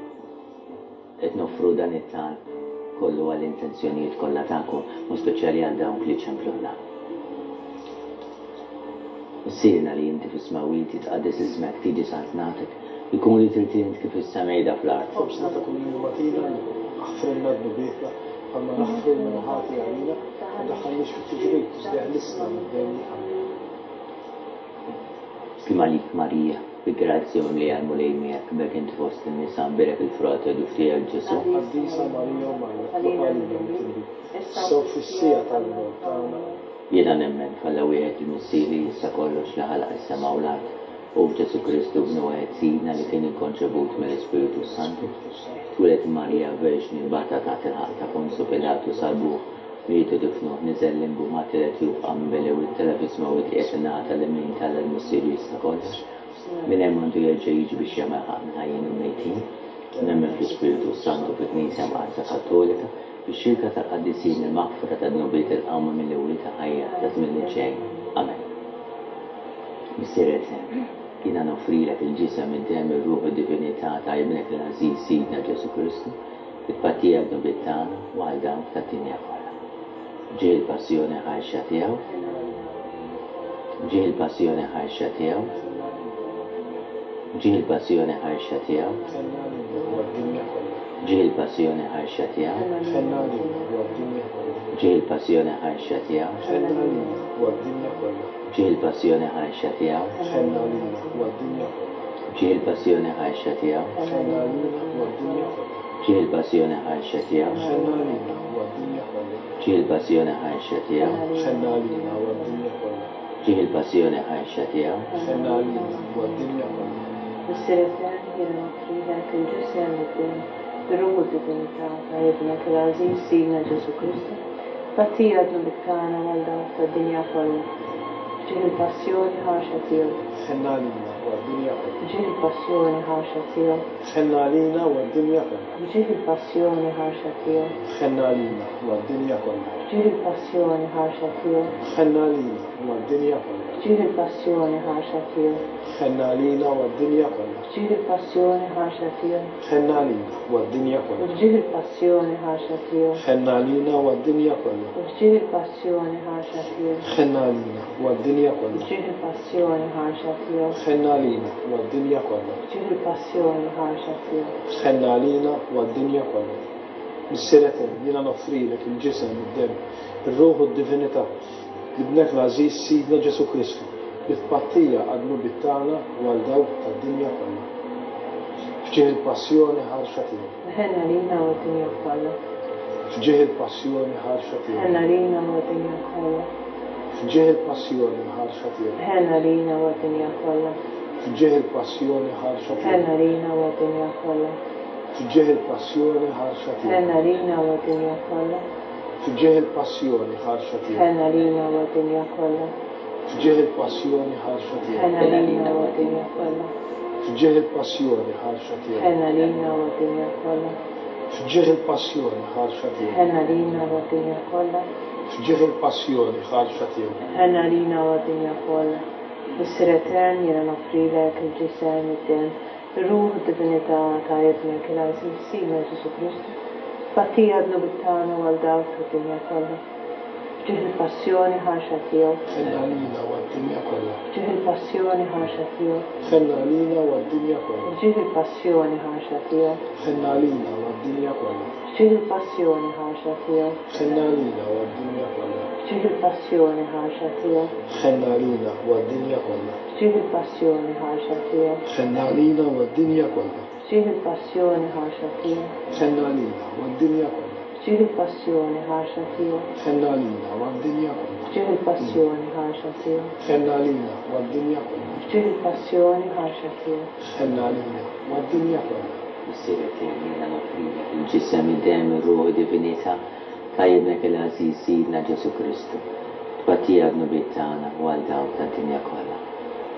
Qed noffru dan it-talb kollu għall-intenzjonijiet kollha tagħkom, u speċjali għal dawk li ċemplulna. Missierna li inti fis-smewwiet, jitqaddes ismek, tiġi saltnatek, ikun li trid int kif fis-sema jidha fl-art. Ħobżna ta' kuljum agħtina llum. Aħfrilna dnubietna, bħalma naħfru 'l min hu ħati għalina, u ddaħħalniex fit-tiġrib, iżda eħlisna mid-deni. Amen. Sliem għalik Marija, bi grazzja mimlija l-Mulej miegħek, b'hekk int fost in-nisa mbierek il-frott ta' ġuf tiegħek Ġesù. Qaddisa Marija Omm Alla, itlob għalina midinbin, issa u fis-siegħa tal-mewt tagħna. Jiena nemmen f'Alla wieħed il-Missier li jista' kollox li ħalaq is-sema u l-art, u f'Ġesù Kristu Ibnu wieħed Sidna li kien inkonċebut mill-Ispirtu s-Santu, twieled minn Marija Verġni, bata taħt il-ħaqq ta' Ponzu Pilatu, salbuh, Mietu difnuh, niżel limbu, ma tielet jum qam minn bejn l-imwiet, tela' fis-smewwiet qiegħed in-naħa tal-lemin t'Alla l-Missier li jista' kollox. Minn hemm għandu jerġa' jiġi biex jagħmel ħaqq mill-ħajjin u l-mejtin. Nemmen fl-Ispirtu s-Santu, fil-Knisja Mqaddsa Kattolika, fix-xirka tal-qaddisin, il-maħfra tad-dnubiet, il-qawma mill-imwiet, il-ħajja taż-żmien li ġej. Amen. Missier Etern, jiena noffrilek il-ġisem, id-demm, ir-ruħ u d-divinità ta' Ibnek l-għażiż Sidna Ġesù Kristu, It-tpattija għad-dnubiet tagħna u għal dawk tad-dinja kollha. Ġieħ il-passjoni ħarxa tiegħu. Ġieħ il-passjoni ħarxa tiegħu. Ġieħ il-passjoni ħarxa tiegħu. Ġieħ il-passjoni ħarxa tiegħu. Ġieħ il-passjoni ħarxa tiegħu. Ġieħ il-passjoni ħarxa tiegħu. Ġieħ il-passjoni ħarxa tiegħu. Ħenna għalina u għad-dinja kollha. Ġieħ il-passjoni ħarxa tiegħu. Ħenna għalina u għad-dinja kollha. Ġieħ il-passjoni ħarxa tiegħu. Ħenna għalina u għad-dinja kollha. Ġieħ il-passjoni ħarxa tiegħu. Ħenna għalina u għad-dinja kollha. Missier Etern, jiena noffrilek il-ġisem, id-demm, ir-ruħ u d-divinità ta' Ibnek il-għażiż Sidna Ġesù Kristu, tpattija għad-dnubiet tagħna u għal dawk tad-dinja kollha. Ġieħ il-passjoni ħarxa tiegħu. Ħenna għalina u għad-dinja kollha. F'ġieħ il-passjoni ħarxa tiegħu. Ħenna għalina u għad-dinja kollha. F'ġieħ il-passjoni ħarxa tiegħu. Ħenna għalina u għad-dinja kollha. F'ġieħ il-passjoni ħarxa tiegħu. Ħenna għalina u għad-dinja kollha. F'ġieħ il-passjoni ħarxa tiegħu. Ħenna għalina u għad-dinja kollha. F'ġieħ il-passjoni ħarxa tiegħu. Ħenna għalina u għad-dinja kollha. F'ġieħ il-passjoni ħarxa tiegħu. Ħenna għalina u għad-dinja kollha. F'ġieħ il-passjoni ħarxa tiegħu. Ħenna għalina u għad-dinja kollha. F'ġieħ il-passjoni ħarxa tiegħu. Ħenna għalina u għad-dinja kollha. F'ġieħ il-passjoni ħarxa tiegħu. Ħenna għalina u għad-dinja kollha. Missier Etern, jiena noffrilek il-ġisem, id-demm, ir-ruħ u d-divinità t'Ibnek l-għażiż Sidna Ġesù Kristu, bi tpattija għad-dnubiet tagħna u għal dawk tad-dinja kollha. F'ġieħ il-passjoni ħarxa tiegħu. Ħenn għalina u għad-dinja kollha. F'ġieħ il-passjoni ħarxa tiegħu. Ħenn għalina u għad-dinja kollha. F'ġieħ il-passjoni ħarxa tiegħu. Ħenn għalina u għad-dinja kollha. F'ġieħ il-passjoni ħarxa tiegħu. Ħenn għalina u għad-dinja kollha. F'ġieħ il-passjoni ħarxa tiegħu. Ħenn għalina u għad-dinja kollha. F'ġieħ il-passjoni ħarxa tiegħu. Ħenn għalina u għad-dinja kollha. F'ġieħ il-passjoni ħarxa tiegħu. Ħenn għalina u għad-dinja kollha. F'ġieħ il-passjoni ħarxa tiegħu. Ħenn għalina u għad-dinja kollha. F'ġieħ il-passjoni ħarxa tiegħu. Ħenn għalina u għad-dinja kollha. F'ġieħ il-passjoni ħarxa tiegħu. Ħenn għalina u għad-dinja kollha. Missier Etern, jiena noffrilek il-ġisem, id-demm, ir-ruħ u d-divinità ta' Ibnek il-għażiż Sidna Ġesù Kristu, tpattija għad-dnubiet tagħna u għal dawk tad-dinja kollha. F'ġieħ il-passjoni ħarxa tiegħu. Ħenn għalina u għad-dinja kollha. F'ġieħ il-passjoni ħarxa tiegħu. Ħenn għalina u għad-dinja kollha. F'ġieħ il-passjoni ħarxa tiegħu. Ħenn għalina u għad-dinja kollha. F'ġieħ il-passjoni ħarxa tiegħu. Ħenn għalina u għad-dinja kollha. F'ġieħ il-passjoni ħarxa tiegħu. Ħenn għalina u għad-dinja kollha. F'ġieħ il-passjoni ħarxa tiegħu. Ħenn għalina u għad-dinja kollha. F'ġieħ il-passjoni ħarxa tiegħu. Ħenn għalina u għad-dinja kollha. F'ġieħ il-passjoni ħarxa tiegħu. Ħenn għalina u għad-dinja kollha. F'ġieħ il-passjoni ħarxa tiegħu. Ħenn għalina u għad-dinja kollha. F'ġieħ il-passjoni ħarxa tiegħu. Ħenn għalina u għad-dinja kollha. Missier Etern, jiena noffrilek il-ġisem, id-demm, ir-ruħ u d-divinità ta' Ibnek il-għażiż Sidna Ġesù Kristu, tpattija għad-dnubiet tagħna u għal dawk tad-dinja kollha.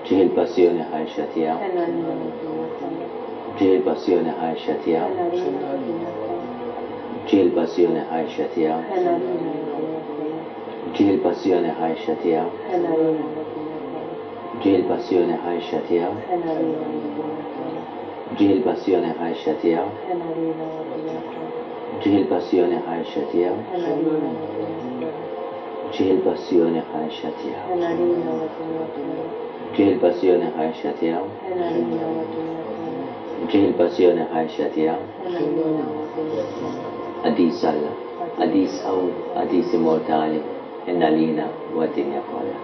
F'ġieħ il-passjoni ħarxa tiegħu. Ħenn għalina u għad-dinja kollha. F'ġieħ il-passjoni ħarxa tiegħu. Ħenn għalina u għad-dinja kollha. F'ġieħ il-passjoni ħarxa tiegħu. Ħenn għalina u għad-dinja kollha. F'ġieħ il-passjoni ħarxa tiegħu. Ħenn għalina u għad-dinja kollha. Ġieħ il-passjoni ħarxa tiegħu. Ħenn għalina u għad-dinja kollha. Ġieħ il-passjoni ħarxa tiegħu. Ħenn għalina u għad-dinja kollha. Ġieħ il-passjoni ħarxa tiegħu. Ħenn għalina u għad-dinja kollha. Ġieħ il-passjoni ħarxa tiegħu. Ħenn għalina u għad-dinja kollha. Ġieħ il-passjoni ħarxa tiegħu. Ħenn għalina u għad-dinja kollha. Ġieħ il-passjoni ħarxa tiegħu. Ħenn għalina u għad-dinja kollha. Qaddis Alla, qaddis qawwi, qaddis immortali, Ħenn għalina u għad-dinja kollha.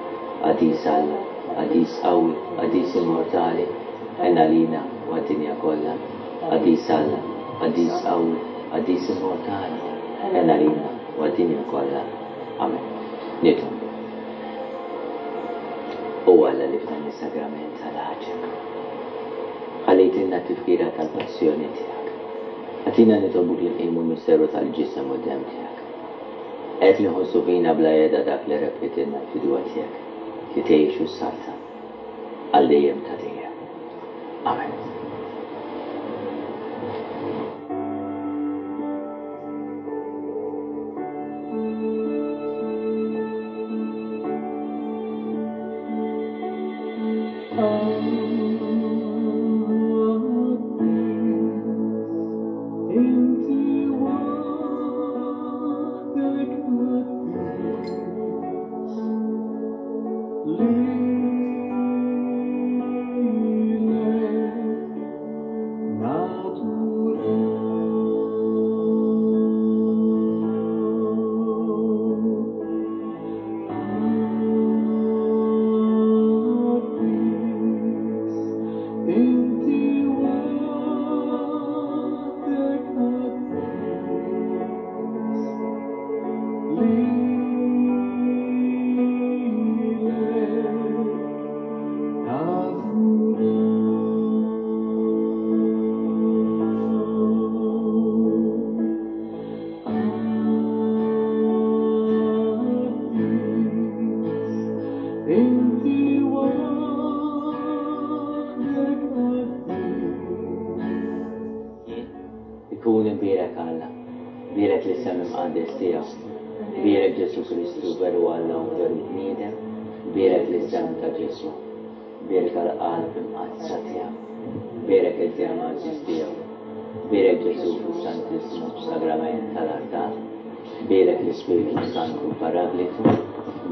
Qaddis Alla, qaddis qawwi, qaddis immortali, ħenn għalina u għad-dinja kollha. Qaddis Alla, qaddis qawwi, qaddis immortali, ħenn għalina u għad-dinja kollha. Amen. Nitolbu. O Alla li f'dan is-sagrament tal-għaġeb ħallejtilna t-tifkira tal-passjoni tiegħek, agħtina nitolbuk li nqimu l-misteru tal-ġisem u d-demm tiegħek. Qed inħossu fina bla heda dak li rebħitilna l-fidwa tiegħek, li tgħix u ssaltan għal dejjem ta' dejjem. Amen. Ikun imbierek Alla, bierek l-isem imqaddes tiegħu, bierek Ġesù Kristu veru Alla u veru bniedem, bierek l-isem ta' Ġesù, bierek għall-qalb imqaddsa tiegħu, bierek id-demm għażiż tiegħu, bierek Ġesù fis-Santissmu Sagrament tal-artal, bierek l-Ispirtu Santu Paraglitu,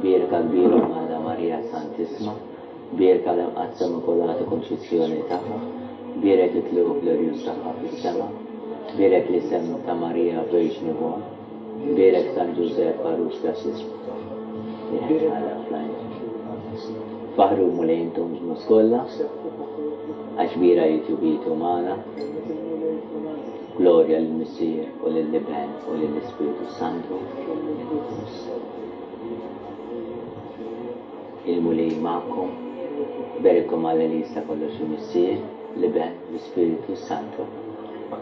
bierek għall-kbir Omm Alla Marija Santissma, Bierka l-Imqaddsa Immakulata Kunċizzjoni tagħha, bierek it-tlugħ glorjuż tagħha fis-sema, bierek l-isem ta' Marija Verġni Omm, bierek San Ġużepp għarus ta' Bierek Alla fl-għajn. Faħħru l-Mulej intom ġnus kollha, għax kbira hi tjubitu magħna. Glorja lill-Missier u lill-Iben u lill-Ispirtu s-Santu. Il-Mulej magħkom. Iberikkom Alla li jista' kollox il-Missier, l-Iben, l-Ispirtu s-Santu.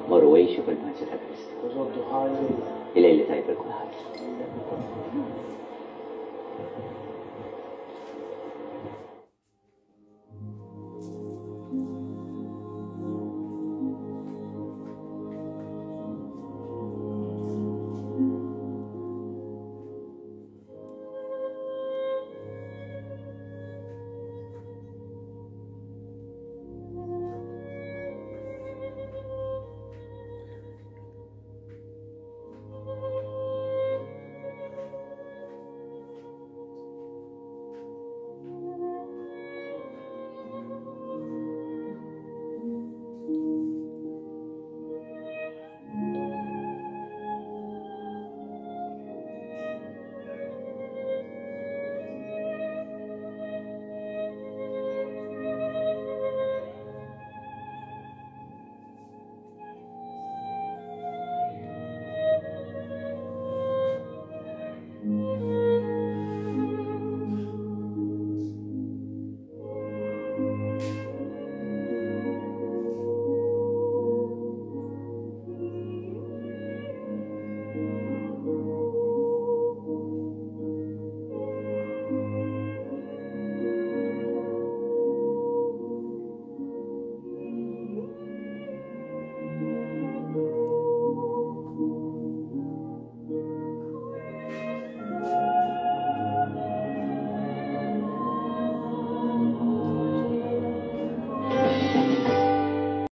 Morru għixu fil-paċi ta' Kristu. Il-lejl it-tajjeb lil kulħadd.